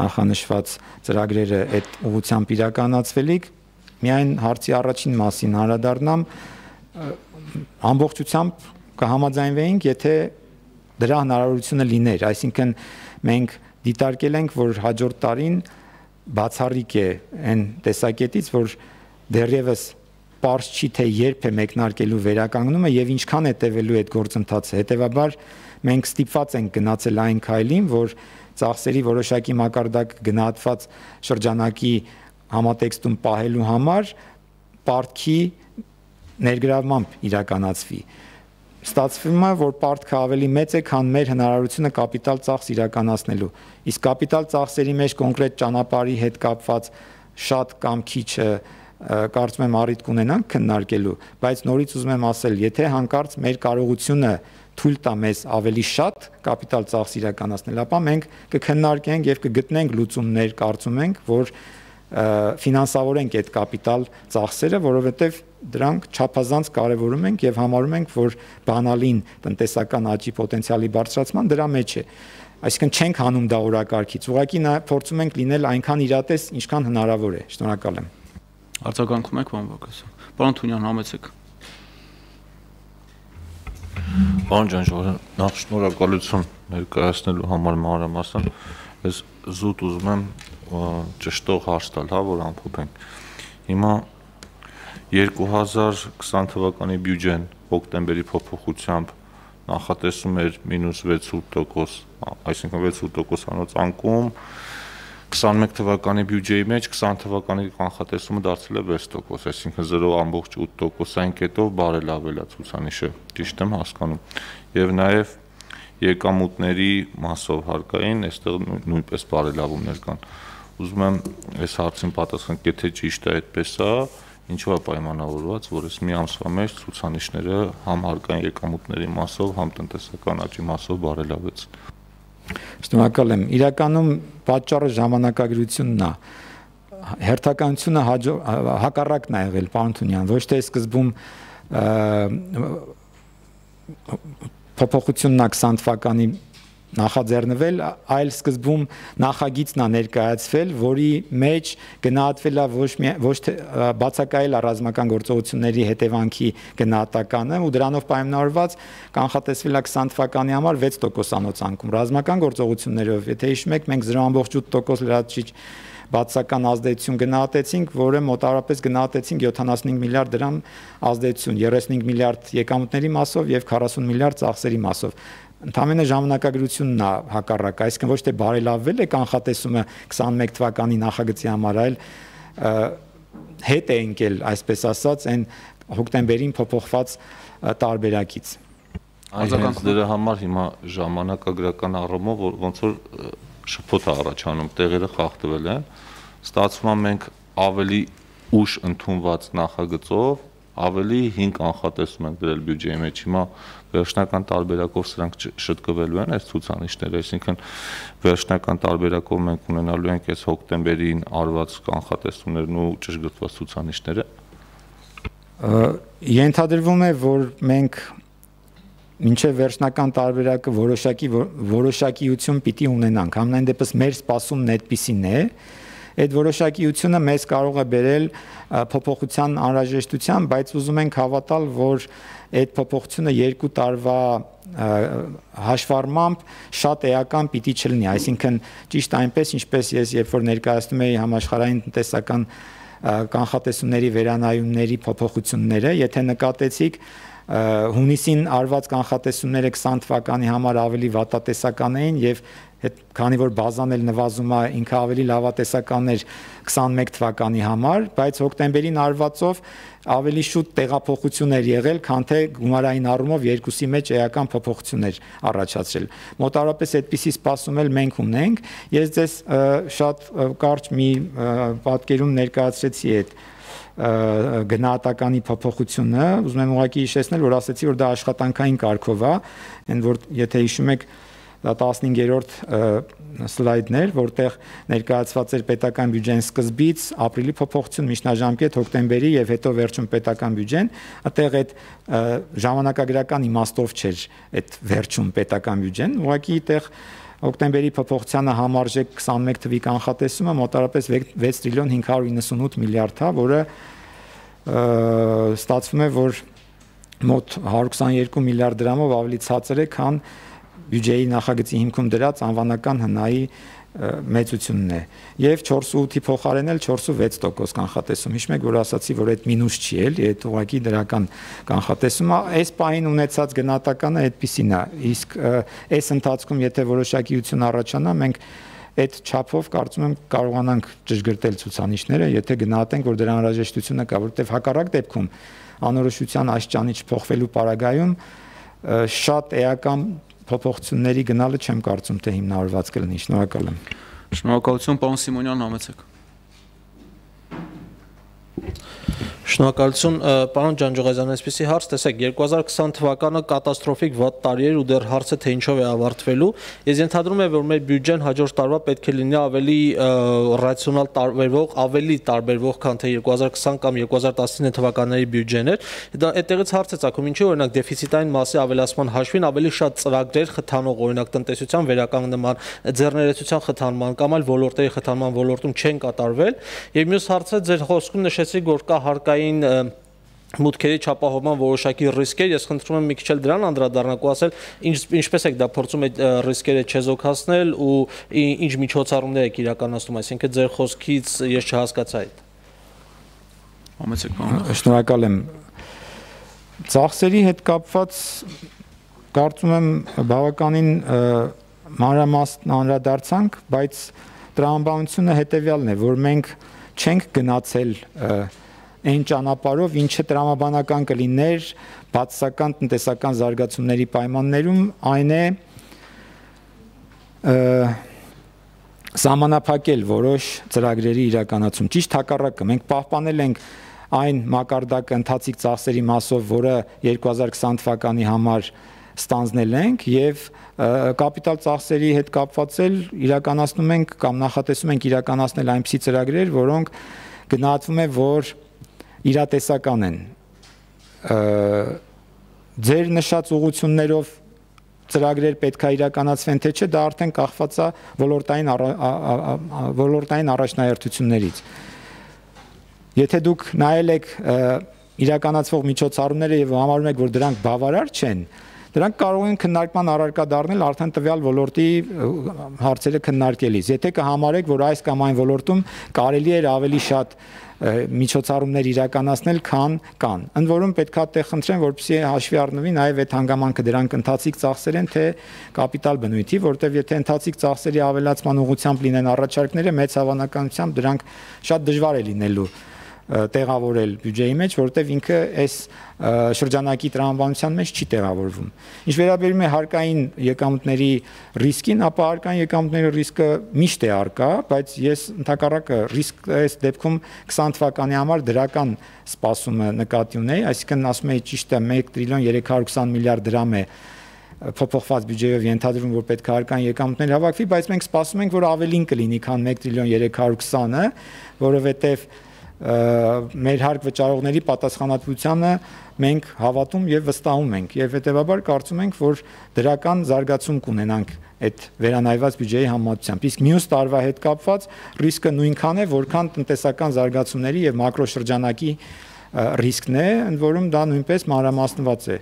C: նախանշված ծրագրերը այդ ուղղությամբ իրականացվելիք, միայն հարցի առաջին մասին անդրադառնամ, ամբողջությամբ կհամաձայնվեինք, եթե դրա հնարավորությունը լիներ, այսինքն մենք դիտարկել ենք, որ հաջորդ տարին բացառիկ է այն տեսակետից, որ դեռևս պարզ չի, թե երբ է մեկնարկելու վերականգնումը եւ ինչքան է տևելու այդ գործընթացը, հետեւաբար մենք ստիպված ենք գնացել այն քայլին, որ ծախսերի որոշակի մակարդակ գնահատված շրջանակի համատեքստում պահելու համար պարտքի ներգրավմամբ իրականացվի։ Ստացվում է, որ պարտքը ավելի մեծ է, քան մեր հնարավորությունը կապիտալ ծախս իրականացնելու։ Իսկ կապիտալ ծախսերի մեջ կոնկրետ ճանապարհի հետ կապված շատ կամ քիչը կարծում եմ առիթ կունենանք քննարկելու, բայց նորից ուզում եմ ասել, եթե հանկարծ մեր կարողությունը թույլ տա մեզ ավելի շատ կապիտալ ծախս իրականացնել, ապա մենք կքննարկենք եւ կգտնենք լուծումներ, կարծում ենք, որ ֆինանսավորենք այդ կապիտալ ծախսերը, որովհետեւ դրանք չափազանց կարևորում ենք եւ համարում ենք, որ բանալին տնտեսական աճի պոտենցիալի բարձրացման դրա մեջ է։ Այսինքն չենք հանում դա օրակարգից, ուղղակի նա փորձում ենք լինել այնքան իրատես, ինչքան հնարավոր է։ Շնորհակալ եմ։
A: Արձագանքում եք, պարոն Բագրատյան։ Պարոն Թունյան, համեցեք։
F: Պարոն Ջանջուղազյան, նախ շնորհակալություն ներկայացնելու համար մանրամասն։ Ես զուտ ուզում եմ ճշտող հարց տալ, հա, որ ամփոփենք։ Հիմա երկու հազար քսան թվականի բյուջեն հոկտեմբերի փոփոխությամբ նախատեսում էր մինուս վեցու տոկոս, այսինքն վեցու տոկոսանոց անկում, քսանմեկ թվականի բյուջեի մեջ քսան թվականի կանխատեսումը դարձել է վեց տոկոս, այսինքն զրո ամբողջ ութ տոկոսային կետով բարելավել է ցուցանիշը, ճիշտ եմ հասկանում։ Եվ նաև եկամուտների մասով հարկային, այստեղ նույնպես բարելավումներ կան։ Ուզում եմ այս հարցին պատասխան, եթե ճիշտ է այդպես է, ինչու է պայմանավորված, որ այս մի ամսվա մեջ ցուցանիշները համ հարկային եկամուտների մասով, համ տնտեսական աճի մասով բարելավեց։
C: Շնորհակալ եմ։ Իրականում պատճառը ժամանակագրությունն է։ Հերթականությունը հակառակն է եղել, պարոն Թունյան, ոչ թե սկզբում փոփոխությունն է քսան թվականի նախաձեռնվել, այլ սկզբում նախագիծն է ներկայացվել, որի մեջ գնահատվել է ոչ ոչ թե բացակայել է ռազմական գործողությունների հետևանքի գնահատականը ու դրանով պայմանավորված կանխատեսվել է քսան թվականի համար վեց տոկոսանոց անկում։ Ռազմական գործողություններով, եթե հիշում եք, մենք զրո ամբողջ ութ տոկոս լրացուցիչ բացական ազդեցություն գնահատեցինք, որը մոտավորապես գնահատեցինք յոթանասունհինգ միլիարդ դրամ ազդեցություն, երեսունհինգ միլիարդ եկամուտների մասով եւ քառասուն միլիարդ ծախսերի մասով։ Ընդամենը ժամանակագրությունն է հակառակ, այսինքն ոչ թե բարելավվել է կանխատեսումը քսանմեկ թվականի նախագծի համար, այլ հետ է ընկել, այսպես ասած, այն հոկտեմբերին փոփոխված տարբերակից։
F: Այս դրա համար հիմա ժամանակագրական առումով ոնց որ շփոթ է առաջանում, տեղերը խախտվել են, ստացվում է մենք ավելի ուշ ընդունված նախագծով ավելի հին կանխատեսում ենք դրել բյուջեի մեջ, հիմա վերջնական տարբերակով սրանք շտկվելու են այս ցուցանիշները, այսինքն վերջնական տարբերակով մենք ունենալու ենք այս հոկտեմբերին արված կանխատեսումներն ու ճշգրտված ցուցանիշները։
C: Ենթադրվում է, որ մենք մինչև վերջնական տարբերակը որոշակի որոշակիություն պիտի ունենանք, համենայն դեպս մեր սպասումն այդպիսին է, այդ որոշակիությունը մեզ կարող է բերել փոփոխության անհրաժեշտության, բայց ուզում ենք հավատալ, որ այդ փոփոխությունը երկու տարվա հաշվառմամբ շատ էական պիտի չլինի, այսինքն ճիշտ այնպես, ինչպես ես երբ որ ներկայացնում էի համաշխարհային տնտեսական կանխատեսումների վերանայումների փոփոխությունները, եթե նկատեցիք հունիսին արված կանխատեսումները քսան թվականի համար ավելի վատատեսական էին եւ քանի որ բազան էլ նվազում է ինքը ավելի լավատեսական էր քսանմեկ թվականի համար, բայց հոկտեմբերին արվածով ավելի շուտ տեղափոխություն էր եղել, քան թե գումարային առումով երկուսի մեջ էական փոփոխություն էր առաջացրել։ Մոտավորապես այդպիսի սպասում էլ մենք ունենք։ Ես ձեզ շատ կարճ մի պատկերում ներկայացրեցի այդ գնահատականի փոփոխությունը, ուզում եմ ուղղակի հիշեցնել, որ ասացի, որ դա աշխատանքային կարգով է, այն որ եթե հիշում եք դա տասնհինգերորդ սլայդն էր, որտեղ ներկայացված էր պետական բյուջեն սկզբից, ապրիլի փոփոխություն, միջնաժամկետ, հոկտեմբերի եւ հետո վերջում պետական բյուջեն, այդտեղ այդ ժամանակագրական իմաստով չէր այդ վերջում պետական բյուջեն, ուղղակի այդտեղ հոկտեմբերի փոփոխությանը համարժեք քսանմեկ թվի կանխատեսումը մոտավորապես վեց տրիլիոն հինգ հարյուր իննսունութ միլիարդ է, որը ստացվում է, որ մոտ հարյուր քսաներկու միլիարդ դրամով ավելի ցածր է, քան բյուջեի նախագծի հիմքում դրած անվանական հնայի մեծությունն է։ Եվ չորս ու ութի փոխարեն էլ չորս ու վեց տոկոս կանխատեսում։ Հիշում եք, որ ասացի, որ այդ մինուս չի էլի, այդ ուղղակի դրական կանխատեսումը, այս պահին ունեցած գնահատականը այդպիսին է։ Իսկ այս ընթացքում եթե որոշակիություն առաջանա, մենք այդ չափով կարծում եմ կարողանանք ճշգրտել ցուցանիշները, եթե գնահատենք, որ դրա անհրաժեշտությունը կա, որովհետև հակառակ դեպքում անորոշության աշճանի չփոխվելու պարագայում շատ էական փոփոխությունների գնալը չեմ կարծում թե հիմնավորված կլինի։ Շնորհակալ եմ։
A: Շնորհակալություն, պարոն Սիմոնյան, համեցեք։
G: Շնորհակալություն, պարոն Ջանջողազյան, այսպեսի հարց, տեսեք, երկու հազար քսան թվականը կատաստրոֆիկ վատ տարի էր ու դեռ հարցը թե ինչով է ավարտվելու։ Ես ենթադրում եմ, որ մեր բյուջեն հաջորդ տարվա պետք է լինի ավելի ռացիոնալ տարբերվող, ավելի տարբերվող, քան թե երկու հազար քսան կամ երկու հազար տասնինը թվականների բյուջեն էր։ Դա այդտեղից հարց է ծագում, ինչի օրինակ դեֆիցիտային մասի ավելացման հաշվին ավելի շատ ծրագրեր խթանող, օրինակ տնտեսության վերականգնման, ձեռներեցության խթանման կամ այլ ոլորտերի խթանման ոլորտում չեն կատարվել։ Եվ մյուս հարցը ձեր խոսքում նշեցիք, որ կա հարկային մուտքերի չափահովման որոշակի ռիսկեր, ես խնդրում եմ մի քիչ էլ դրան անդրադառնալ ու ասել, ինչպես եք դա փորձում այդ ռիսկերը չեզոքացնել ու ինչ միջոցառումներ եք իրականացնում, այսինքն ձեր խոսքից ես չհասկացա այդ։
A: Համեցեք, պարոն։
C: Շնորհակալ եմ։ Ծախսերի հետ կապված կարծում եմ բավականին մանրամասն անդրադարձանք, բայց տրամաբանությունը հետևյալն է, որ մենք չենք գնացել այն ճանապարհով, ինչը տրամաբանական կլիներ բացասական տնտեսական զարգացումների պայմաններում, այն է սահմանափակել որոշ ծրագրերի իրականացում։ Ճիշտ հակառակը, մենք պահպանել ենք այն մակարդակը ընթացիկ ծախսերի մասով, որը երկու հազար քսան թվականի համար ստանձնել ենք եւ կապիտալ ծախսերի հետ կապված էլ իրականացնում ենք կամ նախատեսում ենք իրականացնել այնպիսի ծրագրեր, որոնք գնահատվում է, որ իրատեսական են։ Ձեր նշած ուղղություններով ծրագրեր պետք է իրականացվեն, թե չէ, դա արդեն կախված է ոլորտային ոլորտային առաջնահերթություններից։ Եթե դուք նայել եք իրականացվող միջոցառումները եւ համարում եք, որ դրանք բավարար չեն, Դրանք կարող են քննարկման առարկա դառնել արդեն տվյալ ոլորտի հարցերը քննարկելիս։ Եթե կհամարեք, որ այս կամ այն ոլորտում կարելի է ավելի շատ միջոցառումներ իրականացնել, քան կան։ Ընդ որում պետք է տեղ խնդրեմ, որպեսզի հաշվի առնվի նաև այդ հանգամանքը դրանք ընթացիկ ծախսեր են, թե կապիտալ բնույթի, որտեղ եթե ընթացիկ ծախսերի ավելացման ուղղությամբ լինեն առաջարկները, մեծ հավանականությամբ դրանք շատ դժվար է լինելու տեղավորել բյուջեի մեջ, որովհետև ինքը այս շրջանակի տրամաբանության մեջ չի տեղավորվում։ Ինչ վերաբերում է հարկային եկամուտների ռիսկին, ապա հարկային եկամուտների ռիսկը միշտ է առկա, բայց ես ընդհակառակը ռիսկ այս դեպքում քսան թվականի համար դրական սպասումը նկատի ունեի, այսինքն ասում եի ճիշտը մեկ տրիլիոն երեք հարյուր քսան միլիարդ դրամ է փոփոխված բյուջեով ենթադրվում, որ պետք է հարկային եկամուտներ հավաքվի, բայց մենք սպասում ենք, որ ավելին կլինի, քան մեկ տրիլիոն երեք հարյուր քսանը, որովհետև մեր հարկ վճարողների պատասխանատվությանը մենք հավատում եւ վստահում ենք եւ հետեւաբար կարծում ենք, որ դրական զարգացում կունենանք այդ վերանայված բյուջեի համեմատությամբ։ Իսկ մյուս տարվա հետ կապված ռիսկը նույնքան է, որքան տնտեսական զարգացումների եւ մակրոշրջանակի ռիսկն է, ընդ որում դա նույնպես մանրամասնված է։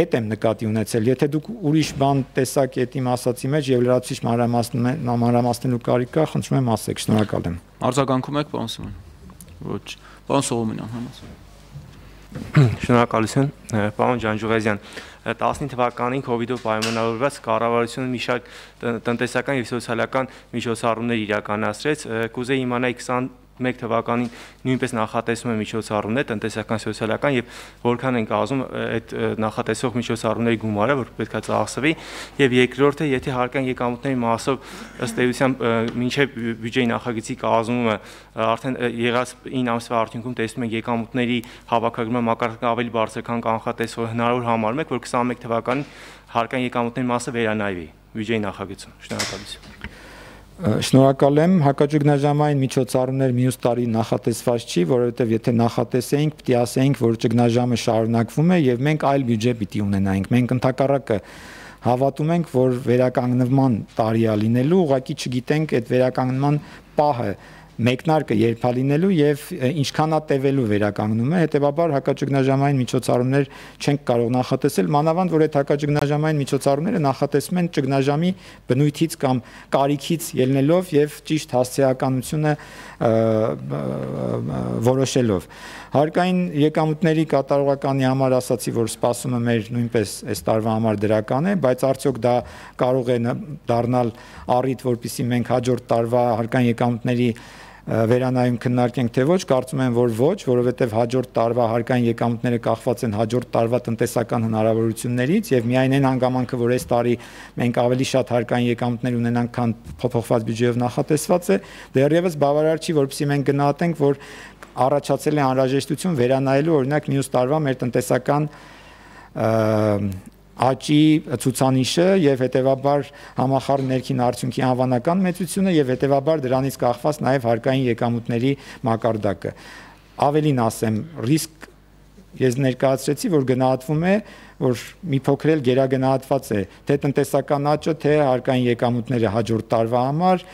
C: Այդ եմ նկատի ունեցել։ Եթե դուք ուրիշ բան տեսակ այդ իմ ասացի մեջ եւ լրացուցիչ մանրամասնելու կարիք կա, խնդրում եմ ասեք, շնորհակալ եմ։
A: Արձագանքում եք, պարոն Սիմոն։ Ոչ, պարոն Սողոմոնյան, համաձայն։
H: Շնորհակալություն, պարոն Ջանջուղազյան։ տասնինը թվականին COVID-ով պայմանավորված կառավարությունը մի շարք տնտեսական եւ սոցիալական միջոցառումներ իրականացրեց։ Կուզեի իմանալ քսանմեկ թվականին նույնպես նախատեսում է միջոցառումներ տնտեսական, սոցիալական եւ որքան են կազմում այդ նախատեսող միջոցառումների գումարը, որ պետք է ծախսվի, եւ երկրորդը, եթե հարկային եկամուտների մասով ըստ էության մինչեւ բյուջեի նախագծի կազմումը արդեն եղած ինը ամսվա արդյունքում տեսնում ենք եկամուտների հավաքագրման մակարդակը ավելի բարձր, քան կանխատեսվող, հնարավոր համարում եք, որ քսանմեկ թվականին հարկային եկամուտների մասը վերանայվի բյուջեի նախագծում։ Շնորհակալություն։
C: Շնորհակալ եմ, հակաճգնաժամային միջոցառումներ մյուս տարի նախատեսված չի, որովհետև եթե նախատեսեինք, պիտի ասեինք, որ ճգնաժամը շարունակվում է եւ մենք այլ բյուջե պիտի ունենայինք։ Մենք ընդհակառակը հավատում ենք, որ վերականգնման տարի է լինելու, ուղղակի չգիտենք այդ վերականգնման պահը մեկնարկը երբ է լինելու եւ ինչքանա տևելու վերականգնումը, հետեւաբար հակաճգնաժամային միջոցառումներ չենք կարող նախատեսել, մանավանդ որ այդ հակաճգնաժամային միջոցառումները նախատեսվում են ճգնաժամի բնույթից կամ կարիքից ելնելով եւ ճիշտ հասցեականությունը որոշելով։ Հարկային եկամուտների կատարողականի համար ասացի, որ սպասումը մեր նույնպես այս տարվա համար դրական է, բայց արդյոք դա կարող է դառնալ առիթ, որպեսզի մենք հաջորդ տարվա հարկային եկամուտների վերանայում քննարկենք, թե ոչ, կարծում եմ, որ ոչ, որովհետև հաջորդ տարվա հարկային եկամուտները կախված են հաջորդ տարվա տնտեսական հնարավորություններից եւ միայն այն հանգամանքը, որ այս տարի մենք ավելի շատ հարկային եկամուտներ ունենանք, քան փոփոխված բյուջեով նախատեսված է, դեռևս բավարար չի, որպեսզի մենք գնահատենք, որ առաջացել է անհրաժեշտություն վերանայելու օրինակ մյուս տարվա մեր տնտեսական աճի ցուցանիշը եւ հետեւաբար համախառն ներքին արդյունքի անվանական մեծությունը եւ հետեւաբար դրանից կախված նաեւ հարկային եկամուտների մակարդակը։ Ավելին ասեմ, ռիսկ ես ներկայացրեցի, որ գնահատվում է, որ մի փոքր էլ գերագնահատված է թե տնտեսական աճը, թե հարկային եկամուտները հաջորդ տարվա համար,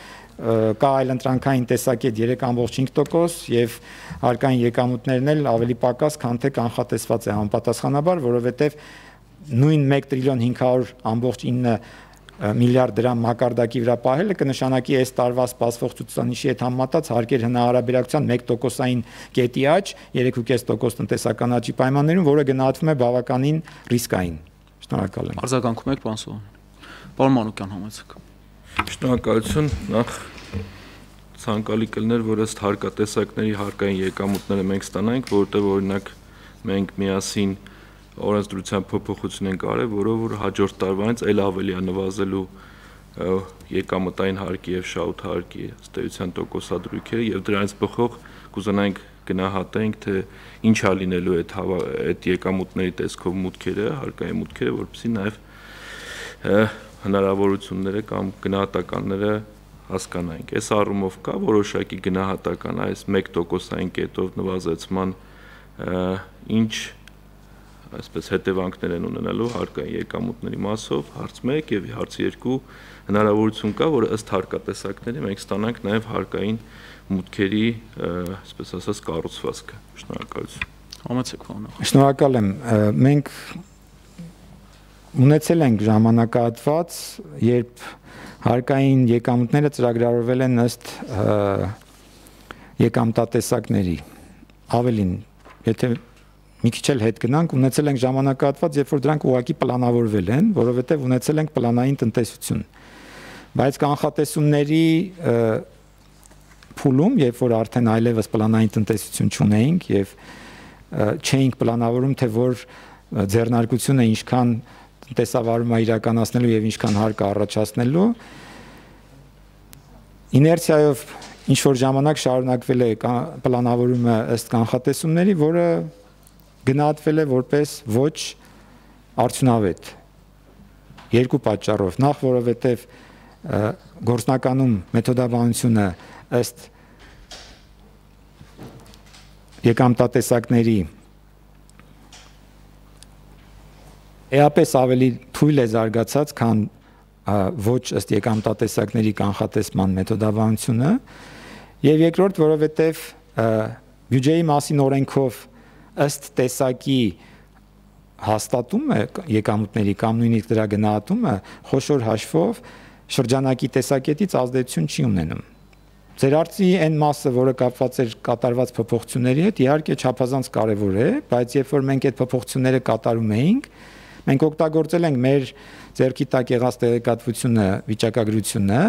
C: կա այլ ընտրանքային տեսակետ երեք կόμքսյոթ cinque տոկոս եւ հարկային եկամուտներն էլ ավելի պակաս, քան թե կանխատեսված է համապատասխանաբար, որովհետեւ նույն մեկ տրիլիոն հինգ հարյուր կόμքսյոթ ինը միլիարդ դրամ մակարդակի վրա պահելը կնշանակի այս տարվա սպասվող ցուցանիշի հետ համեմատած հարկեր հնարավորության մեկ տոկոսային կետի աճ, երեք կόμքսյոթ cinque տոկոս տնտեսական աճի պայմաններում, որը գնահատվում է բավականին ռիսկային։ Շնորհակալ եմ։
A: Արձագանքում եք, պարոն Սողոմոնյան։ Պարոն Մանուկյան, համեցեք։
F: Շնորհակալություն, նախ ցանկալի կլներ, որ ըստ հարկատեսակների հարկային եկամուտները մենք ստանանք, որտեղ օրինակ մենք միասին օրենսդրության փոփոխություն ենք արել, որով որ հաջորդ տարվանից ել ավելի է նվազելու եկամտային հարկի եւ շահութ հարկի ըստ էության տոկոսադրույքերը եւ դրանից բխող կուզենայինք գնահատենք, թե ինչ է լինելու այդ այդ եկամուտների տեսքով մուտքերը, հարկային մուտքերը, որովհետեւ նաեւ հնարավորությունները կամ գնահատականները հասկանանք։ Այս առումով կա որոշակի գնահատական այս մեկ տոկոսային կետով նվազեցման ինչ այսպես հետևանքներ են ունենալու հարկային եկամուտների մասով, հարց մեկ եւ հարց երկու հնարավորություն կա, որ ըստ հարկատեսակների մենք ստանանք նաեւ հարկային մուտքերի, այսպես ասած, կառուցվածքը։ Շնորհակալություն։
A: Համեցեք, պարոն։
C: Շնորհակալ եմ։ Մենք ունեցել ենք ժամանակահատված, երբ հարկային եկամուտները ծրագրավորվել են ըստ եկամտատեսակների։ Ավելին, եթե մի քիչ էլ հետ գնանք, ունեցել ենք ժամանակահատված, երբ որ դրանք ուղղակի պլանավորվել են, որովհետև ունեցել ենք պլանային տնտեսություն։ Բայց կանխատեսումների փուլում, երբ որ արդեն այլևս պլանային տնտեսություն չունեինք եւ չէինք պլանավորում, թե որ ձեռնարկությունը ինչքան տնտեսավարում է իրականացնելու եւ ինչքան հարկ է առաջացնելու, իներցիայով ինչ որ ժամանակ շարունակվել է պլանավորումը ըստ կանխատեսումների, որը գնահատվել է որպես ոչ արդյունավետ երկու պատճառով։ Նախ, որովհետև գործնականում մեթոդաբանությունը ըստ եկամտատեսակների էապես ավելի թույլ է զարգացած, քան ոչ ըստ եկամտատեսակների կանխատեսման մեթոդաբանությունը, եւ երկրորդ, որովհետև բյուջեի մասին օրենքով ըստ տեսակի հաստատումը եկամուտների կամ նույնիսկ դրա գնահատումը խոշոր հաշվով շրջանակի տեսակետից ազդեցություն չի ունենում։ Ձեր արծի այն մասը, որը կապված էր կատարված փոփոխությունների հետ, իհարկե չափազանց կարևոր է, բայց երբ որ մենք այդ փոփոխությունները կատարում էինք, մենք օգտագործել ենք մեր ձեռքի տակ եղած տեղեկատվությունը, վիճակագրությունը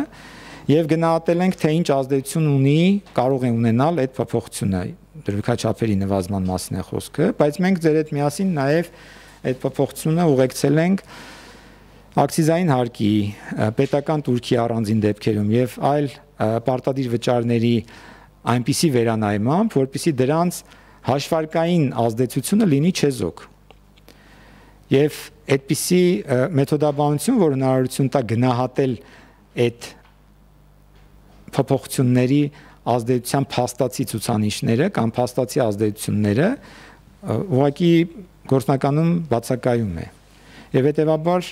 C: եւ գնահատել ենք, թե ինչ ազդեցություն ունի, կարող է ունենալ այդ փոփոխությունը։ Դրվիկաչափերի նվազման մասին է խոսքը, բայց մենք ձեր հետ միասին նաեւ այդ փոփոխությունը ուղեկցել ենք ակցիզային հարկի, պետական տուրքի առանձին դեպքերում եւ այլ պարտադիր վճարների այնպիսի վերանայմամբ, որպեսզի դրանց հաշվարկային ազդեցությունը լինի չեզոք։ Եվ այդպիսի մեթոդաբանություն, որ հնարավորություն տա գնահատել այդ փոփոխությունների ազդեցության փաստացի ցուցանիշները կամ փաստացի ազդեցությունները, ուղղակի գործնականում բացակայում է։ Եվ հետեւաբար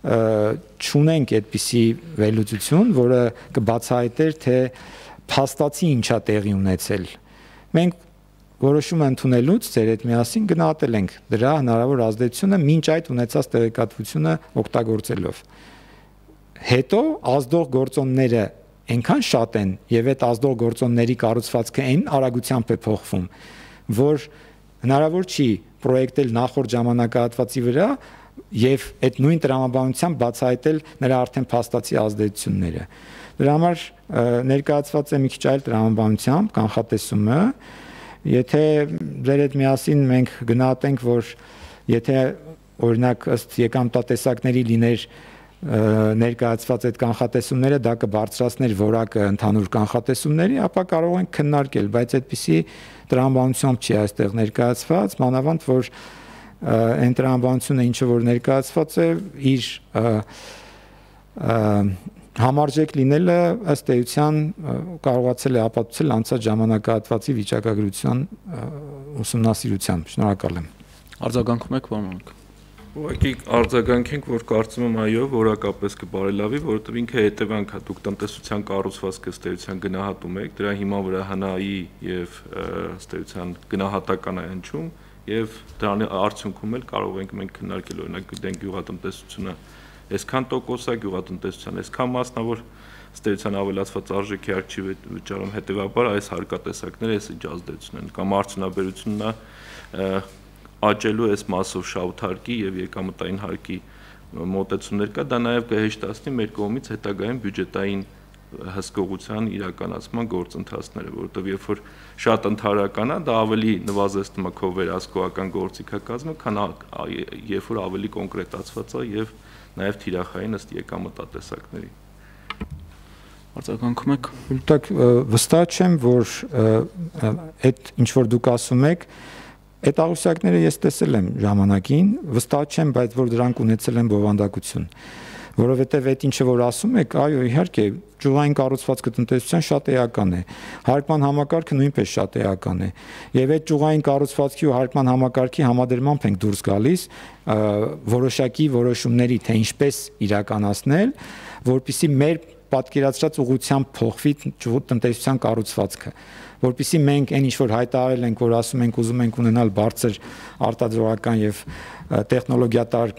C: չունենք այդպիսի վերլուծություն, որը կբացահայտեր, թե փաստացի ինչա տեղի ունեցել։ Մենք որոշումը ընդունելուց ձեր հետ միասին գնահատել ենք դրա հնարավոր ազդեցությունը մինչ այդ ունեցած տեղեկատվությունը օգտագործելով։ Հետո ազդող գործոնները այնքան շատ են եւ այդ ազդող գործոնների կառուցվածքը այն արագությամբ է փոխվում, որ հնարավոր չի պրոյեկտել նախորդ ժամանակահատվածի վրա եւ այդ նույն տրամաբանությամբ բացահայտել նրա արդեն փաստացի ազդեցությունները։ Դրա համար ներկայացված է մի քիչ այլ տրամաբանությամբ կանխատեսումը, եթե ձեր հետ միասին մենք գնահատենք, որ եթե օրինակ ըստ եկամտատեսակների լիներ ներկայացված այդ կանխատեսումները, դա կբարձրացներ որակը ընդհանուր կանխատեսումների, ապա կարող ենք քննարկել, բայց այդպիսի տրամաբանությամբ չի այստեղ ներկայացված, մանավանդ որ այն տրամաբանությունը, ինչը որ ներկայացված է, իր համարժեք լինելը ըստ էության կարողացել է ապացուցել անցած ժամանակահատվածի վիճակագրության ուսումնասիրությամբ։ Շնորհակալ եմ։
F: Արձագանքում եք, պարոն Մանուկ։
I: Ուղղակի արձագանքենք, որ կարծում եմ այո, որակապես կբարելավի, որովհետև ինքը հետևանք է, դուք տնտեսության կառուցվածքը ըստ էության գնահատում եք, դրա հիման վրա հնայի եւ ըստ էության գնահատական է հնչում եւ դրանի արդյունքում էլ կարող ենք մենք քննարկել, օրինակ գիտենք գյուղատնտեսությունը այսքան տոկոս է, գյուղատնտեսության այսքան մասնավոր ըստ էության ավելացված արժեքի արժ չի վճարում, հետեւաբար այս հարկատեսակները այս ինչ ազդեցություն են կամ արդյունաբերությունն է աճելու այս մասով շահութարկի եւ եկամտային հարկի մոտեցումներ կա, դա նաեւ կհեշտացնի մեր կողմից հետագայում բյուջետային հսկողության իրականացման գործընթացները, որովհետեւ երբ որ շատ ընդհանրական է, դա ավելի նվազեցնում է քո վերահսկողական գործիքակազմը, քան երբ որ ավելի կոնկրետացված է եւ նաեւ թիրախային ըստ եկամտատեսակների։
F: Արձագանքում եք։
C: Դուք վստահ չեմ, որ այդ ինչ որ դուք ասում եք, այդ աղյուսակները ես տեսել եմ ժամանակին, վստահ չեմ, բայց որ դրանք ունեցել են բովանդակություն, որովհետև այդ ինչը որ ասում եք, այո, իհարկե, ճյուղային կառուցվածքը տնտեսության շատ էական է, հարկման համակարգը նույնպես շատ էական է, եւ այդ ճյուղային կառուցվածքի ու հարկման համակարգի համադրմամբ ենք դուրս գալիս որոշակի որոշումների, թե ինչպես իրականացնել, որpիսի մեր պատկերացրած ուղղությամբ փոխվի տնտեսության կառուցվածքը, որpիսի մենք այն ինչ որ հայտարարել ենք, որ ասում ենք ուզում ենք ունենալ բարձր արտադրողական եւ տեխնոլոգիատար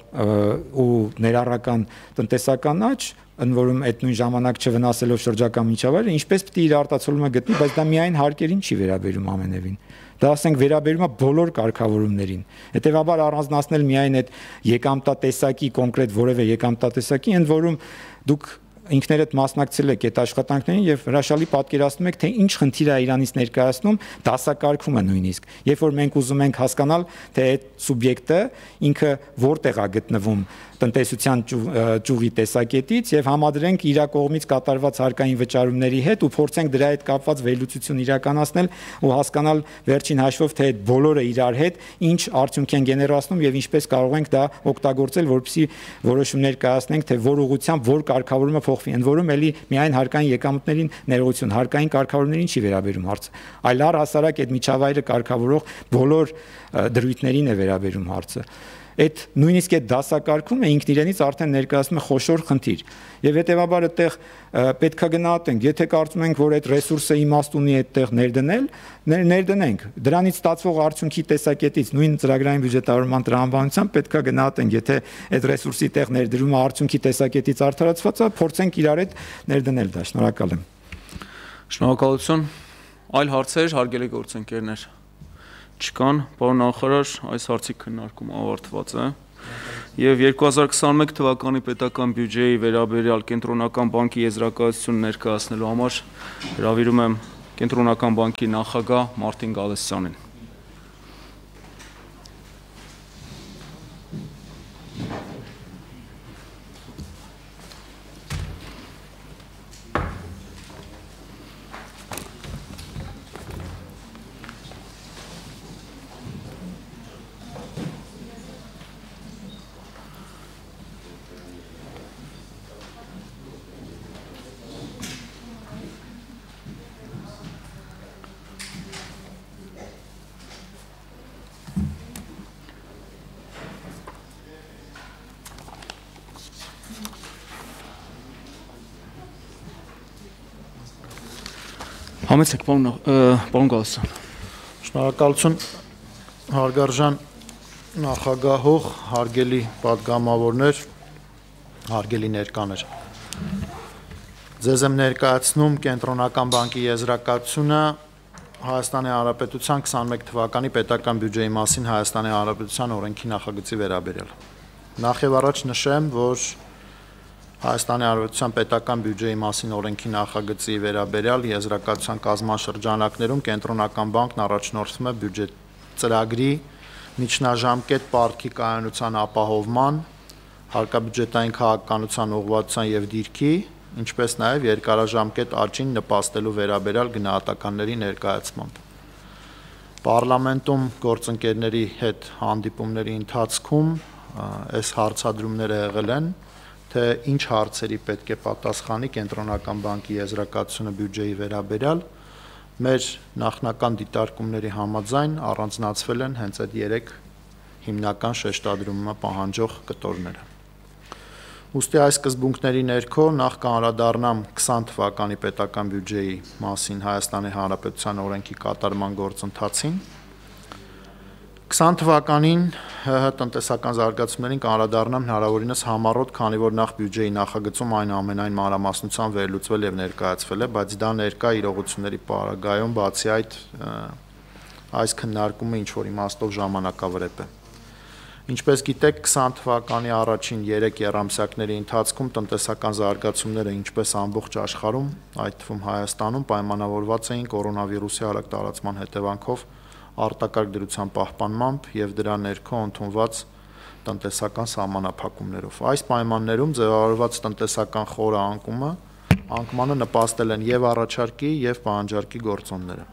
C: ու ներառական տնտեսական աճ, ընդ որում այդ նույն ժամանակ չվնասելով շրջակա միջավայրը, ինչպես պետք է իր արտացոլումը գտնի, բայց դա միայն հարկերին չի վերաբերում ամենևին։ Դա ասենք վերաբերում է բոլոր կարգավորումներին։ Հետևաբար առանձնացնել միայն այդ եկամտատեսակի կոնկրետ որևէ եկամտատեսակի, ընդ որում դուք ինքներդ մասնակցել եք այդ աշխատանքներին եւ հրաշալի պատկերացնում եք, թե ինչ խնդիր է Իրանից ներկայացնում դասակարգումը նույնիսկ։ Երբ որ մենք ուզում ենք հասկանալ, թե այդ սուբյեկտը ինքը որտեղ է գտնվում տնտեսության ճյուղի տեսակետից եւ համադրենք իր կողմից կատարված հարկային վճարումների հետ ու փորձենք դրա հետ կապված վերլուծություն իրականացնել ու հասկանալ վերջին հաշվով թե այդ բոլորը իրար հետ ինչ արդյունք են գեներացնում եւ ինչպես կարող ենք դա օգտագործել, որպեսզի որոշումներ կայացնենք, թե որ ուղղությամբ որ կարգավորումը փոխվի, ընդ որում էլի միայն հարկային եկամուտներին ներողություն, հարկային կարգավորումներին չի վերաբերում հարցը, այլ առհասարակ այդ միջավայրը կարգավորող բոլոր դրույթներին է վերաբերում հարցը։ Այդ նույնիսկ այդ դասակարգումը ինքն իրենից արդեն ներկայացնում է խոշոր խնդիր եւ հետեւաբար այդտեղ պետքա գնահատենք, եթե կարծում ենք, որ այդ ռեսուրսը իմաստ ունի այդտեղ ներդնել, ներդնենք, դրանից ստացվող արդյունքի տեսակետից նույն ծրագրային բյուջետավորման տրամաբանությամբ պետքա գնահատենք, եթե այդ ռեսուրսի տեղ ներդրումը արդյունքի տեսակետից արդարացված է, փորձենք իրար հետ ներդնել դա։ Շնորհակալ եմ։
A: Շնորհակալություն։ Այլ հարցեր, հարգելի գործընկերներ չկան, պարոն նախարար, այս հարցի քննարկումը ավարտված է եւ երկու հազար քսաներկու թվականի պետական բյուջեի վերաբերյալ Կենտրոնական բանկի եզրակացություն ներկայացնելու համար հրավիրում եմ Կենտրոնական բանկի նախագահ Մարտին Գալստյանին։ Համեցեք, պարոն Գալստյան։
G: Շնորհակալություն, հարգարժան նախագահող, հարգելի պատգամավորներ, հարգելի ներկաներ։ Ձեզ եմ ներկայացնում Կենտրոնական բանկի եզրակացությունը Հայաստանի Հանրապետության քսաներկու թվականի պետական բյուջեի մասին Հայաստանի Հանրապետության օրենքի նախագծի վերաբերյալ։ Նախ եւ առաջ նշեմ, որ Հայաստանի Հանրապետության պետական բյուջեի մասին օրենքի նախագծի վերաբերյալ եզրակացության կազմաշրջանակներում Կենտրոնական բանկն առաջնորդվում է բյուջետ ծրագրի միջնաժամկետ պարտքի կայունության ապահովման, հարկաբյուջետային քաղաքականության ուղղվածության եւ դիրքի, ինչպես նաեւ երկարաժամկետ աճին նպաստելու վերաբերյալ գնահատականների ներկայացմամբ։ Պարլամենտում գործընկերների հետ հանդիպումների ընթացքում այս հարցադրումները եղել են, թե ինչ հարցերի պետք է պատասխանի Կենտրոնական բանկի եզրակացությունը բյուջեի վերաբերյալ, մեր նախնական դիտարկումների համաձայն առանձնացվել են հենց այդ երեք հիմնական շեշտադրումը պահանջող կտորները։ Ուստի այս սկզբունքների ներքո նախ կանդրադառնամ քսան թվականի պետական բյուջեի մասին Հայաստանի Հանրապետության օրենքի կատարման գործընթացին։ քսան թվականին ՀՀ տնտեսական զարգացումներին կանդրադառնամ հնարավորինս համառոտ, քանի որ նախ բյուջեի նախագծում այնուամենայն մանրամասնությամբ վերլուծվել եւ ներկայացվել է, բայց դա ներկա իրողությունների պարագայում բացի այդ այս քննարկումը ինչ որ իմաստով ժամանակավրեպ է։ Ինչպես գիտեք, քսան թվականի առաջին երեք եռամսյակների ընթացքում տնտեսական զարգացումները ինչպես ամբողջ աշխարհում, այդ թվում Հայաստանում պայմանավորված էին կորոնավիրուսի արագ տարածման հետևանքով արտակարգ դրության պահպանմամբ եւ դրա ներքո ընդունված տնտեսական սահմանափակումներով։ Այս պայմաններում ձևավորված տնտեսական խորը անկումը անկմանը նպաստել են եւ առաջարկի եւ պահանջարկի գործոնները։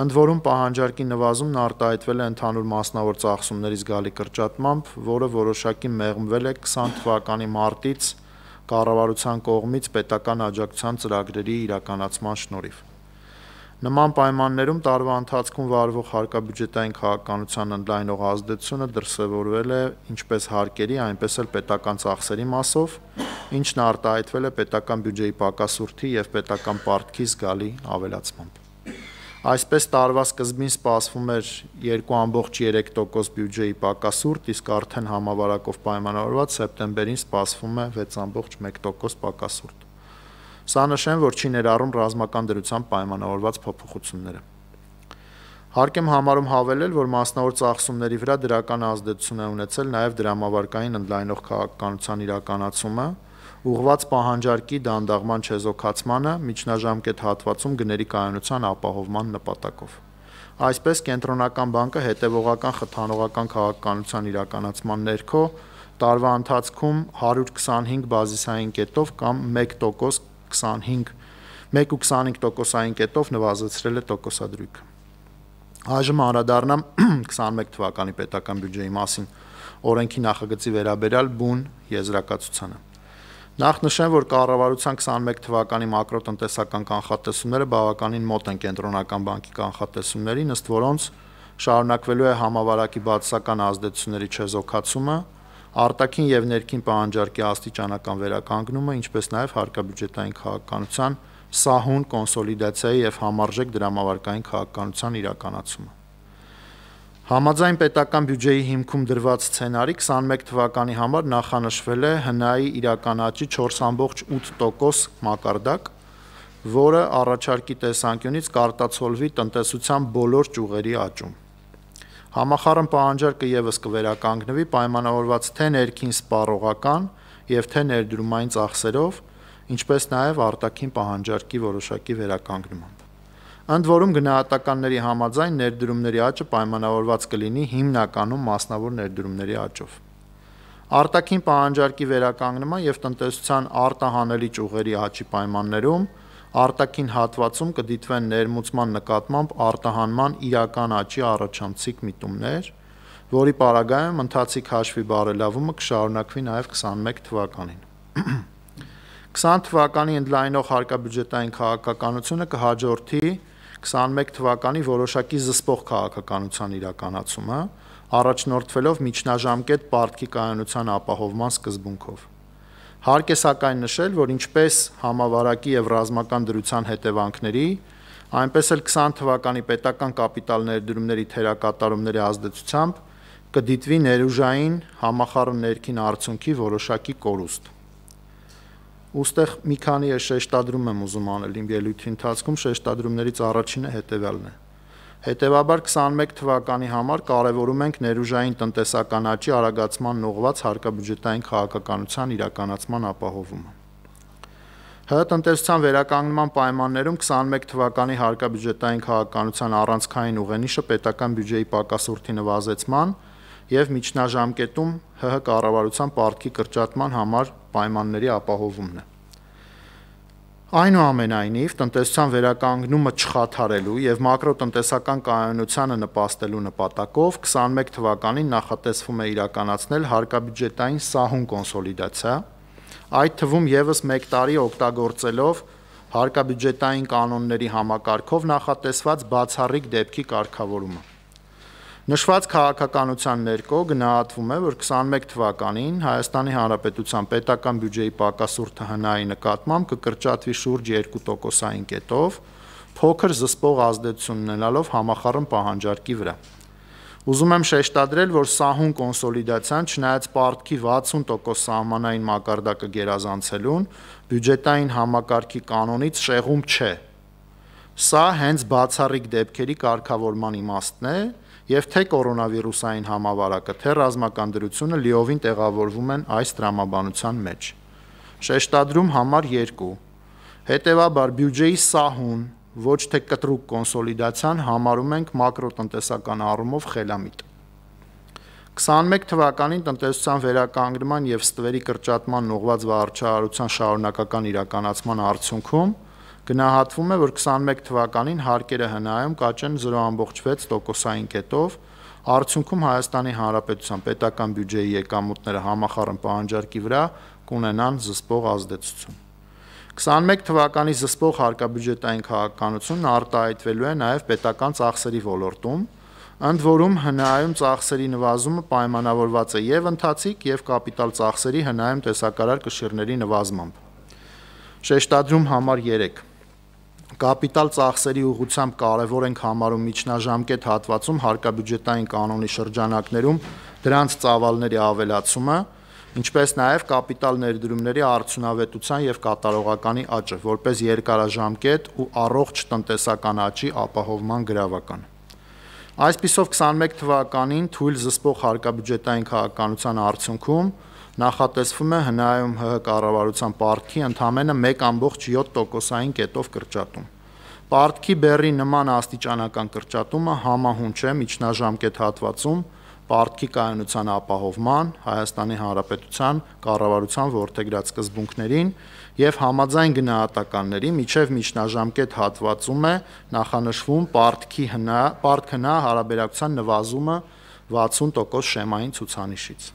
G: Ընդ որում պահանջարկի նվազումն արտահայտվել է ընդհանուր մասնավոր ծախսումների զգալի կրճատմամբ, որը որոշակի մեղմվել է քսան թվականի մարտից կառավարության կողմից պետական աջակցության ծրագրերի իրականացման շնորհիվ։ Նման պայմաններում տարվա ընթացքում վարվող հարկաբյուջետային քաղաքականության ընդլայնող ազդեցությունը դրսևորվել է ինչպես հարկերի, այնպես էլ պետական ծախսերի մասով,
J: ինչն արտահայտվել է պետական բյուջեի պակասուրդի և պետական պարտքի զգալի ավելացմամբ։ Այսպես տարվա սկզբին սպասվում էր երկու կόμma երեք տոկոս բյուջեի պակասուրդ, իսկ արդեն համավարակով պայմանավորված սեպտեմբերին սպասվում է վեց կόμma մեկ տոկոս պակասուրդ։ Սա նշեմ, որ չի ներառում ռազմական դրությամբ պայմանավորված փոփոխությունները։ Հարկ եմ համարում հավելել, որ մասնավոր ծախսումների վրա դրական ազդեցություն է ունեցել նաև դրամավարկային ընդլայնող քաղաքականության իրականացումը, ուղղված պահանջարկի դանդաղման չեզոքացմանը միջնաժամկետ հատվածում գների կայունության ապահովման նպատակով։ Այսպես Կենտրոնական բանկը հետևողական խթանողական քաղաքականության իրականացման ներքո տարվա ընթացքում հարյուր քսանհինգ բազիսային կետով կամ մեկ տոկոս քսանհինգ մեկ կόμma քսանհինգ տոկոսային կետով նվազեցրել է տոկոսադրույքը։ Այժմ անդրադառնամ քսանմեկ թվականի պետական բյուջեի մասին օրենքի նախագծի վերաբերյալ բուն եզրակացությանը։ Նախ նշեմ, որ կառավարության քսանմեկ թվականի մակրոտնտեսական կանխատեսումները բավականին մոտ են Կենտրոնական բանկի կանխատեսումներին, ըստ որոնց շարունակվելու է համավարակի բացասական ազդեցությունների չեզոքացումը, արտաքին և ներքին պահանջարկի աստիճանական վերականգնումը, ինչպես նաև հարկաբյուջետային քաղաքականության սահուն կոնսոլիդացիայի և համարժեք դրամավարկային քաղաքականության իրականացումը։ Համաձայն պետական բյուջեի հիմքում դրված սցենարի քսանմեկ թվականի համար նախանշվել է ՀՆԱ-ի իրական աճի չորս կόμma ութ տոկոս մակարդակ, որը առաջարկի տեսանկյունից կարտացոլվի տնտեսության բոլոր ճյուղերի աճում։ Համախառն պահանջարկը ևս կվերականգնվի պայմանավորված թե ներքին սպառողական և թե ներդրումային ծախսերով, ինչպես նաև արտաքին պահանջարկի որոշակի վերականգնմամբ։ Ընդ որում գնահատականների համաձայն ներդրումների աճը պայմանավորված կլինի հիմնականում մասնավոր ներդրումների աճով։ Արտաքին պահանջարկի վերականգնման և տնտեսության արտահանելի ճյուղերի աճի պայմաններում արտաքին հատվածում կդիտվեն ներմուծման նկատմամբ արտահանման իրական աճի առաջանցիկ միտումներ, որի պարագայում ընթացիկ հաշվի բարելավումը կշարունակվի նաև քսանմեկ թվականին։ քսան թվականի ընդլայնող հարկաբյուջետային քաղաքականությունը կհաջորդի քսանմեկ թվականի որոշակի զսպող քաղաքականության իրականացումը, առաջնորդվելով միջնաժամկետ պարտքի կայունության ապահովման սկզբունքով։ Հարկ է սակայն նշել, որ ինչպես համավարակի և ռազմական դրության հետևանքների, այնպես էլ քսան թվականի պետական կապիտալ ներդրումների թերակատարումների ազդեցությամբ կդիտվի ներուժային համախառն ներքին արդյունքի որոշակի կորուստ։ Ուստեղ մի քանի շեշտադրում եմ ուզում անել իմ ելույթի ընթացքում, շեշտադրումներից առաջինը հետևյալն է։ Հետևաբար քսանմեկ թվականի համար կարևորում ենք ներուժային տնտեսական աճի արագացման ուղղված հարկաբյուջետային քաղաքականության իրականացման ապահովումը։ ՀՀ տնտեսության վերականգնման պայմաններում քսանմեկ թվականի հարկաբյուջետային քաղաքականության առանցքային ուղենիշը պետական բյուջեի պակասուրդի նվազեցման և միջնաժամկետում ՀՀ կառավարության պարտքի կրճատման համար պայմանների ապահովումն է։ Այնուամենայնիվ, տնտեսության վերականգնումը չխաթարելու և մակրոտնտեսական կայունությանը նպաստելու նպատակով քսանմեկ թվականին նախատեսվում է իրականացնել հարկաբյուջետային սահուն կոնսոլիդացիա, այդ թվում ևս մեկ տարի օգտագործելով հարկաբյուջետային կանոնների համակարգով նախատեսված բացառիկ դեպքի կարգավորումը։ Նշված քաղաքականության ներքո գնահատվում է, որ քսանմեկ թվականին Հայաստանի Հանրապետության պետական բյուջեի պակասուրդը ՀՆԱ-ի նկատմամբ կկրճատվի շուրջ երկու տոկոսային կետով, փոքր զսպող ազդեցություն ունենալով համախառն պահանջարկի վրա։ Ուզում եմ շեշտադրել, որ սահուն կոնսոլիդացիան չնայած պարտքի վաթսուն տոկոս սահմանային մակարդակը գերազանցելուն, բյուջետային համակարգի կանոնից շեղում չէ։ Սա հենց բացառիկ դեպքերի կարգավորման իմաստն է, և թե կորոնավիրուսային համավարակը, թե ռազմական դրությունը լիովին տեղավորվում են այս տրամաբանության մեջ։ Շեշտադրում համար երկու։ Հետևաբար բյուջեի սահուն, ոչ թե կտրուկ կոնսոլիդացիան համարում ենք մակրոտնտեսական առումով խելամիտ։ քսանմեկ թվականին տնտեսության վերականգնման և ստվերի կրճատման ուղղված վարչարարության շարունակական իրականացման արդյունքում գնահատվում է, որ քսանմեկ թվականին հարկերը ՀՆԱ-ում կաճեն զրո կόμma վեց տոկոսային կետով, արդյունքում Հայաստանի Հանրապետության պետական բյուջեի եկամուտները համախառն պահանջարկի վրա կունենան զսպող ազդեցություն։ քսանմեկ թվականի զսպող հարկաբյուջետային քաղաքականությունն արտահայտվելու է նաև պետական ծախսերի ոլորտում, Ընդ որում հնայում ծախսերի նվազումը պայմանավորված է եւ ընթացիկ եւ կապիտալ ծախսերի հնայում տեսակարար կշիռների նվազմամբ։ Շեշտադրում համար երեք Կապիտալ ծախսերի ուղղությամբ կարևոր ենք համարում միջնաժամկետ հատվածում հարկաբյուջետային կանոնի շրջանակներում դրանց ծավալների ավելացումը, ինչպես նաև կապիտալ ներդրումների արդյունավետության եւ կատարողականի աճը, որպես երկարաժամկետ ու առողջ տնտեսական աճի ապահովման գրավական։ Այսպիսով քսանմեկ թվականին թույլ զսպող հարկաբյուջետային քաղաքականության արդյունքում նախատեսվում է հնայում ՀՀ կառավարության պարտքի ընդամենը մեկ ամբողջ յոթ տոկոսային կետով կրճատում։ Պարտքի բեռի նման աստիճանական կրճատումը համահունչ է միջնաժամկետ հատվածում պարտքի կայունության ապահովման, Հայաստանի Հանրապետության կառավարության որդեգրած սկզբունքներին եւ համաձայն գնահատականների միջև միջնաժամկետ հատվածում է նախանշվում պարտքի հնա, պարտք հնա հարաբերակցության նվազումը վաթսուն տոկոս շեմային ցուցանիշից։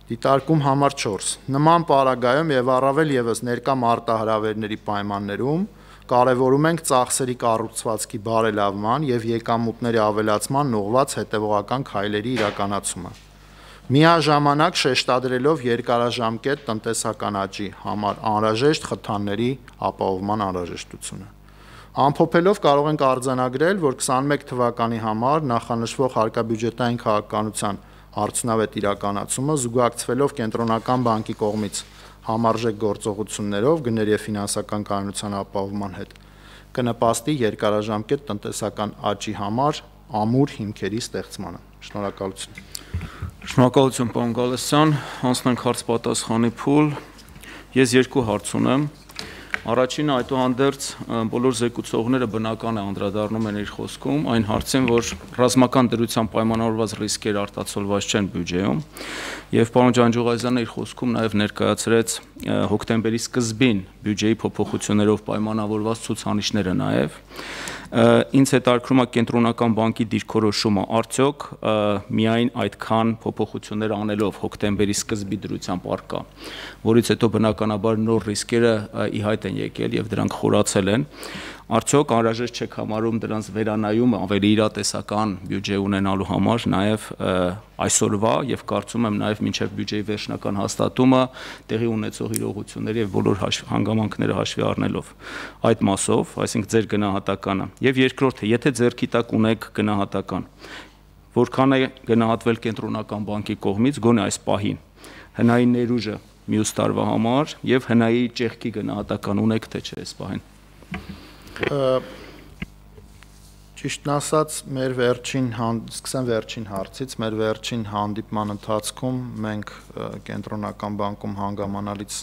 J: Դիտարկում համար չորս Նման պարագայում եւ առավել եւս ներկա մարտահրավերների պայմաններում կարևորում ենք ծախսերի կառուցվածքի բարելավման եւ եկամուտների ավելացման ուղղված հետեւողական քայլերի իրականացումը։ Միաժամանակ շեշտադրելով երկարաժամկետ տնտեսական աճի համար անհրաժեշտ խթանների ապահովման անհրաժեշտությունը։ Ամփոփելով կարող ենք արձանագրել, որ քսանմեկ թվականի համար նախանշվող հարկաբյուջետային քաղաքականության արդյունավետ իրականացումը զուգակցվելով կենտրոնական բանկի կողմից համարժեք գործողություններով գների եւ ֆինանսական կայունության ապահովման հետ կնպաստի երկարաժամկետ տնտեսական աճի համար ամուր հիմքերի ստեղծմանը։ Շնորհակալություն։
I: Շնորհակալություն, պարոն Գալստյան, անցնենք հարց պատասխանի փուլ։ Ես երկու հարց ունեմ։ Առաջինը այդուհանդերձ բոլոր զեկուցողները բնական է անդրադառնում են իր խոսքում այն հարցին, որ ռազմական դրությամբ պայմանավորված ռիսկեր արտացոլված չեն բյուջեում, եւ պարոն Ջանջուղազյանը իր խոսքում նաեւ ներկայացրեց հոկտեմբերի սկզբին բյուջեի փոփոխություններով պայմանավորված ցուցանիշները նաեւ։ Ինձ հետաքրքրում է կենտրոնական բանկի դիրքորոշումը արդյոք միայն այդքան փոփոխություններ անելով հոկտեմբերի սկզբի դրությամբ արկա, որից հետո բնականաբար նոր ռիսկերը ի հայտ են եկել եւ դրանք խորացել են, արդյոք անհրաժեշտ չեք համարում դրանց վերանայումը ավելի իրատեսական բյուջե ունենալու համար նաեւ այսօրվա եւ կարծում եմ նաեւ մինչեւ բյուջեի վերջնական հաստատումը տեղի ունեցող իրողությունների եւ բոլոր հանգամանքները հաշվի առնելով այդ մասով, այսինքն ձեր գնահատականը եւ երկրորդը, եթե ձեռքի տակ ունեք գնահատական, որքան է գնահատվել կենտրոնական բանկի կողմից գոնե այս պահին հնայի ներուժը մյուս տարվա համար եւ հնայի ճեղքի գնահատական ունեք թե չէ այս պահին։
J: Ճիշտն ասած, մեր վերջին սկսեմ վերջին հարցից, մեր վերջին հանդիպման ընթացքում մենք կենտրոնական բանկում հանգամանալից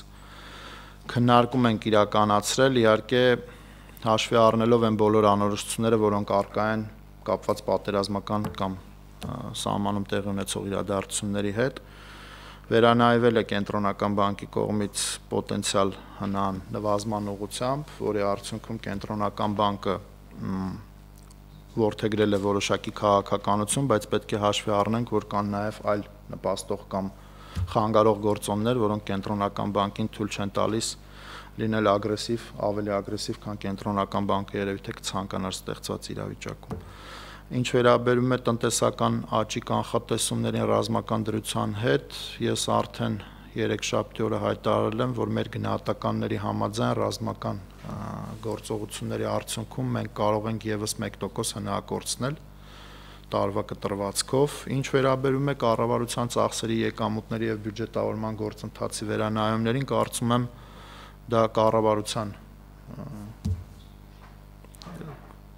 J: քննարկում ենք իրականացրել, իհարկե հաշվի առնելով այն բոլոր անորոշությունները, որոնք առկա են կապված պատերազմական կամ սահմանում տեղի ունեցող իրադարձությունների հետ, վերանայվել է կենտրոնական բանկի կողմից պոտենցիալ հնան նվազման ուղղությամբ, որի արդյունքում կենտրոնական բանկը որդեգրել է որոշակի քաղաքականություն, բայց պետք է հաշվի առնենք, որ կան նաև այլ նպաստող կամ խանգարող գործոններ, որոնք կենտրոնական բանկին թույլ չեն տալիս լինել ագրեսիվ, ավելի ագրեսիվ, քան կենտրոնական բանկը երևի թե կցանկանար ստեղծված իրավիճակում։ Ինչ վերաբերում է տնտեսական աճի կանխատեսումներին ռազմական դրության հետ, ես արդեն երեքշաբթի օրը հայտարարել եմ, որ մեր գնահատականների համաձայն ռազմական գործողությունների արդյունքում մենք կարող ենք եւս մեկ տոկոս հնագործնել տարվա կտրվածքով։ Ինչ վերաբերում է կառավարության ծախսերի եկամուտների եւ բյուջետավորման գործընթացի վերանայումներին, կարծում եմ դա կառավարության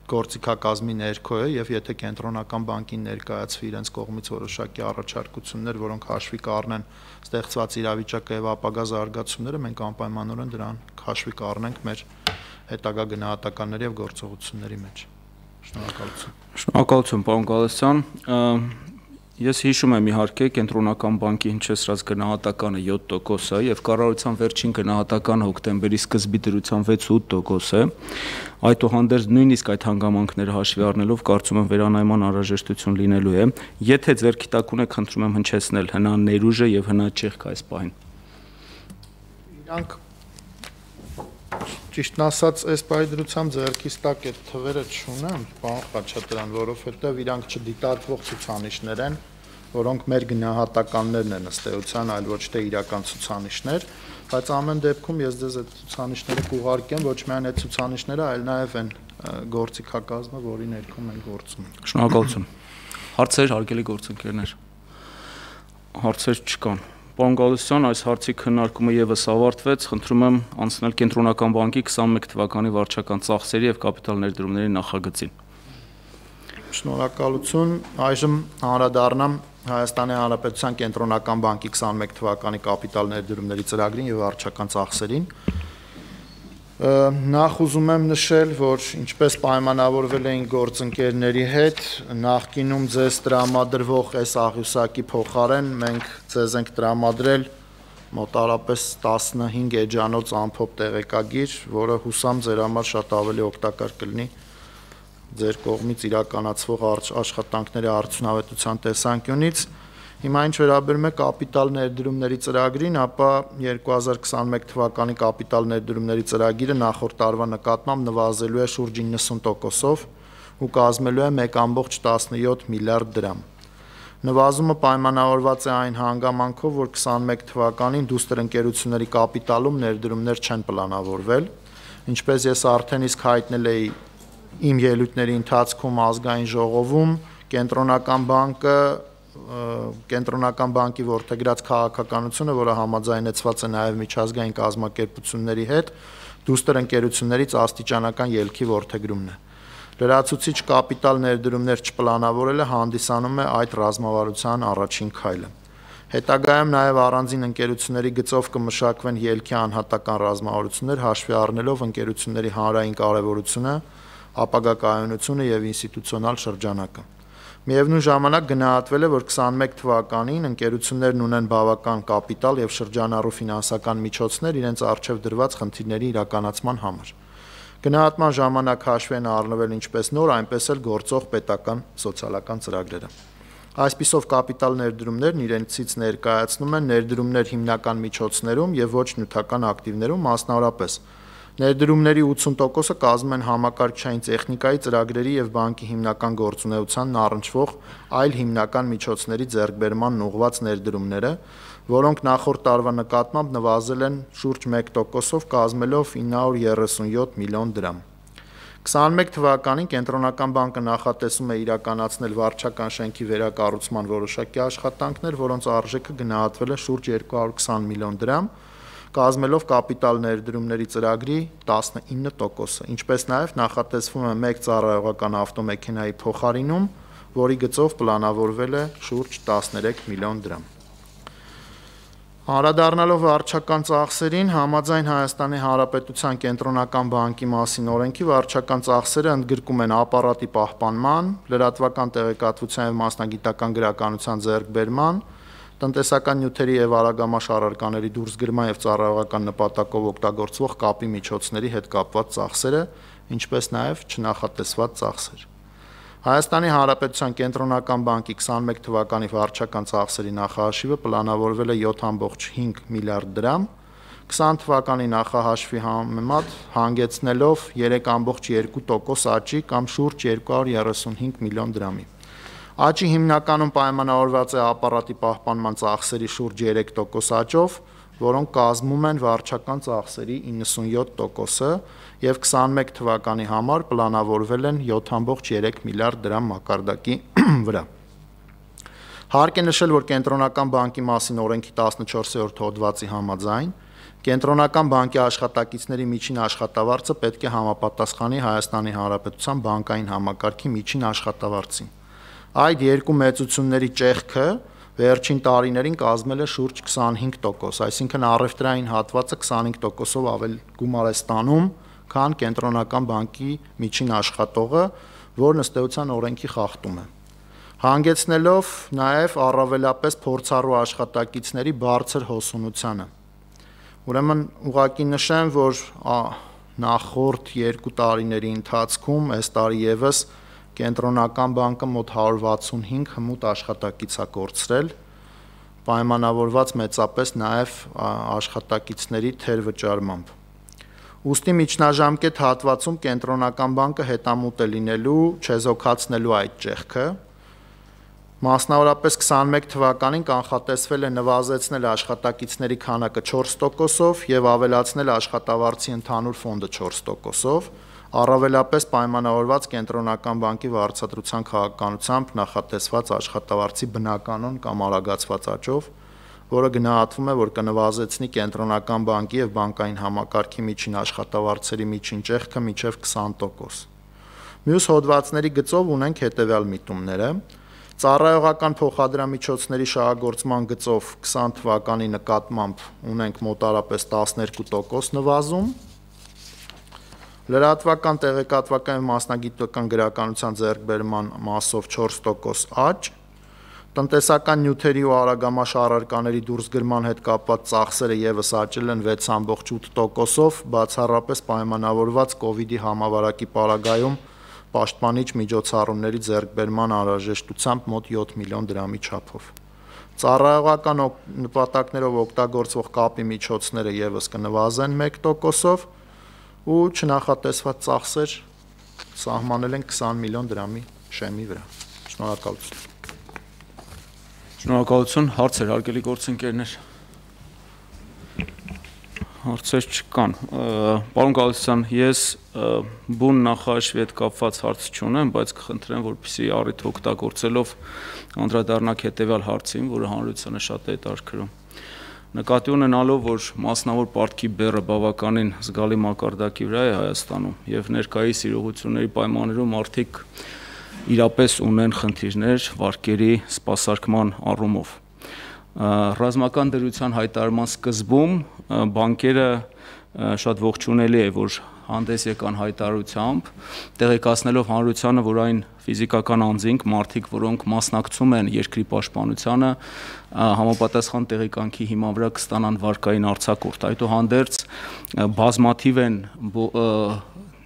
J: գործիքակազմի ներքո է եւ եթե կենտրոնական բանկին ներկայացվի իրենց կողմից որոշակի առաջարկություններ, որոնք հաշվի կառնեն ստեղծված իրավիճակը եւ ապագա զարգացումները, մենք անպայմանորեն դրան հաշվի կառնենք մեր հետագա գնահատականների եւ գործողությունների մեջ։ Շնորհակալություն։
I: Շնորհակալություն, պարոն Գալստյան։ Ես հիշում եմ իհարկե կենտրոնական բանկի հնչեցրած գնահատականը յոթ տոկոս է եւ կառավարության վերջին գնահատականը հոկտեմբերի սկզբի դրությամբ վեց-ութ տոկոս է։ Այդուհանդերձ նույնիսկ այդ հանգամանքները հաշվի առնելով կարծում եմ վերանայման անհրաժեշտություն լինելու է։ Եթե ձեռքի տակ ունեք, խնդրում եմ հնչեցնել հնա ներուժը եւ հնա ճեղքը այս պահին։
J: Իրանք Ճիշտն ասած, այս պայդրությամբ ձեռքից տակ այդ թվերը չունեմ, պարոն Խաչատրյան, որովհետև իրանք չդիտարկվող ցուցանիշներ են, որոնք մեր գնահատականներն են ըստ էության, այլ ոչ թե իրական ցուցանիշներ, բայց ամեն դեպքում ես ձեզ այդ ցուցանիշները կուղարկեմ, ոչ միայն այդ ցուցանիշները, այլ նաև այն գործիքակազմը, որի ներքո մենք գործում ենք։
A: Շնորհակալություն։ Հարցեր, հարգելի գործընկերներ։ Հարցեր չկան։ Պարոն Գալստյան, այս հարցի քննարկումը եւս ավարտվեց, խնդրում եմ անցնել Կենտրոնական բանկի քսանմեկ թվականի վարչական ծախսերի եւ կապիտալ ներդրումների նախագծին։
J: Շնորհակալություն, այժմ անդրադառնամ Հայաստանի Հանրապետության Կենտրոնական բանկի քսանմեկ թվականի կապիտալ ներդրումների ծրագրին եւ վարչական ծախսերին։ Նախ ուզում եմ նշել, որ ինչպես պայմանավորվել էին գործընկերների հետ, նախկինում ձեզ տրամադրվող այս աղյուսակի փոխարեն մենք ձեզ ենք տրամադրել մոտարապես տասնհինգ էջանոց ամփոփ տեղեկագիր, որը հուսամ ձեր համար շատ ավելի օգտակար կլինի ձեր կողմից իրականացվող աշխատանքների արդյունավետության տեսանկյունից։ Հիմա ինչ վերաբերում է կապիտալ ներդրումների ծրագրին, ապա երկու հազար քսանմեկ թվականի կապիտալ ներդրումների ծրագիրը նախորդ տարվա նկատմամբ նվազելու է շուրջ իննսուն տոկոսով ու կազմելու է մեկ կόμma տասնյոթ միլիարդ դրամ։ Նվազումը պայմանավորված է այն հանգամանքով, որ քսանմեկ թվականին դուստր ընկերությունների կապիտալում ներդրումներ չեն պլանավորվել, ինչպես ես արդեն իսկ հայտնել էի իմ ելույթների ընթացքում ազգային ժողովում, Կենտրոնական բանկը Կենտրոնական բանկի որդեգրած քաղաքականությունը, որը համաձայնեցված է նաև միջազգային կազմակերպությունների հետ, դուստր ընկերություններից աստիճանական ելքի որդեգրումն է։ Լրացուցիչ կապիտալ ներդրումներ չպլանավորելը հանդիսանում է այդ ռազմավարության առաջին քայլը։ Հետագայում նաև առանձին ընկերությունների գծով կմշակվեն ելքի անհատական ռազմավարություններ, հաշվի առնելով ընկերությունների հանրային կարևորությունը, ապագա կայունությունը եւ ինստիտուցիոնալ շրջանակը։ Միևնույն ժամանակ գնահատվել է, որ քսանմեկ թվականին ընկերություններն ունեն բավական կապիտալ եւ շրջանառու ֆինանսական միջոցներ իրենց առջեւ դրված խնդիրների իրականացման համար։ Գնահատման ժամանակ հաշվի են առնվել ինչպես նոր, այնպես էլ գործող պետական սոցիալական ծրագրերը։ Այսպիսով կապիտալ ներդրումներն իրենցից ներկայացնում են ներդրումներ հիմնական միջոցներում եւ ոչ նյութական ակտիվներում, մասնավորապես ներդրումների ութսուն տոկոսը կազմում են համակարգչային տեխնիկայի ծրագրերի եւ բանկի հիմնական գործունեությանն առնչվող այլ հիմնական միջոցների ձեռքբերման ուղղված ներդրումները, որոնք նախորդ տարվա նկատմամբ նվազել են շուրջ մեկ տոկոսով, կազմելով ինը հարյուր երեսունյոթ միլիոն դրամ։ քսանմեկ թվականին Կենտրոնական բանկը նախատեսում է իրականացնել վարչական շենքի վերակառուցման որոշակի աշխատանքներ, որոնց արժեքը գնահատվել է շուրջ երկու հարյուր քսան միլիոն դրամ, կազմելով կապիտալ ներդրումների ծրագրի տասնինը տոկոսը, ինչպես նաև նախատեսվում է մեկ ծառայողական ավտոմեքենայի փոխարինում, որի գծով պլանավորվել է շուրջ տասներեք միլիոն դրամ։ Անդրադառնալով վարչական ծախսերին, համաձայն Հայաստանի Հանրապետության Կենտրոնական բանկի մասին օրենքի վարչական ծախսերը ընդգրկում են ապարատի պահպանման, լրատվական տեղեկատվության և մասնագիտական գրականության ձեռքբերման, տնտեսական նյութերի եւ արագամաշ առարկաների դուրսգրման եւ ծառայողական նպատակով օգտագործվող կապի միջոցների հետ կապված ծախսերը, ինչպես նաեւ չնախատեսված ծախսեր։ Հայաստանի Հանրապետության Կենտրոնական բանկի քսանմեկ թվականի վարչական ծախսերի նախահաշիվը պլանավորվել է յոթ կόμma հինգ միլիարդ դրամ, քսան թվականի նախահաշվի համեմատ հանգեցնելով երեք կόμma երկու տոկոս աճի կամ շուրջ երկու հարյուր երեսունհինգ միլիոն դրամի։ Աճի հիմնականում պայմանավորված է ապարատի պահպանման ծախսերի շուրջ երեք տոկոս աճով, որոնք կազմում են վարչական ծախսերի իննսունյոթ տոկոսը եւ քսանմեկ թվականի համար պլանավորվել են յոթ կόμma երեք միլիարդ դրամ մակարդակի վրա։ Հարկ է նշել, որ Կենտրոնական բանկի մասին օրենքի տասնչորսերորդ հոդվածի համաձայն Կենտրոնական բանկի աշխատակիցների միջին աշխատավարձը պետք է համապատասխանի Հայաստանի Հանրապետության բանկային համակարգի միջին աշխատավարձին։ Այդ երկու մեծությունների ճեղքը վերջին տարիներին կազմել է շուրջ քսանհինգ տոկոս, այսինքն առևտրային հատվածը քսանհինգ տոկոսով ավել գումար է ստանում, քան Կենտրոնական բանկի միջին աշխատողը, որն ըստ էության օրենքի խախտում է, հանգեցնելով նաև առավելապես փորձառու աշխատակիցների բարձր հոսունությանը։ Ուրեմն ուղղակի նշեմ, որ նախորդ երկու տարիների ընթացքում այս տարի եւս Կենտրոնական բանկը մոտ հարյուր վաթսունհինգ հմուտ աշխատակից է կորցրել, պայմանավորված մեծապես նաև աշխատակիցների թերվճարմամբ։ Ուստի միջնաժամկետ հատվածում կենտրոնական բանկը հետամուտ է լինելու չեզոքացնելու այդ ճեղքը։ Մասնավորապես քսանմեկ թվականին կանխատեսվել է նվազեցնել աշխատակիցների քանակը չորս տոկոսով եւ ավելացնել աշխատավարձի ընդհանուր ֆոնդը չորս տոկոսով, առավելապես պայմանավորված կենտրոնական բանկի վարձատրության քաղաքականությամբ նախատեսված աշխատավարձի բնականon կամ արագացված աճով, որը գնահատվում է, որ կնվազեցնի կենտրոնական բանկի եւ բանկային համակարգի միջին աշխատավարձերի միջին ճեղքը մինչեւ քսան տոկոս։ Մյուս հոդվածների գծով ունենք հետեւյալ միտումները. Ծառայողական փոխադրամիջոցների շահագործման գծով քսան թվականի նկատմամբ ունենք մոտարապես տասներկու տոկոս նվազում, լրատվական, տեղեկատվական եւ մասնագիտական գրականության ձեռքբերման մասով չորս տոկոս աճ, տնտեսական նյութերի ու արագամաշ առարկաների դուրսգրման հետ կապված ծախսերը եւս աճել են վեց կόμma ութ տոկոսով, բացառապես պայմանավորված կոവിഡ്ի համավարակի պարագայում պաշտպանիչ միջոցառումների ձեռքբերման անհրաժեշտությամբ մոտ յոթ միլիոն դրամի չափով։ Ծառայողական նպատակներով օգտագործվող կապի միջոցները եւս կնվազեն մեկ տոկոսով ու չնախատեսված ծախսեր սահմանել են քսան միլիոն դրամի շեմի վրա։ Շնորհակալություն։
A: Շնորհակալություն, հարցեր, հարգելի գործընկերներ։ Հարցեր չկան։ Պարոն Գալստյան, ես բուն նախաշվի հետ կապված հարց չունեմ, բայց կխնդրեմ, որպեսզի առիթ օգտագործելով անդրադառնաք հետևյալ հարցին, որը հանրությանը շատ է հետաքրքրում։ Նկատի ունենալով, որ մասնավոր պարտքի բեռը բավականին զգալի մակարդակի վրա է Հայաստանում եւ ներկայիս իրողությունների պայմաններում մարդիկ իրապես ունեն խնդիրներ վարկերի սպասարկման առումով։ Ռազմական դրության հայտարարման սկզբում բանկերը շատ ողջունելի է, որ հանդես եկան հայտարարությամբ, տեղեկացնելով հանրությանը, որ այն ֆիզիկական անձինք, մարդիկ, որոնք մասնակցում են երկրի պաշտպանությանը, համապատասխան տեղեկանքի հիման վրա կստանան վարկային արձակուրդ։ Այդուհանդերձ բազմաթիվ են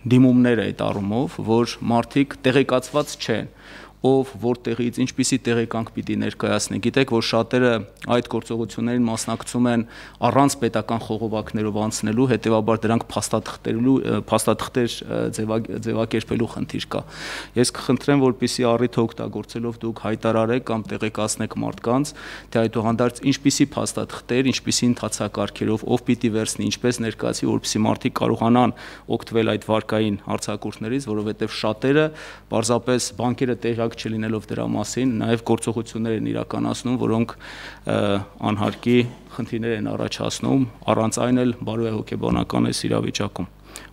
A: դիմումները այդ առումով, որ մարդիկ տեղեկացված չեն, ով որտեղից ինչպիսի տեղեկանք պիտի ներկայացնի։ Գիտեք, որ շատերը այդ գործողություններին մասնակցում են առանց պետական խողովակներով անցնելու, հետևաբար դրանք փաստաթղթերելու փաստաթղթեր ձևակերպելու խնդիր կա։ Ես կխնդրեմ, որպեսզի առիթ օգտագործելով դուք հայտարարեք կամ տեղեկացնեք մարդկանց, թե այդուհանդերձ ինչպիսի փաստաթղթեր, ինչպիսի ընթացակարգերով, ով պիտի վերցնի, ինչպես ներկայացի, որպեսզի մարդիկ կարողանան օգտվել այդ վարկային արձակուրդներից, որովհետև շատերը պարզապես բանկերը տեղյակ չլինելով դրա մասին, նաև գործողություններ են իրականացնում, որոնք անհարկի խնդիրներ են առաջացնում, առանց այն էլ բարոյ հոգեբանական այս իրավիճակում։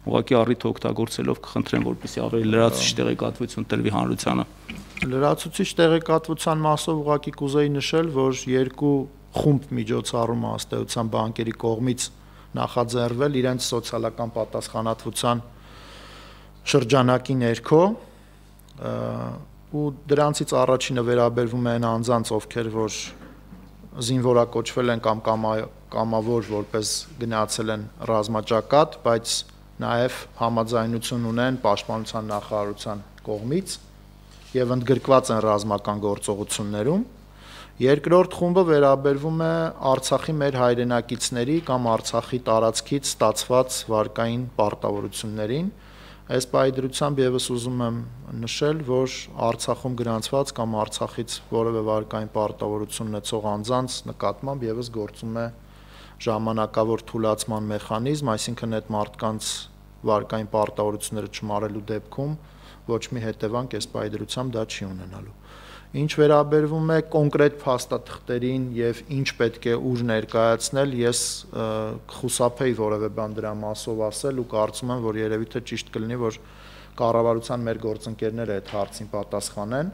A: Ուղղակի առիթ օգտագործելով կխնդրեմ, որպեսզի ավելի լրացուցիչ տեղեկատվություն տրվի հանրությանը։
J: Լրացուցիչ տեղեկատվության մասով ուղղակի կուզեի նշել, որ երկու խումբ միջոցառում ըստեյության բանկերի կողմից նախաձեռնվել իրենց սոցիալական պատասխանատվության շրջանակի ներքո, ու դրանցից առաջինը վերաբերվում է այն անձանց, ովքեր որ զինվորակոչվել են կամ կամավոր որպես գնացել են ռազմաճակատ, բայց նաև համաձայնություն ունեն պաշտպանության նախարարության կողմից եւ ընդգրկված են ռազմական գործողություններում։ Երկրորդ խումբը վերաբերվում է Արցախի մեր հայրենակիցների կամ Արցախի տարածքից ստացված վարկային պարտավորություններին։ Այս պայդրությամբ եւս ուզում եմ նշել, որ Արցախում գրանցված կամ Արցախից որևէ վարկային պարտավորություն ունեցող անձանց նկատմամբ եւս գործում է ժամանակավոր թույլատման մեխանիզմ, այսինքն այդ մարդկանց վարկային պարտավորությունները չմարելու դեպքում ոչ մի հետևանք այս պայդրությամբ դա չի ունենալու։ Ինչ վերաբերվում է կոնկրետ փաստաթղթերին եւ ինչ պետք է ուր ներկայացնել, ես կխուսափեի որևէ բան դրա մասով ասել ու կարծում եմ, որ երևի թե ճիշտ կլինի, որ կառավարության մեր գործընկերները այդ հարցին պատասխանեն,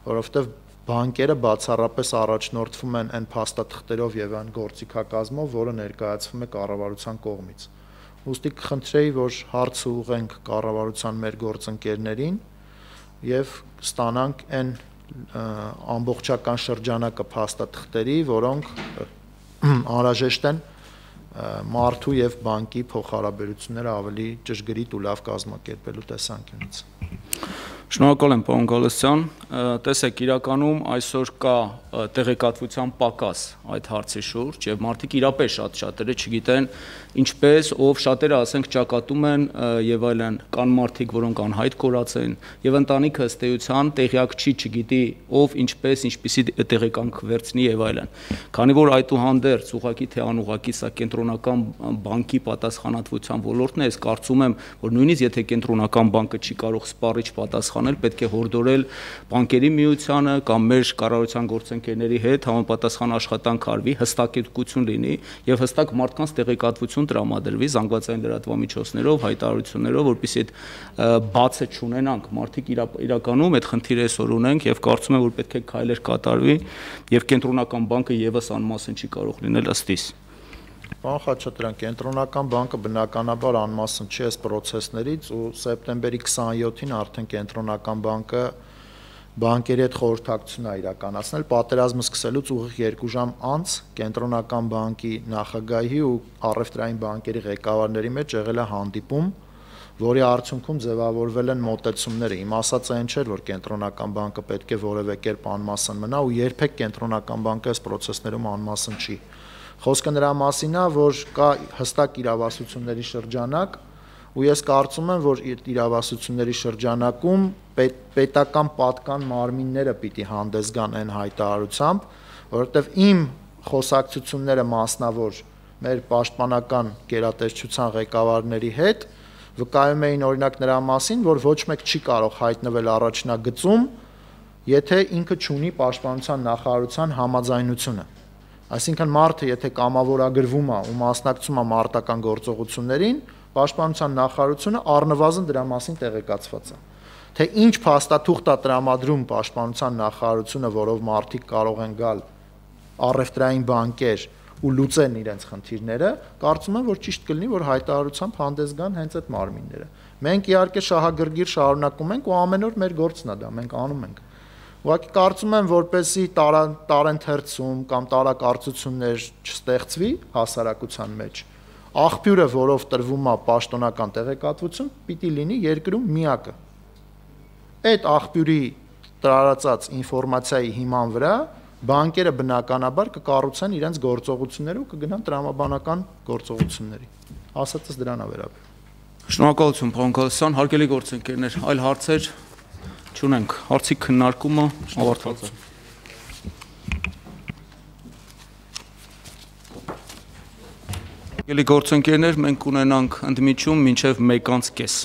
J: որովհետեւ բանկերը բացառապես առաջնորդվում են այն փաստաթղթերով եւ այն գործիքակազմով, որը ներկայացվում է կառավարության կողմից։ Ուստի կխնդրեի, որ հարցը ուղենք կառավարության մեր գործընկերներին եւ ստանանք այն ամբողջական շրջանակը փաստաթղթերի, որոնք անհրաժեշտ են մարդու եւ բանկի փոխհարաբերությունները ավելի ճշգրիտ ու լավ կազմակերպելու տեսանկյունից։
A: Շնորհակալ եմ, պարոն Գալստյան։ Տեսեք, իրականում այսօր կա տեղեկատվության պակաս այդ հարցի շուրջ եւ մարդիկ իրապես շատ շատերը չգիտեն ինչպես, ով շատերը ասենք ճակատում են եւ այլն, կան մարդիկ, որոնք անհայտ կորած են եւ ընտանիքը ըստ էության տեղյակ չի, չգիտի ով ինչպես, ինչպիսի տեղեկանք վերցնի եւ այլն։ Քանի որ այդուհանդերձ ուղղակի թե անուղղակի սա կենտրոնական բանկի պատասխանատվության ոլորտն է, ես կարծում եմ, որ նույնիսկ եթե կենտրոնական բանկը չի կարող սպառիչ պատասխանել, պետք է հորդորել բանկերի միությանը կամ մեր կառավարության գործընկերների հետ համապատասխան աշխատանք արվի, հստակեցություն լինի եւ հստակ մարդկանց տեղեկատվություն տրամադրվի զանգվածային լրատվամիջոցներով, հայտարարություններով, որպեսզի այդ բացը չունենանք։ Մարդիկ իրականում այդ խնդիրը այսօր ունենք եւ կարծում եմ, որ պետք է քայլեր կատարվի եւ կենտրոնական բանկը եւս անմասն չի կարող լինել ըստ իս։
J: Պարոն Խաչատրյան, կենտրոնական բանկը բնականաբար անմասն չի այս process-ներից ու սեպտեմբերի քսաներկուսին արդեն կենտրոնական բանկը բանկերի հետ խորհրդակցություն է իրականացնել պատերազմը սկսելուց ուղիղ երկու ժամ անց կենտրոնական բանկի նախագահի ու առևտրային բանկերի ղեկավարների մեջ եղել է հանդիպում, որի արդյունքում ձևավորվել են մոտեցումները։ Իմ ասածը այն չէր, որ կենտրոնական բանկը պետք է որևէ կերպ անմասն մնա ու երբեք կենտրոնական բանկը այս process-ներում անմասն չի։ Խոսքը նրա մասին է, որ կա հստակ իրավասությունների շրջանակ ու ես կարծում եմ, որ իրավասությունների շրջանակում պետ, պետական պատկան մարմինները պիտի հանդես գան այն հայտարարությամբ, որովհետև իմ խոսակցությունները մասնավոր մեր պաշտպանական գերատեսչության ղեկավարների հետ վկայում էին օրինակ նրա մասին, որ ոչ մեկ չի կարող հայտնվել առաջնագծում, եթե ինքը չունի պաշտպանության նախարարության համաձայնությունը։ Այսինքն մարդը եթե կամավորագրվում է ու մասնակցում է մարտական գործողություններին, պաշտպանության նախարարությունը առնվազն դրա մասին տեղեկացված է։ Թե ինչ փաստաթուղթ է տրամադրում պաշտպանության նախարարությունը, որով մարդիկ կարող են գալ առևտրային բանկեր ու լուծեն իրենց խնդիրները, կարծում եմ, որ ճիշտ կլինի, որ հայտարարությամբ հանդես գան հենց այդ մարմինները։ Մենք իհարկե շահագրգիռ շարունակում ենք ու ամեն օր մեր գործն է դա, մենք անում ենք։ Ուղղակի կարծում եմ, որպեսզի տարենթերցում կամ տարակարծություններ չստեղծվի հասարակության մեջ, աղբյուրը, որով տրվում է պաշտոնական տեղեկատվություն, պիտի լինի երկրում միակը։ Այդ աղբյուրի տարածած ինֆորմացիայի հիման վրա բանկերը բնականաբար կկառուցեն իրենց գործողությունները ու կգնան տրամաբանական գործողությունների։ Ասածս դրան է վերաբերում։
A: Շնորհակալություն, պարոն Գալստյան, հարգելի գործընկերներ, այլ հարցեր չունենք, հարցի քննարկումը ավարտված է։ Հարգելի գործընկերներ, մենք ունենանք ընդմիջում մինչև մեկ անց կես։